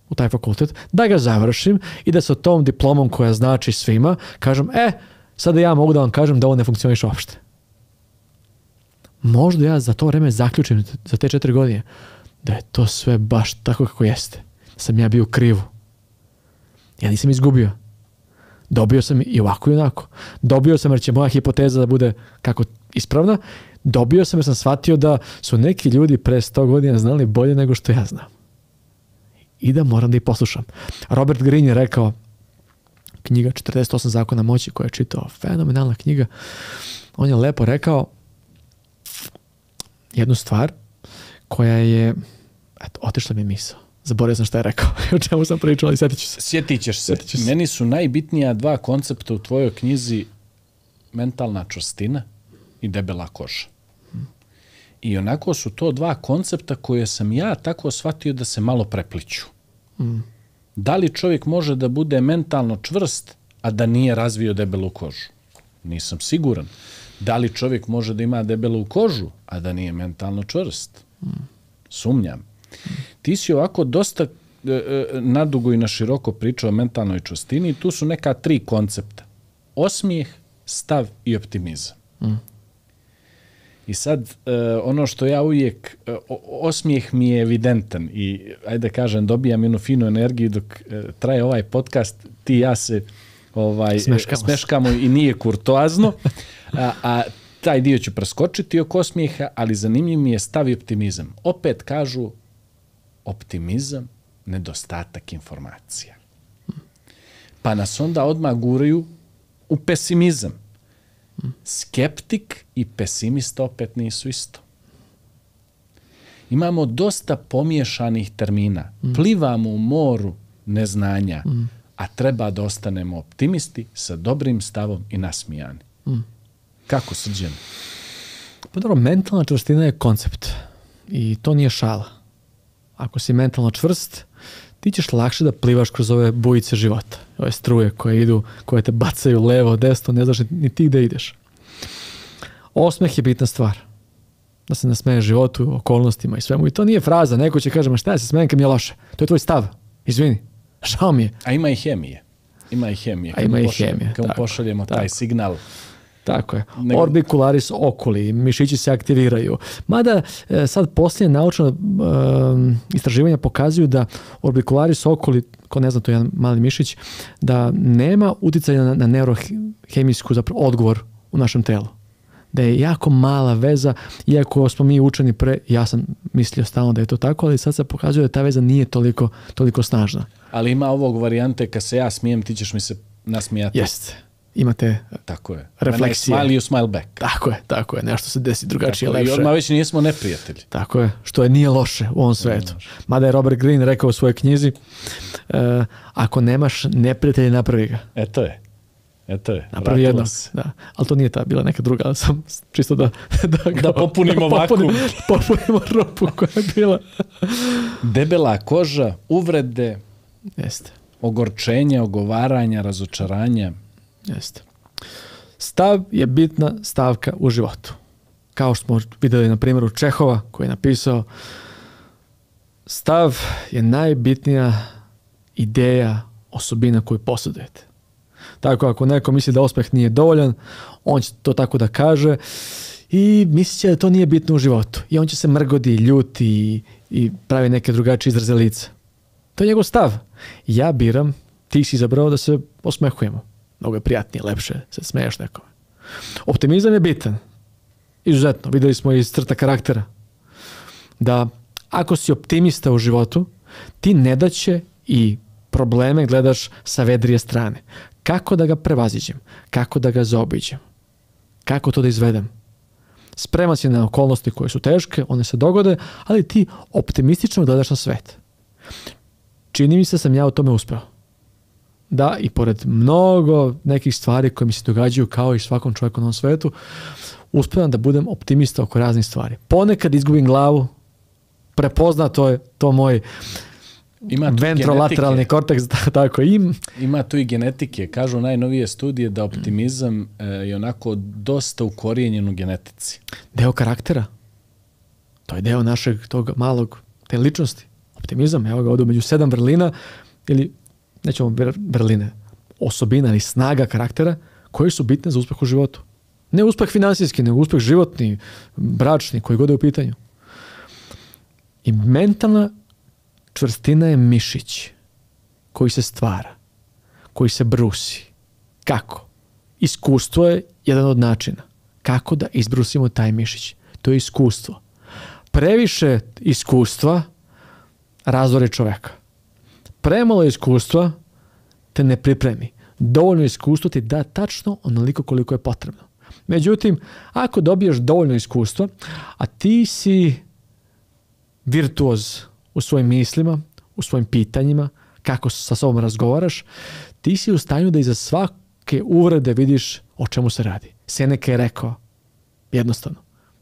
u taj fakultet, da ga završim i da sa tom diplomom koja znači svima, kažem, sada ja mogu da vam kažem da ovo ne funkcioniše uopšte. Možda ja za to vreme zaključim za te 4 godine da je to sve baš tako kako jeste. Da sam ja bio u krivu. Ja nisam izgubio. Dobio sam i ovako i onako. Dobio sam jer će moja hipoteza da bude kako ispravna. Dobio sam jer sam shvatio da su neki ljudi pre 100 godina znali bolje nego što ja znam. I da moram da ih poslušam. Robert Greene je rekao, knjiga 48 zakona moći koju je čitao, fenomenalna knjiga, on je lepo rekao jednu stvar koja je, otišla mi je misao. Zaboravio sam šta je rekao, o čemu sam pričao, ali sjetit ću se. Sjetit ćeš se. Meni su najbitnija 2 koncepta u tvojoj knjizi mentalna čvrstina i debela koža. I onako su to 2 koncepta koje sam ja tako shvatio da se malo prepliću. Da li čovjek može da bude mentalno čvrst, a da nije razvio debelu kožu? Nisam siguran. Da li čovjek može da ima debelu kožu, a da nije mentalno čvrst? Sumnjam. Ti si ovako dosta nadugo i na široko pričao o mentalnoj čvrstini i tu su neka 3 koncepta. Osmijeh, stav i optimizam. I sad, ono što ja uvijek, osmijeh mi je evidentan i, ajde kažem, dobijam jednu finu energiju dok traje ovaj podcast, ti i ja se smeškamo i nije kurtoazno, a taj dio ću preskočiti oko osmijeha, ali zanimljiv mi je stav i optimizam. Opet kažu, optimizam, nedostatak informacija. Pa nas onda odmah guraju u pesimizam. Skeptik i pesimista opet nisu isto. Imamo dosta pomiješanih termina. Plivamo u moru neznanja, a treba da ostanemo optimisti sa dobrim stavom i nasmijani. Kako, Srđan? Pa dobro, mentalna čvrstina je koncept i to nije šala. Ako si mentalno čvrst, ti ćeš lakše da plivaš kroz ove bujice života, ove struje koje idu, koje te bacaju levo, desno, ne znaš ni ti gde ideš. Osmeh je bitna stvar. Da se nasmeješ životu, okolnostima i svemu. I to nije fraza. Neko će kaže, ma šta ja se smejem kad mi je loše. To je tvoj stav. Izvini. Žao mi je. A ima i hemije. Ima i hemije. Kad mu pošaljemo taj signal. Tako je. Orbicularis oculi, mišići se aktiviraju. Mada sad poslije naučna istraživanja pokazuju da orbicularis oculi, ko ne zna, to je jedan mali mišić, da nema uticaja na neurohemijsku zapravo odgovor u našem telu. Da je jako mala veza, iako smo mi učeni ja sam mislio stalno da je to tako, ali sad se pokazuje da ta veza nije toliko snažna. Ali ima ovog varijante, kad se ja smijem, ti ćeš mi se nasmijati. Jeste. Imate tako je. Refleksije. Smile, you smile back. Tako je. Nešto se desi drugačije, lepše. I odmah već nismo neprijatelji. Tako je. Što nije loše u ovom svetu. Mada je Robert Greene rekao u svojoj knjizi, ako nemaš neprijatelja, napravi ga. Eto je. Napravi jednog. Da. Ali to nije ta bila neka druga, ali sam čisto da popunimo vakuum. Popunimo rupu koja je bila. Debela koža, uvrede, jeste. Ogorčenja, ogovaranja, razočaranja. Jeste. Stav je bitna stavka u životu. Kao što smo vidjeli na primjeru Čehova koji je napisao, stav je najbitnija ideja, osobina koju posjedujete. Tako ako neko misli da uspjeh nije dovoljan, on će to tako da kaže i misli će da to nije bitno u životu. I on će se mrgodi, ljuti i pravi neke drugačije izraze lica. To je njegov stav. Ja biram, ti si izabrao da se osmehujemo. Mnogo je prijatnije, lepše se smeješ nekome. Optimizam je bitan. Izuzetno. Vidjeli smo iz crta karaktera. Da ako si optimista u životu, ti nedaće i probleme gledaš sa vedrije strane. Kako da ga prevaziđem? Kako da ga zaobiđem? Kako to da izvedem? Spreman si na okolnosti koje su teške, one se dogode, ali ti optimistično gledaš na svet. Čini mi se da sam ja u tome uspeo. Da, i pored mnogo nekih stvari koje mi se događaju kao i svakom čovjeku na ovom svetu, uspevam da budem optimista oko raznih stvari. Ponekad izgubim glavu, prepozna to moj ventrolateralni korteks, tako Ima tu i genetike. Kažu najnovije studije da optimizam je onako dosta ukorijenjen u genetici. Deo karaktera. To je deo našeg tog malog, te ličnosti. Optimizam, evo ga ovdje među 7 vrlina, ili nećemo vrline, osobina ili snaga karaktera koje su bitne za uspjeh u životu. Ne uspjeh finansijski, nego uspjeh životni, bračni, koji god je u pitanju. I mentalna čvrstina je mišić koji se stvara, koji se brusi. Kako? Iskustvo je jedan od načina. Kako da izbrusimo taj mišić? To je iskustvo. Previše iskustva razore čovjeka. Premalo iskustva te ne pripremi. Dovoljno iskustvo ti da tačno onoliko koliko je potrebno. Međutim, ako dobiješ dovoljno iskustva, a ti si virtuoz u svojim mislima, u svojim pitanjima, kako sa sobom razgovaraš, ti si u stanju da iza svake uvrede vidiš o čemu se radi. Seneca je rekao, jednostavno,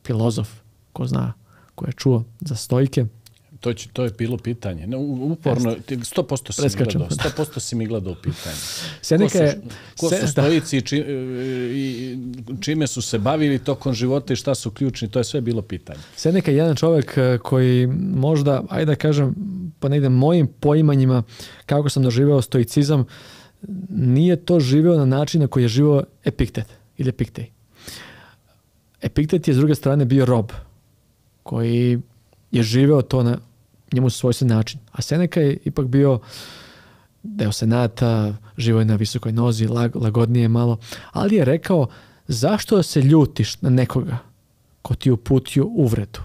filozof, ko zna, ko je čuo za stojike. To je bilo pitanje. Uporno, 100% si mi gledao pitanje. Ko su stojici i čime su se bavili tokom života i šta su ključni, to je sve bilo pitanje. Seneca je jedan čovjek koji možda, ajde da kažem, po negdje mojim poimanjima, kako sam doživeo stoicizam, nije to živeo na način na koji je živeo Epiktet ili Epiktej. Epiktet je s druge strane bio rob koji je živeo to na njemu svojstven način. A Seneca je ipak bio deo senata, živo je na visokoj nozi, lagodnije malo, ali je rekao, zašto se ljutiš na nekoga ko ti uputio uvredu?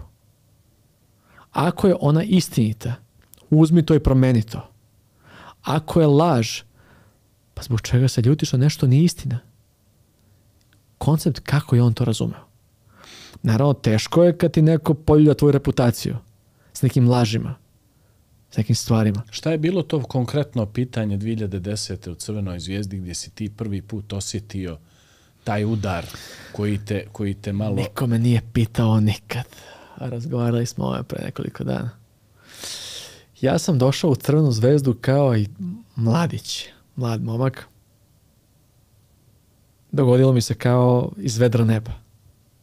Ako je ona istinita, uzmi to i promeni to. Ako je laž, pa zbog čega se ljutiš na nešto nije istina? Koncept kako je on to razumeo. Naravno, teško je kad ti neko poljulja tvoju reputaciju s nekim lažima, s nekim stvarima. Šta je bilo to konkretno pitanje 2010. u Crvenoj zvijezdi gdje si ti prvi put osjetio taj udar koji te malo... Niko me nije pitao nikad. Razgovarali smo o pre nekoliko dana. Ja sam došao u Crvenu zvezdu kao i mlad momak. Dogodilo mi se kao iz vedra neba.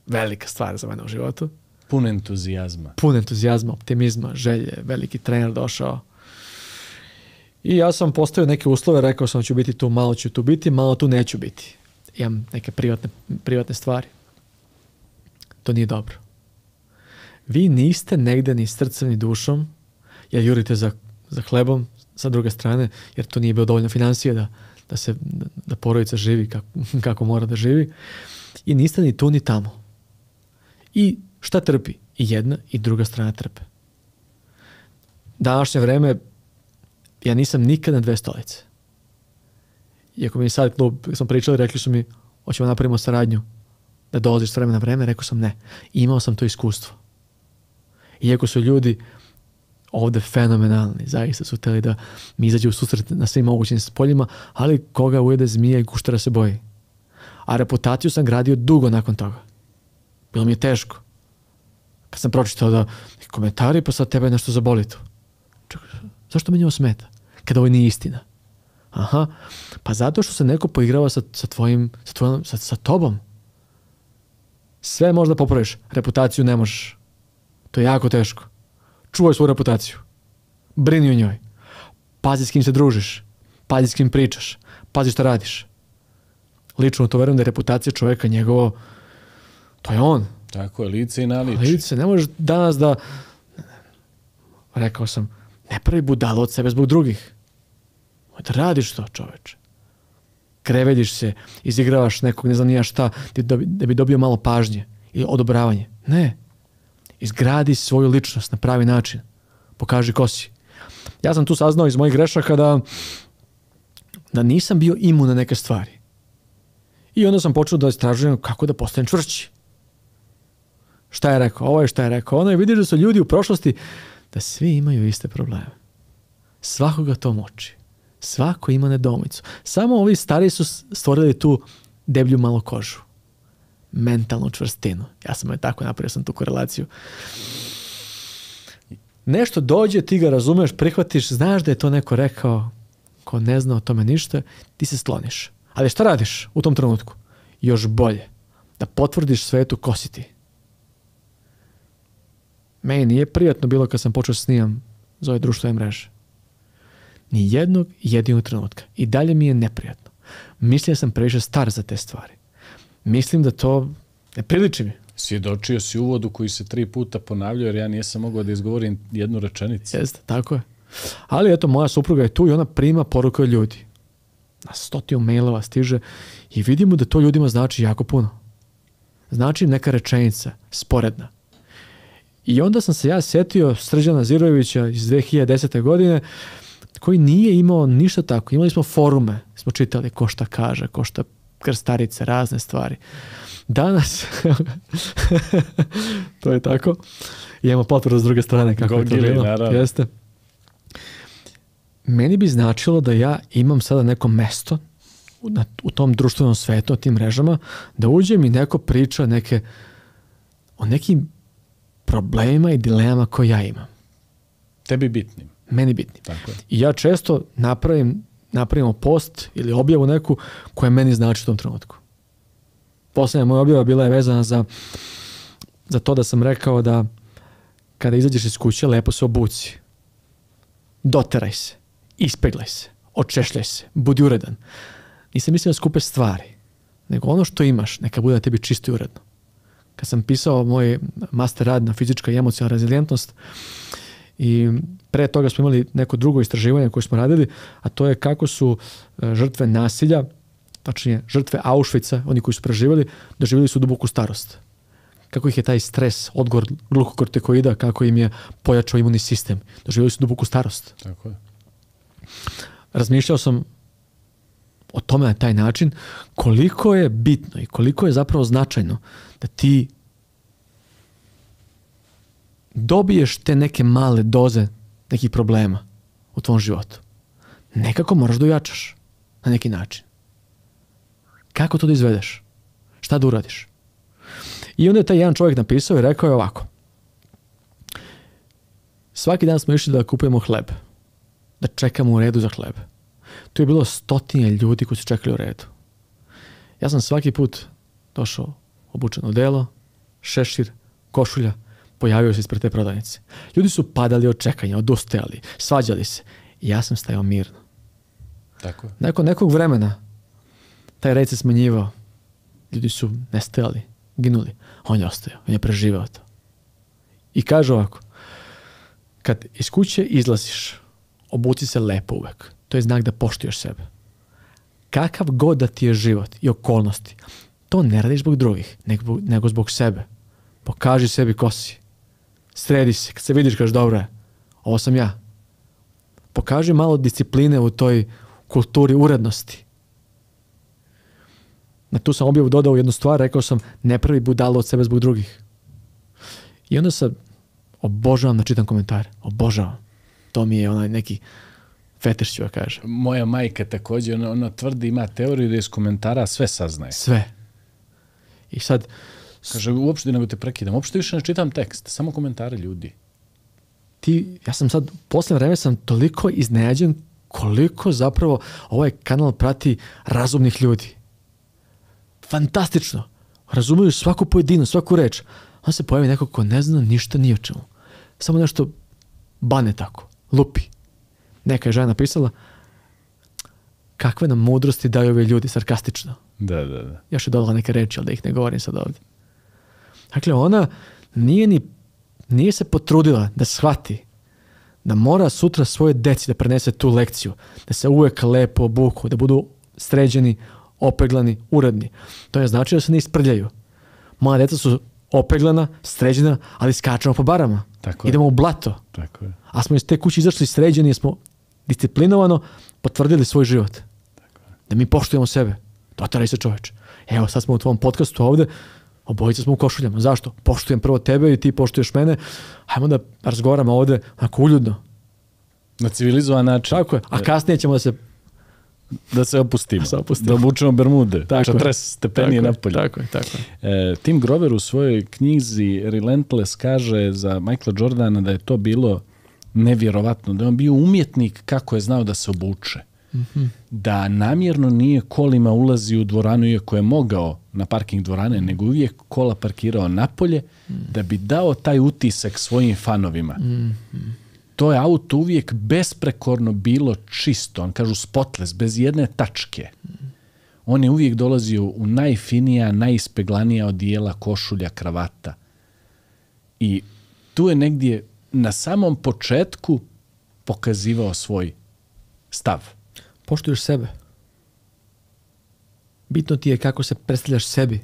Velika stvar za mene u životu. Pun entuzijazma, optimizma, želje. Veliki trener došao. I ja sam postavio neke uslove, rekao sam ću biti tu, malo ću tu biti, malo tu neću biti. Imam neke privatne stvari. To nije dobro. Vi niste negdje ni srcem ni dušom, jer jurite za hlebom, sa druge strane, jer to nije bilo dovoljno financije da porodica živi kako mora da živi. I niste ni tu ni tamo. I šta trpi? I jedna i druga strana trpe. Današnje vreme, ja nisam nikad na 2 stolice. Iako mi sad klub, smo pričali, rekli su mi, hoćemo napravimo saradnju, da dolaziš s vremena na vreme, rekao sam ne. I imao sam to iskustvo. Iako su ljudi ovde fenomenalni, zaista su hteli da mi izađe u susret na svim mogućim poljima, ali koga ujede zmija i guštera se boji. A reputaciju sam gradio dugo nakon toga. Bilo mi je teško. Kad sam pročitao da komentari, pa sad tebe nešto zaboli tu. Čekaj, zašto meni ovo smeta? Kada ovo nije istina. Aha, pa zato što se neko poigrava sa tobom. Sve možda popraviš, reputaciju ne možeš. To je jako teško. Čuvaj svoju reputaciju. Brini o njoj. Pazi s kim se družiš. Pazi s kim pričaš. Pazi šta radiš. Lično to verujem da je reputacija čoveka njegovo, to je on. Tako je, lice i naličje. Lice, ne možeš danas da, rekao sam, ne pravi budalo od sebe zbog drugih. Da radiš to, čoveče. Krevediš se, izigravaš nekog, ne znam nija šta, da bi dobio malo pažnje ili odobravanje. Ne. Izgradi svoju ličnost na pravi način. Pokaži ko si. Ja sam tu saznao iz mojih grešaka da nisam bio imun na neke stvari. I onda sam počeo da istražujem kako da postanem čvršći. Šta je rekao? Ovo je šta je rekao. Ono je, vidiš da su ljudi u prošlosti da svi imaju iste probleme. Svakoga to muči. Svako ima nedoumicu. Samo ovi stari su stvorili tu deblju malo kožu. Mentalnu čvrstinu. Ja sam je tako napravio sam tu korelaciju. Nešto dođe, ti ga razumeš, prihvatiš, znaš da je to neko rekao, ko ne zna o tome ništa, ti se skloniš. Ali šta radiš u tom trenutku? Još bolje. Da potvrdiš svetu ko si ti. Meni nije prijatno bilo kad sam počeo snimam za ove društvene mreže. Ni jednog jedinog trenutka. I dalje mi je neprijatno. Mislim da sam previše star za te stvari. Mislim da to ne priliči mi. Svjedočio si uvodu koji se 3 puta ponavljao, jer ja nisam mogao da izgovorim jednu rečenicu. Jeste, tako je. Ali eto, moja supruga je tu i ona prima poruke od ljudi. Na 100 mailova stiže i vidimo da to ljudima znači jako puno. Znači neka rečenica, sporedna. I onda sam se ja sjetio Srđana Zirojevića iz 2010. godine, koji nije imao ništa tako. Imali smo forume, smo čitali ko šta kaže, ko šta krstarice, razne stvari. Danas, to je tako, imamo potvrdu s druge strane kako je to bilo. Jeste. Meni bi značilo da ja imam sada neko mesto u tom društvenom svetu, o tim mrežama, da uđem i neko priča o nekim problemima i dilemama koje ja imam. Tebi bitnim. Meni bitnim. Tako je. I ja često napravimo post ili objavu neku koja meni znači u tom trenutku. Poslednja moja objava bila je vezana za to da sam rekao da kada izađeš iz kuće, lepo se obuci. Doteraj se. Ispeglaj se. Očešljaj se. Budi uredan. Nisam mislio na skupe stvari, nego ono što imaš, neka bude na tebi čisto i uredno. Kad sam pisao moj master rad na fizička i emocionalna rezilijentnost i pre toga smo imali neko drugo istraživanje koje smo radili, a to je kako su žrtve nasilja, tačnije žrtve Auschwitza, oni koji su preživjeli, doživjeli su duboku starost. Kako ih je taj stres, odgovor glukokortikoida, kako im je pojačao imunni sistem. Doživjeli su duboku starost. Tako je. Razmišljao sam o tome na taj način koliko je bitno i koliko je zapravo značajno da ti dobiješ te neke male doze nekih problema u tvom životu. Nekako moraš da ojačaš na neki način. Kako to da izvedeš? Šta da uradiš? I onda je taj jedan čovjek napisao i rekao je ovako. Svaki dan smo išli da kupujemo hleb. Da čekamo u redu za hleb. Tu je bilo 100 ljudi koji su čekali u redu. Ja sam svaki put došao obučen odelo, šešir, košulja, pojavio se ispred te prodavnice. Ljudi su padali od čekanja, odustajali, svađali se. I ja sam stajao mirno. Tako je. Nakon nekog vremena taj red se smanjivao. Ljudi su nestajali, ginuli. On je ostajao, on je preživao to. I kaže ovako, kad iz kuće izlaziš, obuci se lepo uvek. To je znak da poštuješ sebe. Kakav god da ti je život i okolnosti, to ne radiš zbog drugih, nego zbog sebe. Pokaži sebi ko si. Sredi se. Kad se vidiš, kažeš, dobro je, ovo sam ja. Pokaži malo discipline u toj kulturi urednosti. Na tu sam objavu dodao jednu stvar, rekao sam, ne pravi budalo od sebe zbog drugih. I onda sam obožavam da čitam komentare. Obožavam. To mi je onaj neki fetiš, ću ja kažem. Moja majka također, ona tvrdi, ima teoriju da iz komentara sve saznaje. Sve. I sad... Kaže, uopšte nego te prekidam, uopšte više ne čitam tekst, samo komentare ljudi. Ja sam sad, posljednje vreme sam toliko iznenađen koliko zapravo ovaj kanal prati razumnih ljudi. Fantastično. Razumiju svaku pojedinu, svaku reč. On se pojavi neko ko ne zna ništa ni o čemu. Samo nešto bane tako, lupi. Neka je žena napisala, kakve nam mudrosti daju ovi ljudi, sarkastično. Da. Još je dodala neke reči, ali da ih ne govorim sad ovdje. Dakle, ona nije se potrudila da shvati da mora sutra svoje deci da prenese tu lekciju, da se uvek lepo obuku, da budu sređeni, opeglani, uredni. To je znači da se ne isprljaju. Moja deca su opeglana, sređena, ali skačemo po barama. Tako idemo u blato. Tako je. A smo iz te kuće izašli sređeni, jer smo disciplinovano potvrdili svoj život. Tako je. Da mi poštujemo sebe. Dotaraj se, čoveče. Evo, sad smo u tvom podcastu ovde, obojica smo u košuljama. Zašto? Poštujem prvo tebe i ti poštuješ mene. Hajmo da razgovaramo ovde onako uljudno. Na civilizovan način. Tako je. A kasnije ćemo da se opustimo. Da obučemo bermude. 40 stepeni napolje. Tako je. Tim Grover u svojoj knjizi Relentless kaže za Michaela Jordana da je to bilo nevjerovatno. Da je on bio umjetnik kako je znao da se obuče. Mm-hmm. Da namjerno nije kolima ulazio u dvoranu iako je mogao na parking dvorane, nego uvijek kola parkirao napolje da bi dao taj utisak svojim fanovima. Mm-hmm. To je auto uvijek besprekorno bilo čisto, on kažu spotless, bez jedne tačke. On je uvijek dolazio u najfinija, najispeglanija odijela, košulja, kravata. I tu je negdje na samom početku pokazivao svoj stav. Poštuješ sebe. Bitno ti je kako se predstavljaš sebi.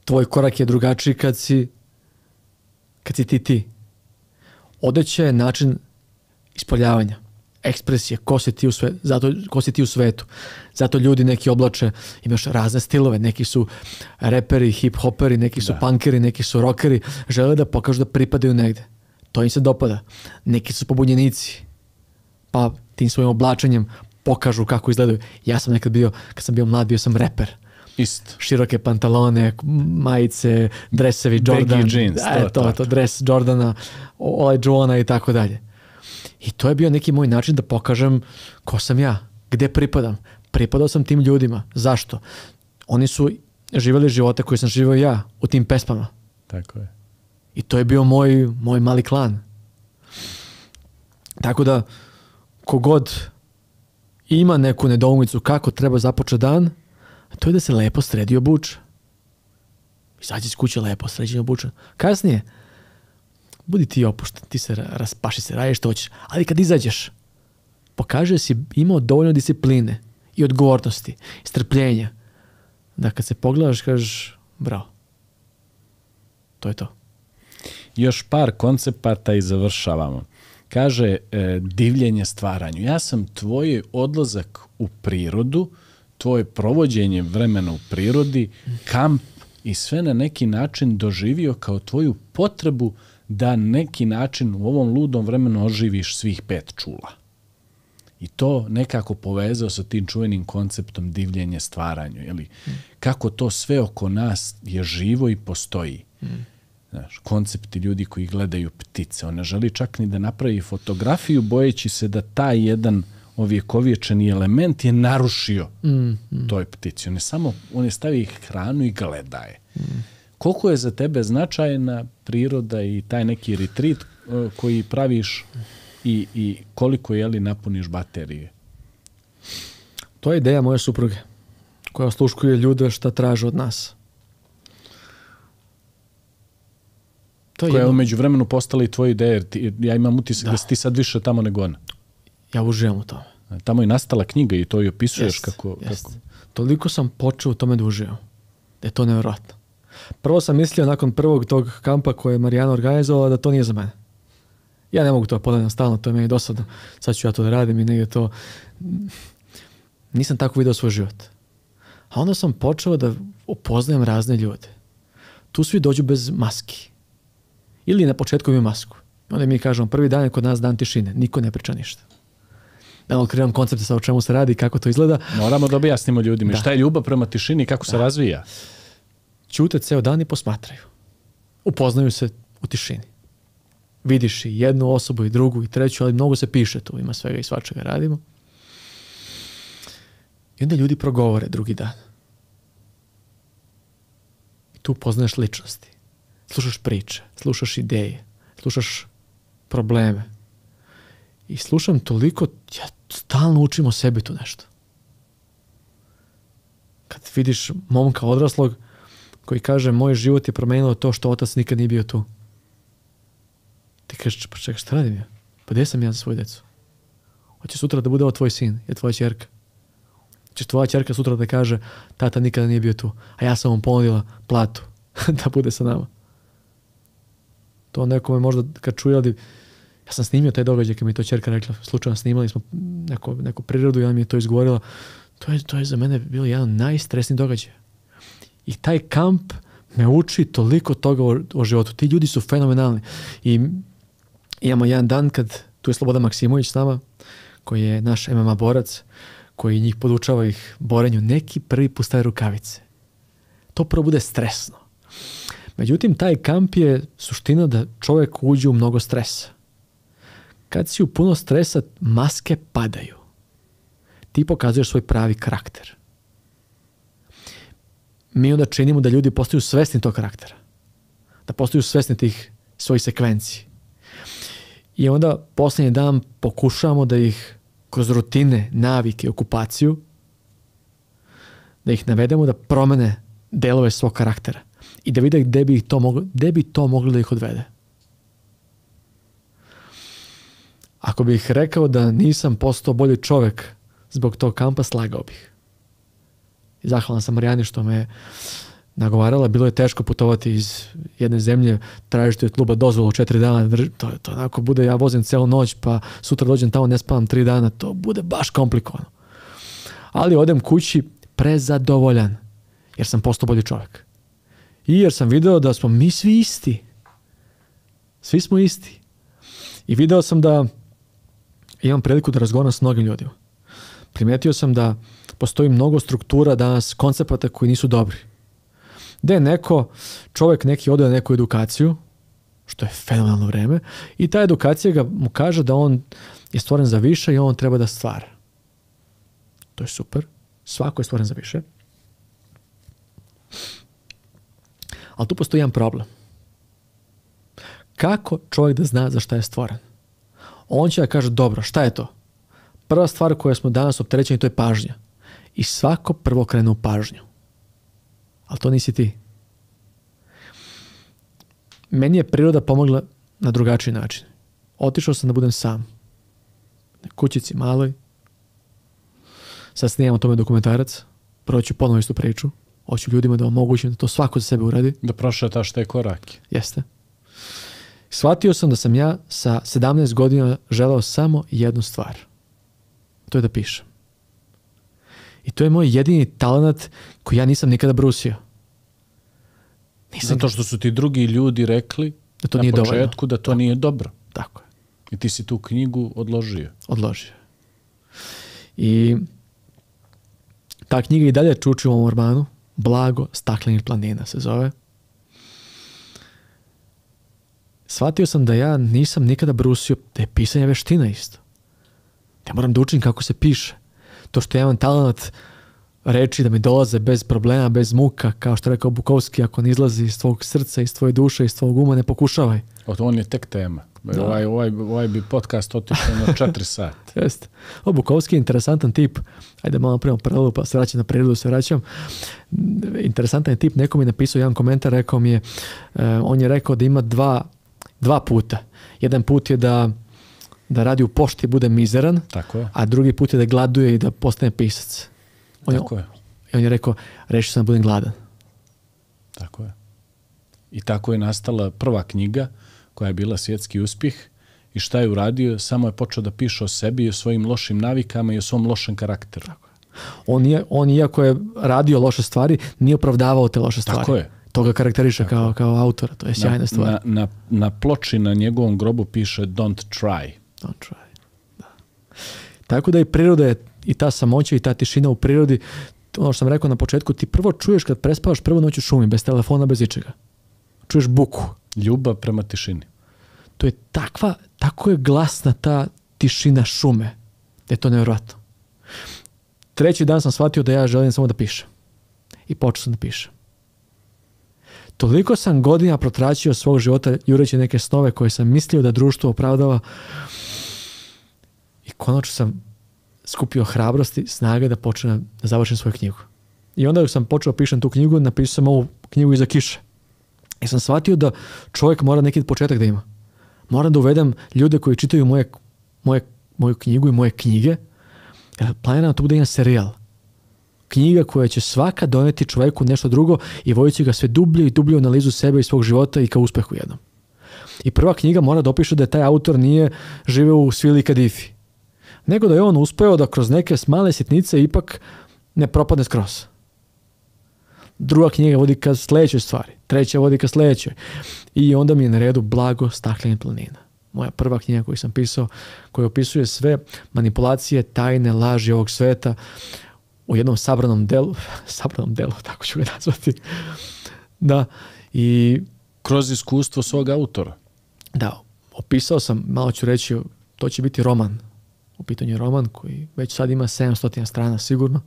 Tvoj korak je drugačiji kad si ti. Odeća je način ispoljavanja, ekspresije, ko si ti u svetu. Zato ljudi neki oblače, imaš razne stilove, neki su reperi, hip-hoperi, neki su punkeri, neki su rockeri, žele da pokažu da pripadaju negde. To im se dopada. Neki su pobunjenici, pa tim svojim oblačenjem pokažu kako izgledaju. Ja sam nekad kad sam bio mlad, bio sam reper. Isto. Široke pantalone, majice, dresevi Jordan. Baggy jeans. To, dres Jordana, Joana i tako dalje. I to je bio neki moj način da pokažem ko sam ja, gde pripadam. Pripadao sam tim ljudima. Zašto? Oni su živjeli živote koje sam živio ja u tim pesmama. Tako je. I to je bio moj mali klan. Tako da, kogod ima neku nedoumicu kako treba započeti dan, to je da se lepo sredi i obuče. Izađi iz kuće lepo, sređen i obučen. Kasnije, budi ti opušten, ti se raspaši se, radiš što hoćeš. Ali kad izađeš, pokaže da si imao dovoljno discipline i odgovornosti, i strpljenja, da kad se pogledaš, kažeš, bravo. To je to. Još par koncepata i završavamo. Kaže, divljenje stvaranju. Ja sam tvoj odlazak u prirodu, tvoje provođenje vremena u prirodi, kamp i sve na neki način doživio kao tvoju potrebu da neki način u ovom ludom vremenu oživiš svih 5 čula. I to nekako povezao sa tim čuvenim konceptom divljenje stvaranju. Jeli? Kako to sve oko nas je živo i postoji. Znaš, koncepti ljudi koji gledaju ptice. On ne želi čak ni da napravi fotografiju bojeći se da taj jedan ovjekovječeni element je narušio toj ptici. On je stavio hranu i gleda je. Koliko je za tebe značajna priroda i taj neki retreat koji praviš i koliko napuniš baterije? To je ideja moje supruge koja osluškuje ljude šta traže od nas. Koja je umeđu vremenu postala i tvoja ideja, jer ja imam utisak da si ti sad više tamo nego ona. Ja uživam u tome. Tamo je nastala knjiga i to i opisuješ Jest, kako... Toliko sam počeo u tome da uživam. Da je to nevjerojatno. Prvo sam mislio nakon prvog tog kampa koje je Marijana organizovala da to nije za mene. Ja ne mogu to ponavljati stalno, to je meni dosadno. Sad ću ja to da radim i negdje to... Nisam tako vidio svoj život. A onda sam počeo da upoznajem razne ljude. Tu svi dođu bez maski. Ili na početku imaju masku. Onda mi kažemo, prvi dan je kod nas dan tišine. Niko ne priča ništa. Da otkrivam koncepte sa o čemu se radi i kako to izgleda. Moramo da objasnimo ljudima šta je ljubav prema tišini i kako se razvija. Ćute ceo dan i posmatraju. Upoznaju se u tišini. Vidiš i jednu osobu i drugu i treću, ali mnogo se piše tu. Ima svega i svačega radimo. I onda ljudi progovore drugi dan. I tu poznaješ ličnosti. Slušaš priče, slušaš ideje, slušaš probleme. I slušam toliko, ja stalno učim o sebi tu nešto. Kad vidiš momka odraslog koji kaže, moj život je promenilo to što otac nikad nije bio tu. Ti kažeš, pa čekaj, šta radim ja? Pa gdje sam ja za svoju decu? Hoće sutra da bude ovo tvoj sin, je tvoja ćerka. Hoćeš tvoja ćerka sutra da kaže, tata nikada nije bio tu, a ja sam mu ponudila platu da bude sa nama. To nekome možda kad čuje, ali ja sam snimio taj događaj kad mi je to ćerka rekla, slučajno snimali smo neku prirodu i ona mi je to izgovorila. To je za mene bilo jedan najstresniji događaj. I taj kamp me uči toliko toga o životu. Ti ljudi su fenomenalni. I imamo jedan dan kad tu je Slobodan Maksimović s nama, koji je naš MMA borac, koji njih podučava ih borenju. Neki prvi put staje rukavice. To prvo bude stresno. Međutim, taj kamp je suština da čovjek uđe u mnogo stresa. Kad si u puno stresa, maske padaju. Ti pokazuješ svoj pravi karakter. Mi onda činimo da ljudi postaju svesni tog karaktera. Da postaju svesni tih svojih sekvenciji. I onda posljednji dan pokušavamo da ih kroz rutine, navike, okupaciju, da ih navedemo da promene delove svog karaktera. I da vide gde bi to moglo da ih odvede. Ako bih rekao da nisam postao bolji čovjek zbog tog kampa, slagao bih. I zahvalan sam Marijani što me nagovarala. Bilo je teško putovati iz jedne zemlje, tražiti od kluba dozvolu 4 dana. To onako bude, ja vozim celu noć, pa sutra dođem tamo, ne spavam 3 dana. To bude baš komplikovano. Ali odem kući prezadovoljan, jer sam postao bolji čovjek. I jer sam video da smo mi svi isti. Svi smo isti. I video sam da imam priliku da razgovaram s mnogim ljudima. Primetio sam da postoji mnogo struktura danas, koncepata koji nisu dobri. Da je čovjek neki ode na neku edukaciju, što je fenomenalno vreme, i ta edukacija mu kaže da on je stvoren za više i on treba da stvara. To je super. Svako je stvoren za više. Ali tu postoji jedan problem. Kako čovjek da zna za šta je stvoren? On će da kaže, dobro, šta je to? Prva stvar koju smo danas opterećeni, to je pažnja. I svako prvo krene u pažnju. Ali to nisi ti. Meni je priroda pomogla na drugačiji način. Otišao sam da budem sam. Na kućici maloj. Sad snimam o tome dokumentarac. Prvo ću ponovo istu priču. Hoću ljudima da omogućim da to svako za sebe uradi. Da prošetaš te korake. Jeste. Shvatio sam da sam ja sa 17 godina želeo samo jednu stvar. To je da pišem. I to je moj jedini talent koji ja nisam nikada brusio. Zato što su ti drugi ljudi rekli da to nije početku dovoljno. Da to nije dobro. Tako je. I ti si tu knjigu odložio. I ta knjiga i dalje čuči u ovom romanu. Blago staklenih planina se zove. Shvatio sam da ja nisam nikada brusio da je pisanje veština isto. Ja moram da učim kako se piše. To što ja imam talent reči da mi dolaze bez problema, bez muka, kao što je rekao Bukovski, ako ne izlazi iz tvojeg srca, iz tvoje duše, iz tvojeg uma, ne pokušavaj. On je tek tema. Ovaj bi podcast otišao na 4 sata. Jeste. Bukovski je interesantan tip. Ajde malo prema paralelu, pa se vraćam na prirodu, Interesantan je tip. Neko mi je napisao jedan komentar, rekao mi je, on je rekao da ima dva puta. Jedan put je da da radi u pošti bude mizeran, Tako je. a drugi put je da gladuje i da postane pisac. Tako je. I on je rekao, rešio sam da budem gladan. Tako je. I tako je nastala prva knjiga koja je bila svjetski uspjeh. I šta je uradio? Samo je počeo da piše o sebi i o svojim lošim navikama i o svom lošem karakteru. Tako je. On iako je radio loše stvari, nije opravdavao te loše stvari. Tako je. To ga karakteriše kao autora. To je sjajna stvar. Na ploči na njegovom grobu piše don't try. Don't try. Da. Tako da i priroda je, i ta samoća i ta tišina u prirodi, ono što sam rekao na početku, ti prvo čuješ kad prespavaš prvu noć u šumi, bez telefona, bez ičega. Čuješ buku. Ljubav prema tišini. To je tako je glasna ta tišina šume, da je to nevjerojatno. Treći dan sam shvatio da ja želim samo da pišem. I počeo sam da pišem. Toliko sam godina protračio svog života jureći neke snove koje sam mislio da društvo opravdava i konačno sam skupio hrabrosti, snage da počnem da završim svoju knjigu. I onda sam počeo pišem tu knjigu, napisao sam ovu knjigu iza kiše. I sam shvatio da čovjek mora neki početak da ima. Moram da uvedem ljude koji čitaju moju knjigu i moje knjige, jer planiram to bude jedan serijal. Knjiga koja će svaka doneti čovjeku nešto drugo i voditi ga sve dublje i dublje u analizu sebe i svog života i ka uspehu jednom. I prva knjiga mora da opiše da taj autor nije živeo u svili kadifi, nego da je on uspeo da kroz neke male sitnice ipak ne propadne skroz. Druga knjiga vodi ka sljedećoj stvari, treća vodi ka sljedećoj. I onda mi je na redu Blago staklenih planina. Moja prva knjiga koju sam pisao, koja opisuje sve manipulacije, tajne, laži ovog sveta u jednom sabranom delu, tako ću ga nazvati. Da, i kroz iskustvo svog autora. Da, opisao sam, malo ću reći, to će biti roman. U pitanju je roman koji već sad ima 700 strana sigurno.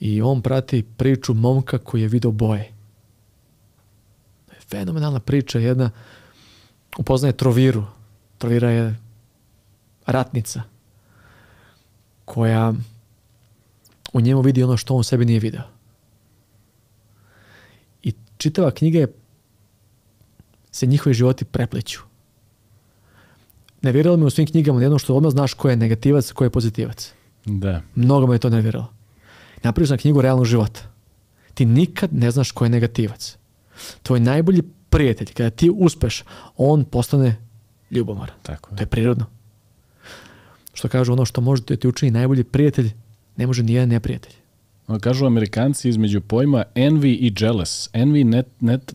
I on prati priču momka koji je video boje. Fenomenalna priča, jedna upoznaje Troviru. Trovira je ratnica koja u njemu vidi ono što on sebi nije video. I čitava knjiga se njihovi životi prepliću. Nerviralo me u svim knjigama jedno što odmah znaš ko je negativac, ko je pozitivac. Da. Mnogo me je to nerviralo. Napravio sam knjigu realnog života. Ti nikad ne znaš ko je negativac. Tvoj najbolji prijatelj, kada ti uspeš, on postane ljubomoran. Tako je. To je prirodno. Što kažu, ono što može da ti učini najbolji prijatelj, ne može nijedan neprijatelj. Kažu Amerikanci između pojma envy i jealous. Envy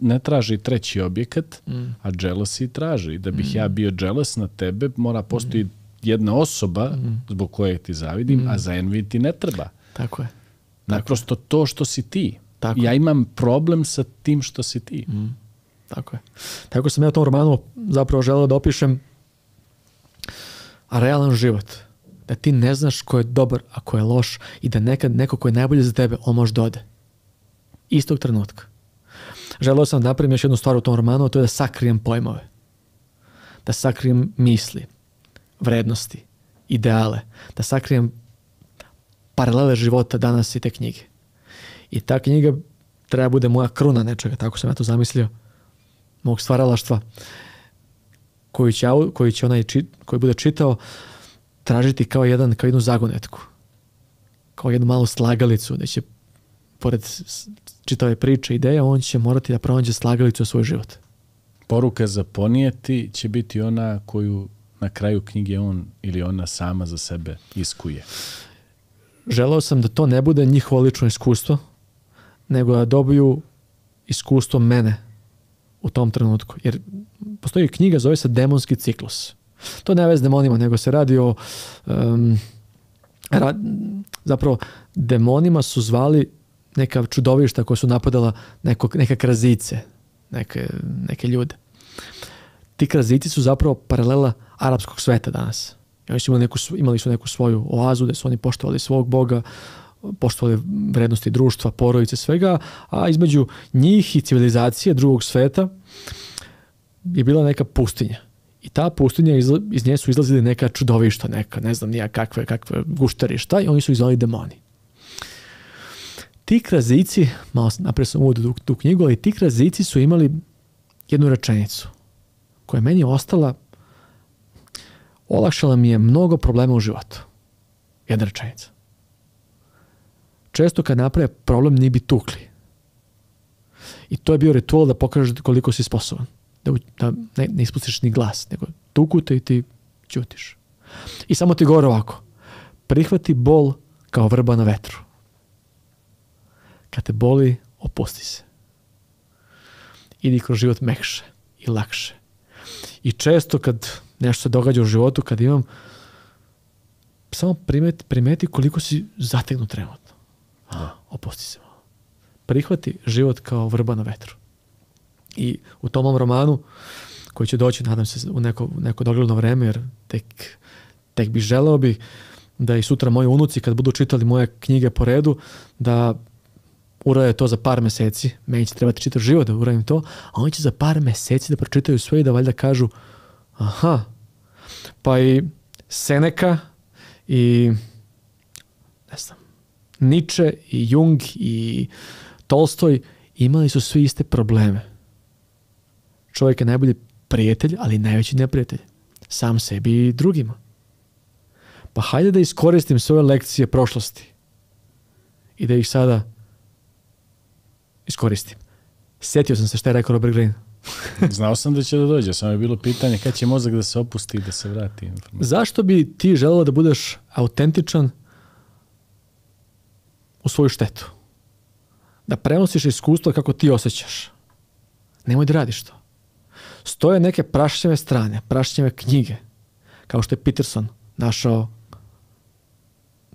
ne traži treći objekat, a jealousy traži. Da bih ja bio jealous na tebe, mora postoji jedna osoba zbog koje ti zavidim, a za envy ti ne treba. Tako je. Naprosto to što si ti. Tako ja imam problem sa tim što si ti. Tako je. Tako sam ja u tom romanu zapravo želeo da opišem realan život. Da ti ne znaš ko je dobar, a ko je loš i da nekad neko ko je najbolje za tebe, on može da ode. Istog trenutka. Želeo sam da napravim još jednu stvar u tom romanu, a to je da sakrijem pojmove. Da sakrijem misli, vrednosti, ideale. Da sakrijem paralele života danas i te knjige. I ta knjiga treba bude moja kruna nečega, tako sam ja to zamislio, mog stvaralaštva, koji će onaj koji bude čitao tražiti kao jednu zagonetku, kao jednu malu slagalicu, da će pored čitave priče, ideja, on će morati da pronađe slagalicu u svoj život. Poruka za ponijeti će biti ona koju na kraju knjige on ili ona sama za sebe iskuje. Želeo sam da to ne bude njihovo lično iskustvo, nego da dobiju iskustvo mene u tom trenutku. Jer postoji knjiga, zove se Demonski ciklus. To ne veze s demonima, nego se radi o... zapravo, demonima su zvali neka čudovišta koja su napadala neke krazice, neke ljude. Ti krazici su zapravo paralela arapskog sveta danas. Oni su imali su neku svoju oazu gdje su oni poštovali svog Boga, poštovali vrednosti društva, porodice, svega, a između njih i civilizacije drugog sveta je bila neka pustinja. I ta pustinja, iz nje su izlazili neka čudovišta, ne znam nija kakve gušterišta, i oni su izvali demoni. Ti krazici, malo naprijed sam uvodio tu knjigu, ali ti krazici su imali jednu rečenicu koja je meni ostala olakšala mi je mnogo problema u životu. Jedna rečenica. Često kad naprave problem, ni bi tukli. I to je bio ritual da pokažeš koliko si sposoban. Da ne ispustiš ni glas, nego tukute i ti ćutiš. I samo ti govore ovako. Prihvati bol kao vrba na vetru. Kad te boli, opusti se. Idi kroz život mekše i lakše. I često kad nešto se događa u životu, kad imam, samo primeti koliko si zategnut trenutno. Opusti se malo. Prihvati život kao vrba na vetru. I u tom romanu, koji će doći, nadam se, u neko dogledno vreme, jer tek bi želeo da i sutra moji unuci, kad budu čitali moje knjige po redu, da urade to za par meseci. Meni će trebati čitav život da uradim to, a oni će za par meseci da pročitaju sve i da valjda kažu aha, pa i Seneca i ne znam, Nietzsche i Jung i Tolstoj imali su svi iste probleme. Čovjek je najbolji prijatelj, ali najveći neprijatelj. Sam sebi i drugima. Pa hajde da iskoristim svoje lekcije prošlosti i da ih sada iskoristim. Sjetio sam se šta je rekao Robert Greene. Znao sam da će da dođe, samo je bilo pitanje kad će mozak da se opusti i da se vrati. Zašto bi ti želeo da budeš autentičan u svoju štetu? Da prenosiš iskustvo kako ti osjećaš. Nemoj da radiš to. Stoje neke prašnjave strane, prašnjave knjige, kao što je Peterson našao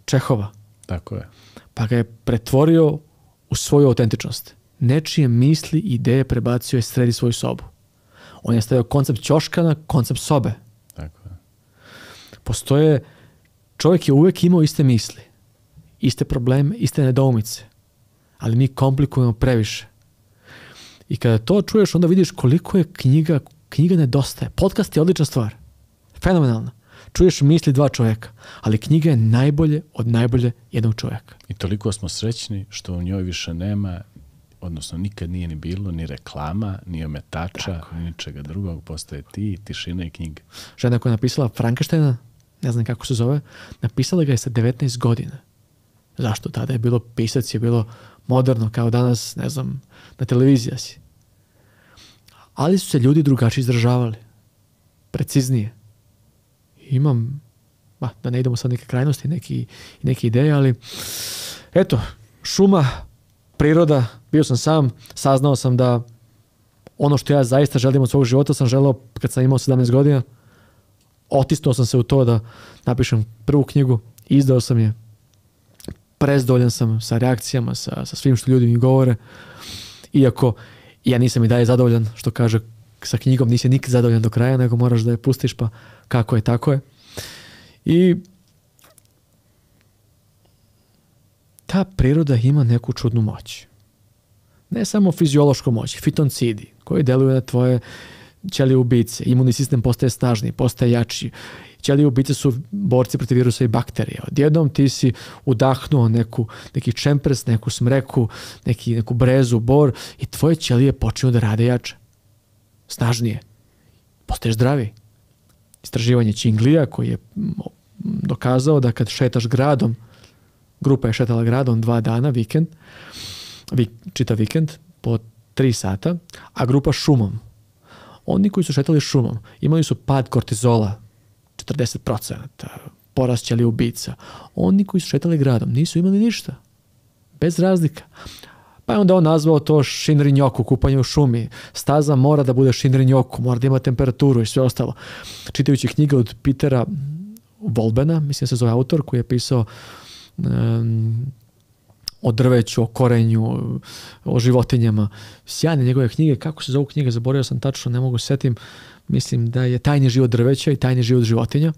Čehova. Tako je. Pa ga je pretvorio u svoju autentičnost. Nečije misli i ideje prebacio je sredi svoju sobu. On je stavio koncept ćoška na koncept sobe. Tako je. Čovjek je uvijek imao iste misli, iste probleme, iste nedoumice, ali mi komplikujemo previše. I kada to čuješ, onda vidiš koliko je knjiga nedostaje. Podcast je odlična stvar. Fenomenalna. Čuješ misli dva čovjeka, ali knjiga je najbolje od najbolje jednog čovjeka. I toliko smo srećni što u njoj više nema, odnosno nikad nije ni bilo ni reklama, ni ometača, ni ničega drugog. Postoje ti, tišina i knjiga. Žena koja je napisala Frankensteina, ne znam kako se zove, napisala ga je sa 19 godina. Zašto? Tada je bilo pisac, je bilo moderno, kao danas, ne znam, na televiziji si. Ali su se ljudi drugačije izražavali. Preciznije. Imam, da ne idemo sad neke krajnosti, neke ideje, ali eto, šuma, priroda, bio sam sam, saznao sam da ono što ja zaista želim od svog života sam želeo kad sam imao 17 godina. Otisnuo sam se u to da napišem prvu knjigu, izdao sam je, prezdovoljan sam sa reakcijama, sa svim što ljudi mi govore, iako ja nisam i dalje zadovoljan, što kaže, sa knjigom nisi nikad zadovoljan do kraja, nego moraš da je pustiš, pa kako je, tako je. I ta priroda ima neku čudnu moć. Ne samo fiziološku moć, fitoncidi koji deluju na tvoje ćelije ubice, imunni sistem postaje snažniji, postaje jači. Ćelije ubice su borci protiv virusa i bakterija. Odjednom ti si udahnuo neki čempres, neku smreku, neku brezu, bor i tvoje ćelije počinju da rade jače. Snažnije. Postaješ zdraviji. Istraživanje Činglija koji je dokazao da kad šetaš gradom, grupa je šetala gradom 2 dana, čitav vikend, po 3 sata, a grupa šumom. Oni koji su šetali šumom imali su pad kortizola 40%, porast ćelija ubica. Oni koji su šetali gradom nisu imali ništa. Bez razlika. Pa je onda on nazvao to Shinrin-yoku, kupanje u šumi. Staza mora da bude Shinrin-yoku, mora da ima temperaturu i sve ostalo. Čitajući knjige od Petera Volbena, mislim se zove autor, koji je pisao o drveću, o korenju, o životinjama. Sjajne njegove knjige. Kako se zovu knjige? Zaboravio sam tačno, ne mogu setim. Mislim da je Tajni život drveća i Tajni život životinja.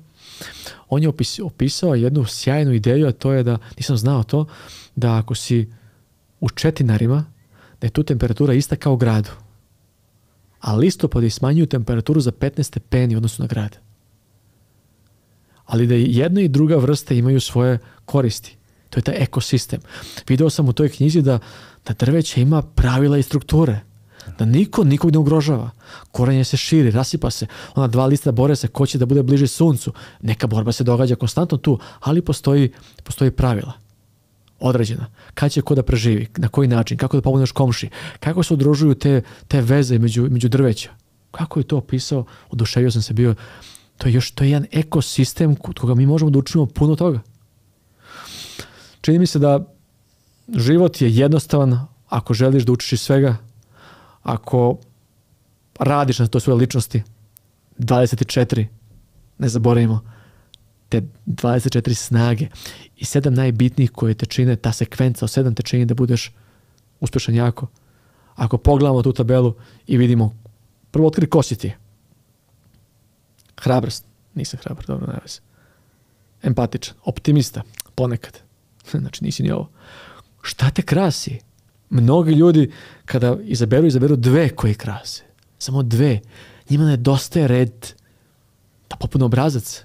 On je opisao jednu sjajnu ideju, a to je da, nisam znao to, da ako si u Četinarima, da je tu temperatura ista kao u gradu. A listopadi smanjuju temperaturu za 15 stepeni odnosno na grad. Ali da jedna i druga vrsta imaju svoje koristi. To je taj ekosistem. Video sam u toj knjizi da drveće ima pravila i strukture. Da niko nikog ne ugrožava. Korenje se širi, rasipa se. Ona 2 lista bore se ko će da bude bliže suncu. Neka borba se događa konstantno tu, ali postoji pravila. Određena. Kad će ko da preživi, na koji način, kako da pomogneš komši, kako se udružuju te veze među drveća. Kako je to opisao, oduševio sam se bio. To je jedan ekosistem kod koga mi možemo da učinimo puno toga. Čini mi se da život je jednostavan ako želiš da učiš iz svega, ako radiš na to svoje ličnosti. 24, ne zaboravimo, te 24 snage i 7 najbitnijih koje te čine, ta sekvenca od 7 te čini da budeš uspešan jako. Ako pogledamo tu tabelu i vidimo, prvo otkri ko si ti. Hrabrost, nisam hrabar, dobro, ne veze. Empatičan, optimista, ponekad. Znači nisi ni ovo. Šta te krasi? Mnogi ljudi kada izaberu 2 koje krase. Samo 2. Njima nedostaje red da popune obrazac.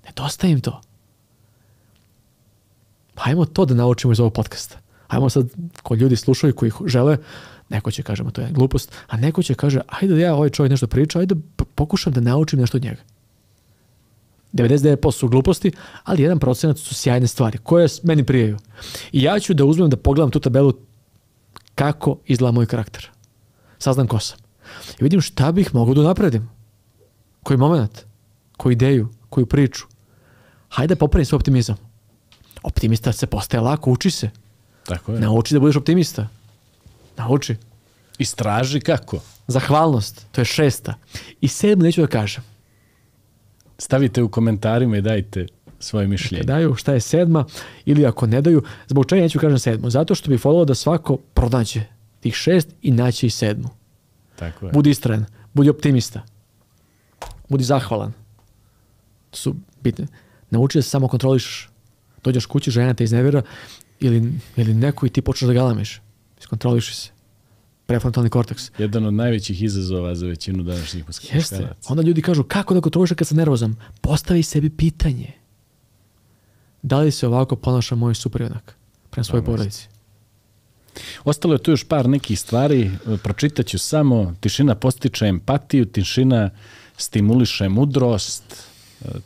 Nedostaje im to. Hajmo to da naučimo iz ovog podcasta. Hajmo sad, ko ljudi slušaju koji žele, neko će kažemo to je glupost, a neko će kaže, ajde da ja ovaj čovjek nešto priča, ajde pokušam da naučim nešto od njega. 99% su gluposti, ali 1% su sjajne stvari koje meni prijaju. I ja ću da uzmem da pogledam tu tabelu kako izgleda moj karakter. Saznam ko sam. I vidim šta bih mogao da napredim. Koji moment, koju ideju, koju priču. Hajde popravim svoj optimizam. Optimista se postaje lako, uči se. Tako je. Nauči da budeš optimista. Nauči. Istraži kako. Zahvalnost, to je 6. I 7 neću da kažem. Stavite u komentarima i dajte svoje mišljenje. Neka daju šta je 7. ili ako ne daju, zbog čega neću kažem 7. Zato što bih volio da svako pronađe tih 6 i naći i 7. Tako je. Budi istrajan, budi optimista. Budi zahvalan. To su bitne. Nauči da se samo kontrolišeš. Dođeš kući, žena te iznevjera ili neko i ti počneš da galamiš. Iskontroliši se. Prefrontalni korteks. Jedan od najvećih izazova za većinu današnjih muškaraca. Jeste. Onda ljudi kažu, kako da kontrolišem kad sam nervozan? Postavi sebi pitanje. Da li se ovako ponaša moj suprjunak prema svojoj porodici? Ostalo je tu još par nekih stvari. Pročitat ću samo. Tišina postiče empatiju, tišina stimuliše mudrost.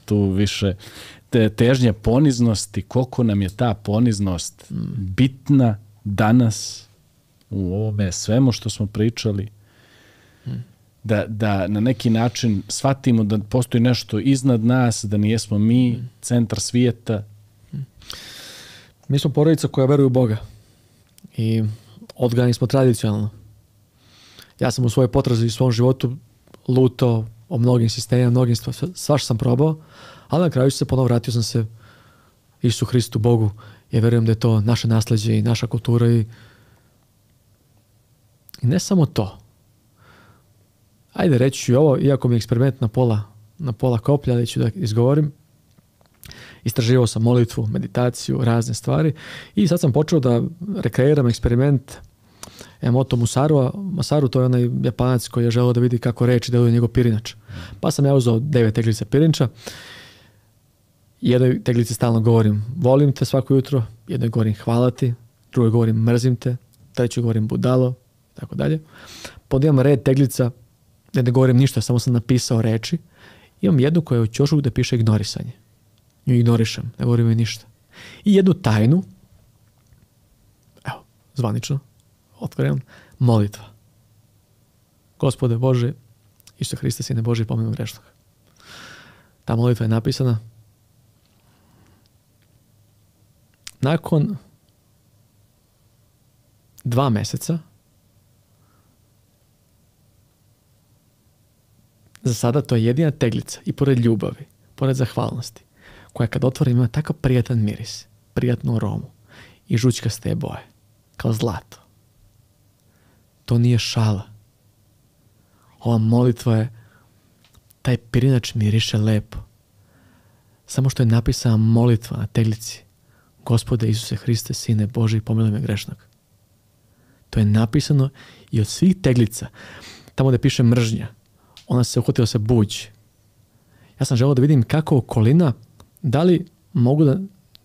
Tu više težnja poniznosti. Koliko nam je ta poniznost bitna danas u ovome svemu što smo pričali. Da na neki način shvatimo da postoji nešto iznad nas, da nijesmo mi centar svijeta. Mi smo porodica koja veruje u Boga i odgajani smo tradicionalno. Ja sam u svojoj potrazi i svom životu lutao o mnogim sistemima, mnogim svašta sam probao, ali na kraju vratio sam se Isusu Hristu, Bogu. Ja verujem da je to naše nasleđe i naša kultura i ne samo to. Ajde, reći ću ovo, iako mi je eksperiment na pola koplja, ali ću da izgovorim. Istraživao sam molitvu, meditaciju, razne stvari i sad sam počeo da rekreiram eksperiment Emoto Masaru, to je onaj Japanac koji je želeo da vidi kako reči deluje njegov pirinač. Pa sam ja uzeo 9 teglica pirinča. Jednoj teglici stalno govorim volim te svako jutro, jednoj govorim hvala ti, drugoj govorim mrzim te, trećoj govorim budalo, tako dalje. Pod imam red teglica, ne govorim ništa, samo sam napisao reči. Imam jednu koja je u ćošku da piše ignorisanje. Nju ignorišem, ne govorim joj ništa. I jednu tajnu, evo, zvanično, otvorim, molitva. Gospode Bože, Isuse Hriste, Sine Bože, pomeni grešnog. Ta molitva je napisana nakon 2 meseca. Za sada to je jedina teglica i pored ljubavi, pored zahvalnosti, koja kad otvorim ima takav prijatan miris, prijatnu aromu i žućkaste boje, kao zlato. To nije šala. Ova molitva je, taj pirinač miriše lepo. Samo što je napisana molitva na teglici. Gospode Isuse Hriste, Sine Boži, pomiluj me grešnog. To je napisano i od svih teglica, tamo gde piše mržnja, ona se uhvatila sa buđ. Ja sam želeo da vidim kako okolina, da li mogu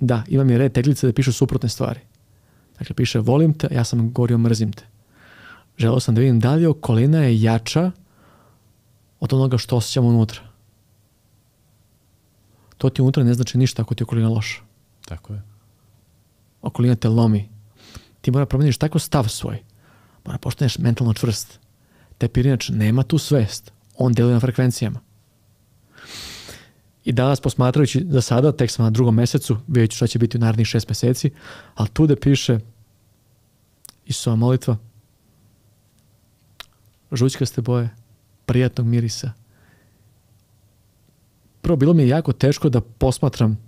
da imam je red teglice da pišu suprotne stvari. Dakle, piše volim te, ja sam govorio mrzim te. Želeo sam da vidim da li okolina je jača od onoga što osjećam unutra. To ti unutra ne znači ništa ako ti je okolina loša. Tako je. Okolina te lomi. Ti mora promeniš tako stav svoj. Mora postaneš mentalno čvrst. Taj pirinač nema tu svest. On deluje na frekvencijama. I danas posmatrajući za sada, tek sam na 2. mesecu, vidjet ću šta će biti u narednih 6 meseci, ali tu da piše Isusova molitva, žućkaste boje, prijatnog mirisa. Prvo, bilo mi je jako teško da posmatram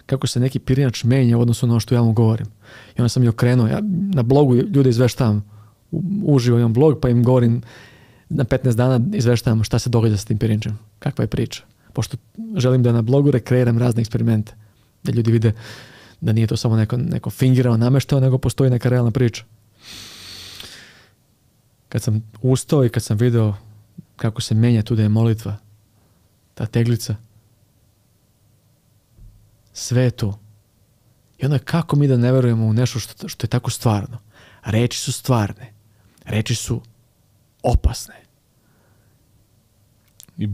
kako se neki pirinač menja u odnosu na ono što ja mu govorim. I onda sam i okrenuo. Ja na blogu ljude izveštavam. Uživo imam blog, pa im govorim na 15 dana izveštavam šta se događa s tim pirinačem. Kakva je priča. Pošto želim da na blogu rekreiram razne eksperimente. Da ljudi vide da nije to samo neko fingirao, nameštao, nego postoji neka realna priča. Kad sam ustao i kad sam video kako se menja tu da je molitva, ta teglica, sve je tu. I onda kako mi da ne verujemo u nešto što je tako stvarno? Reči su stvarne. Reči su opasne. I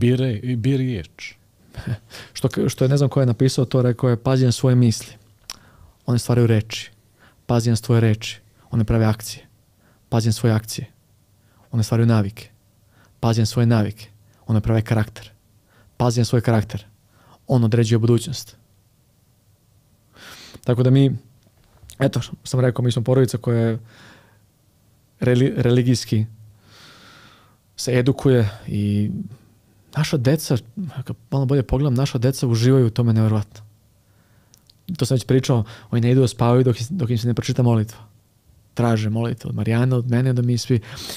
bi riječ. Što je, ne znam ko je napisao to, rekao je pazi na svoje misli. One stvaraju reči. Pazi na svoje reči. One prave akcije. Pazi na svoje akcije. One stvaraju navike. Pazi na svoje navike. One prave karakter. Pazi na svoj karakter. On određuje budućnost. Tako da mi, eto, sam rekao, mi smo porodica koja je religijski se edukuje i naša deca, kad malo bolje pogledam, naša deca uživaju u tome nevjerovatno. To sam već pričao, oni ne idu da spavaju dok im se ne pročita molitva. Traže molitvu od Marijana, od mene, da mi svi.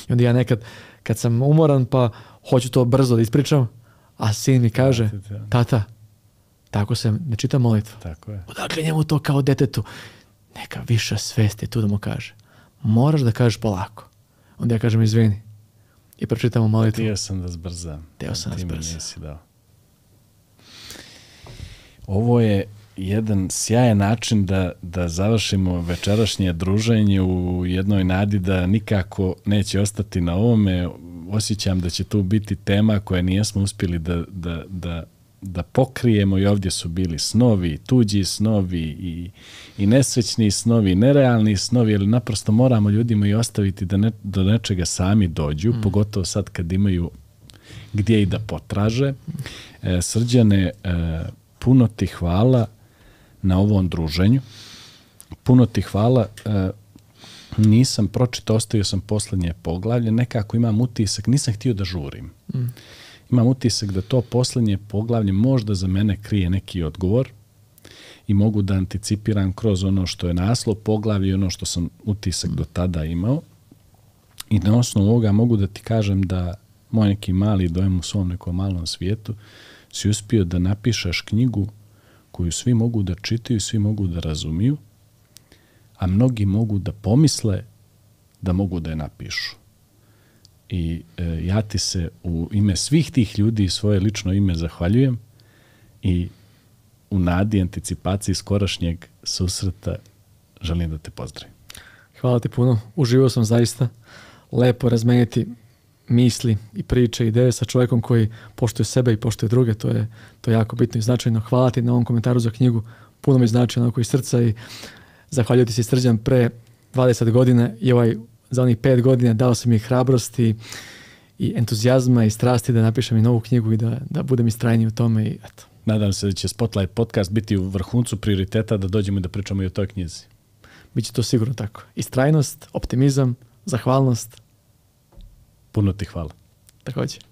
I onda ja nekad, kad sam umoran, pa hoću to brzo da ispričam, a sin mi kaže, tata, tako se ne čita molitva. Tako je. Odakle njemu to kao detetu? Neka viša svest je tu da mu kaže. Moraš da kažeš polako. Onda ja kažem izvini. I pročitamo molitvu. Htio sam da zbrzam. Htio sam da zbrzam. Ovo je jedan sjajan način da završimo večerašnje druženje u jednoj nadi da nikako neće ostati na ovome. Osjećam da će tu biti tema koje nijesmo uspjeli da pokrijemo i ovdje su bili snovi, tuđi snovi i nesrećni snovi, nerealni snovi, ali naprosto moramo ljudima i ostaviti da do nečega sami dođu, pogotovo sad kad imaju gdje i da potraže. Srđane, puno ti hvala na ovom druženju. Puno ti hvala. Nisam pročitao, ostavio sam posljednje poglavlje. Nekako imam utisak, nisam htio da žurim. Imam utisak da to posljednje poglavlje možda za mene krije neki odgovor i mogu da anticipiram kroz ono što je naslov poglavlja i ono što sam utisak do tada imao. I na osnovu ovoga mogu da ti kažem da moj neki mali dojem u svom nekom malom svijetu si uspio da napišeš knjigu koju svi mogu da čitaju, svi mogu da razumiju, a mnogi mogu da pomisle da mogu da je napišu. I ja ti se u ime svih tih ljudi i svoje lično ime zahvaljujem i u nadi anticipaciji skorašnjeg susreta želim da te pozdravim. Hvala ti puno. Uživao sam zaista. Lepo razmeniti misli i priče, ideje sa čovjekom koji poštuje sebe i poštuje druge. To je jako bitno i značajno. Hvala ti na ovom komentaru za knjigu. Puno mi znači onako iz srca i zahvaljujem ti se, Srđan, pre 20 godina i za onih 5 godina dao sam mi hrabrosti i entuzijazma i strasti da napišem i novu knjigu i da budem istrajniji u tome. I eto. Nadam se da će Spotlight podcast biti u vrhuncu prioriteta da dođemo i da pričamo i o toj knjizi. Biće to sigurno tako. Istrajnost, optimizam, zahvalnost. Puno ti hvala. Također.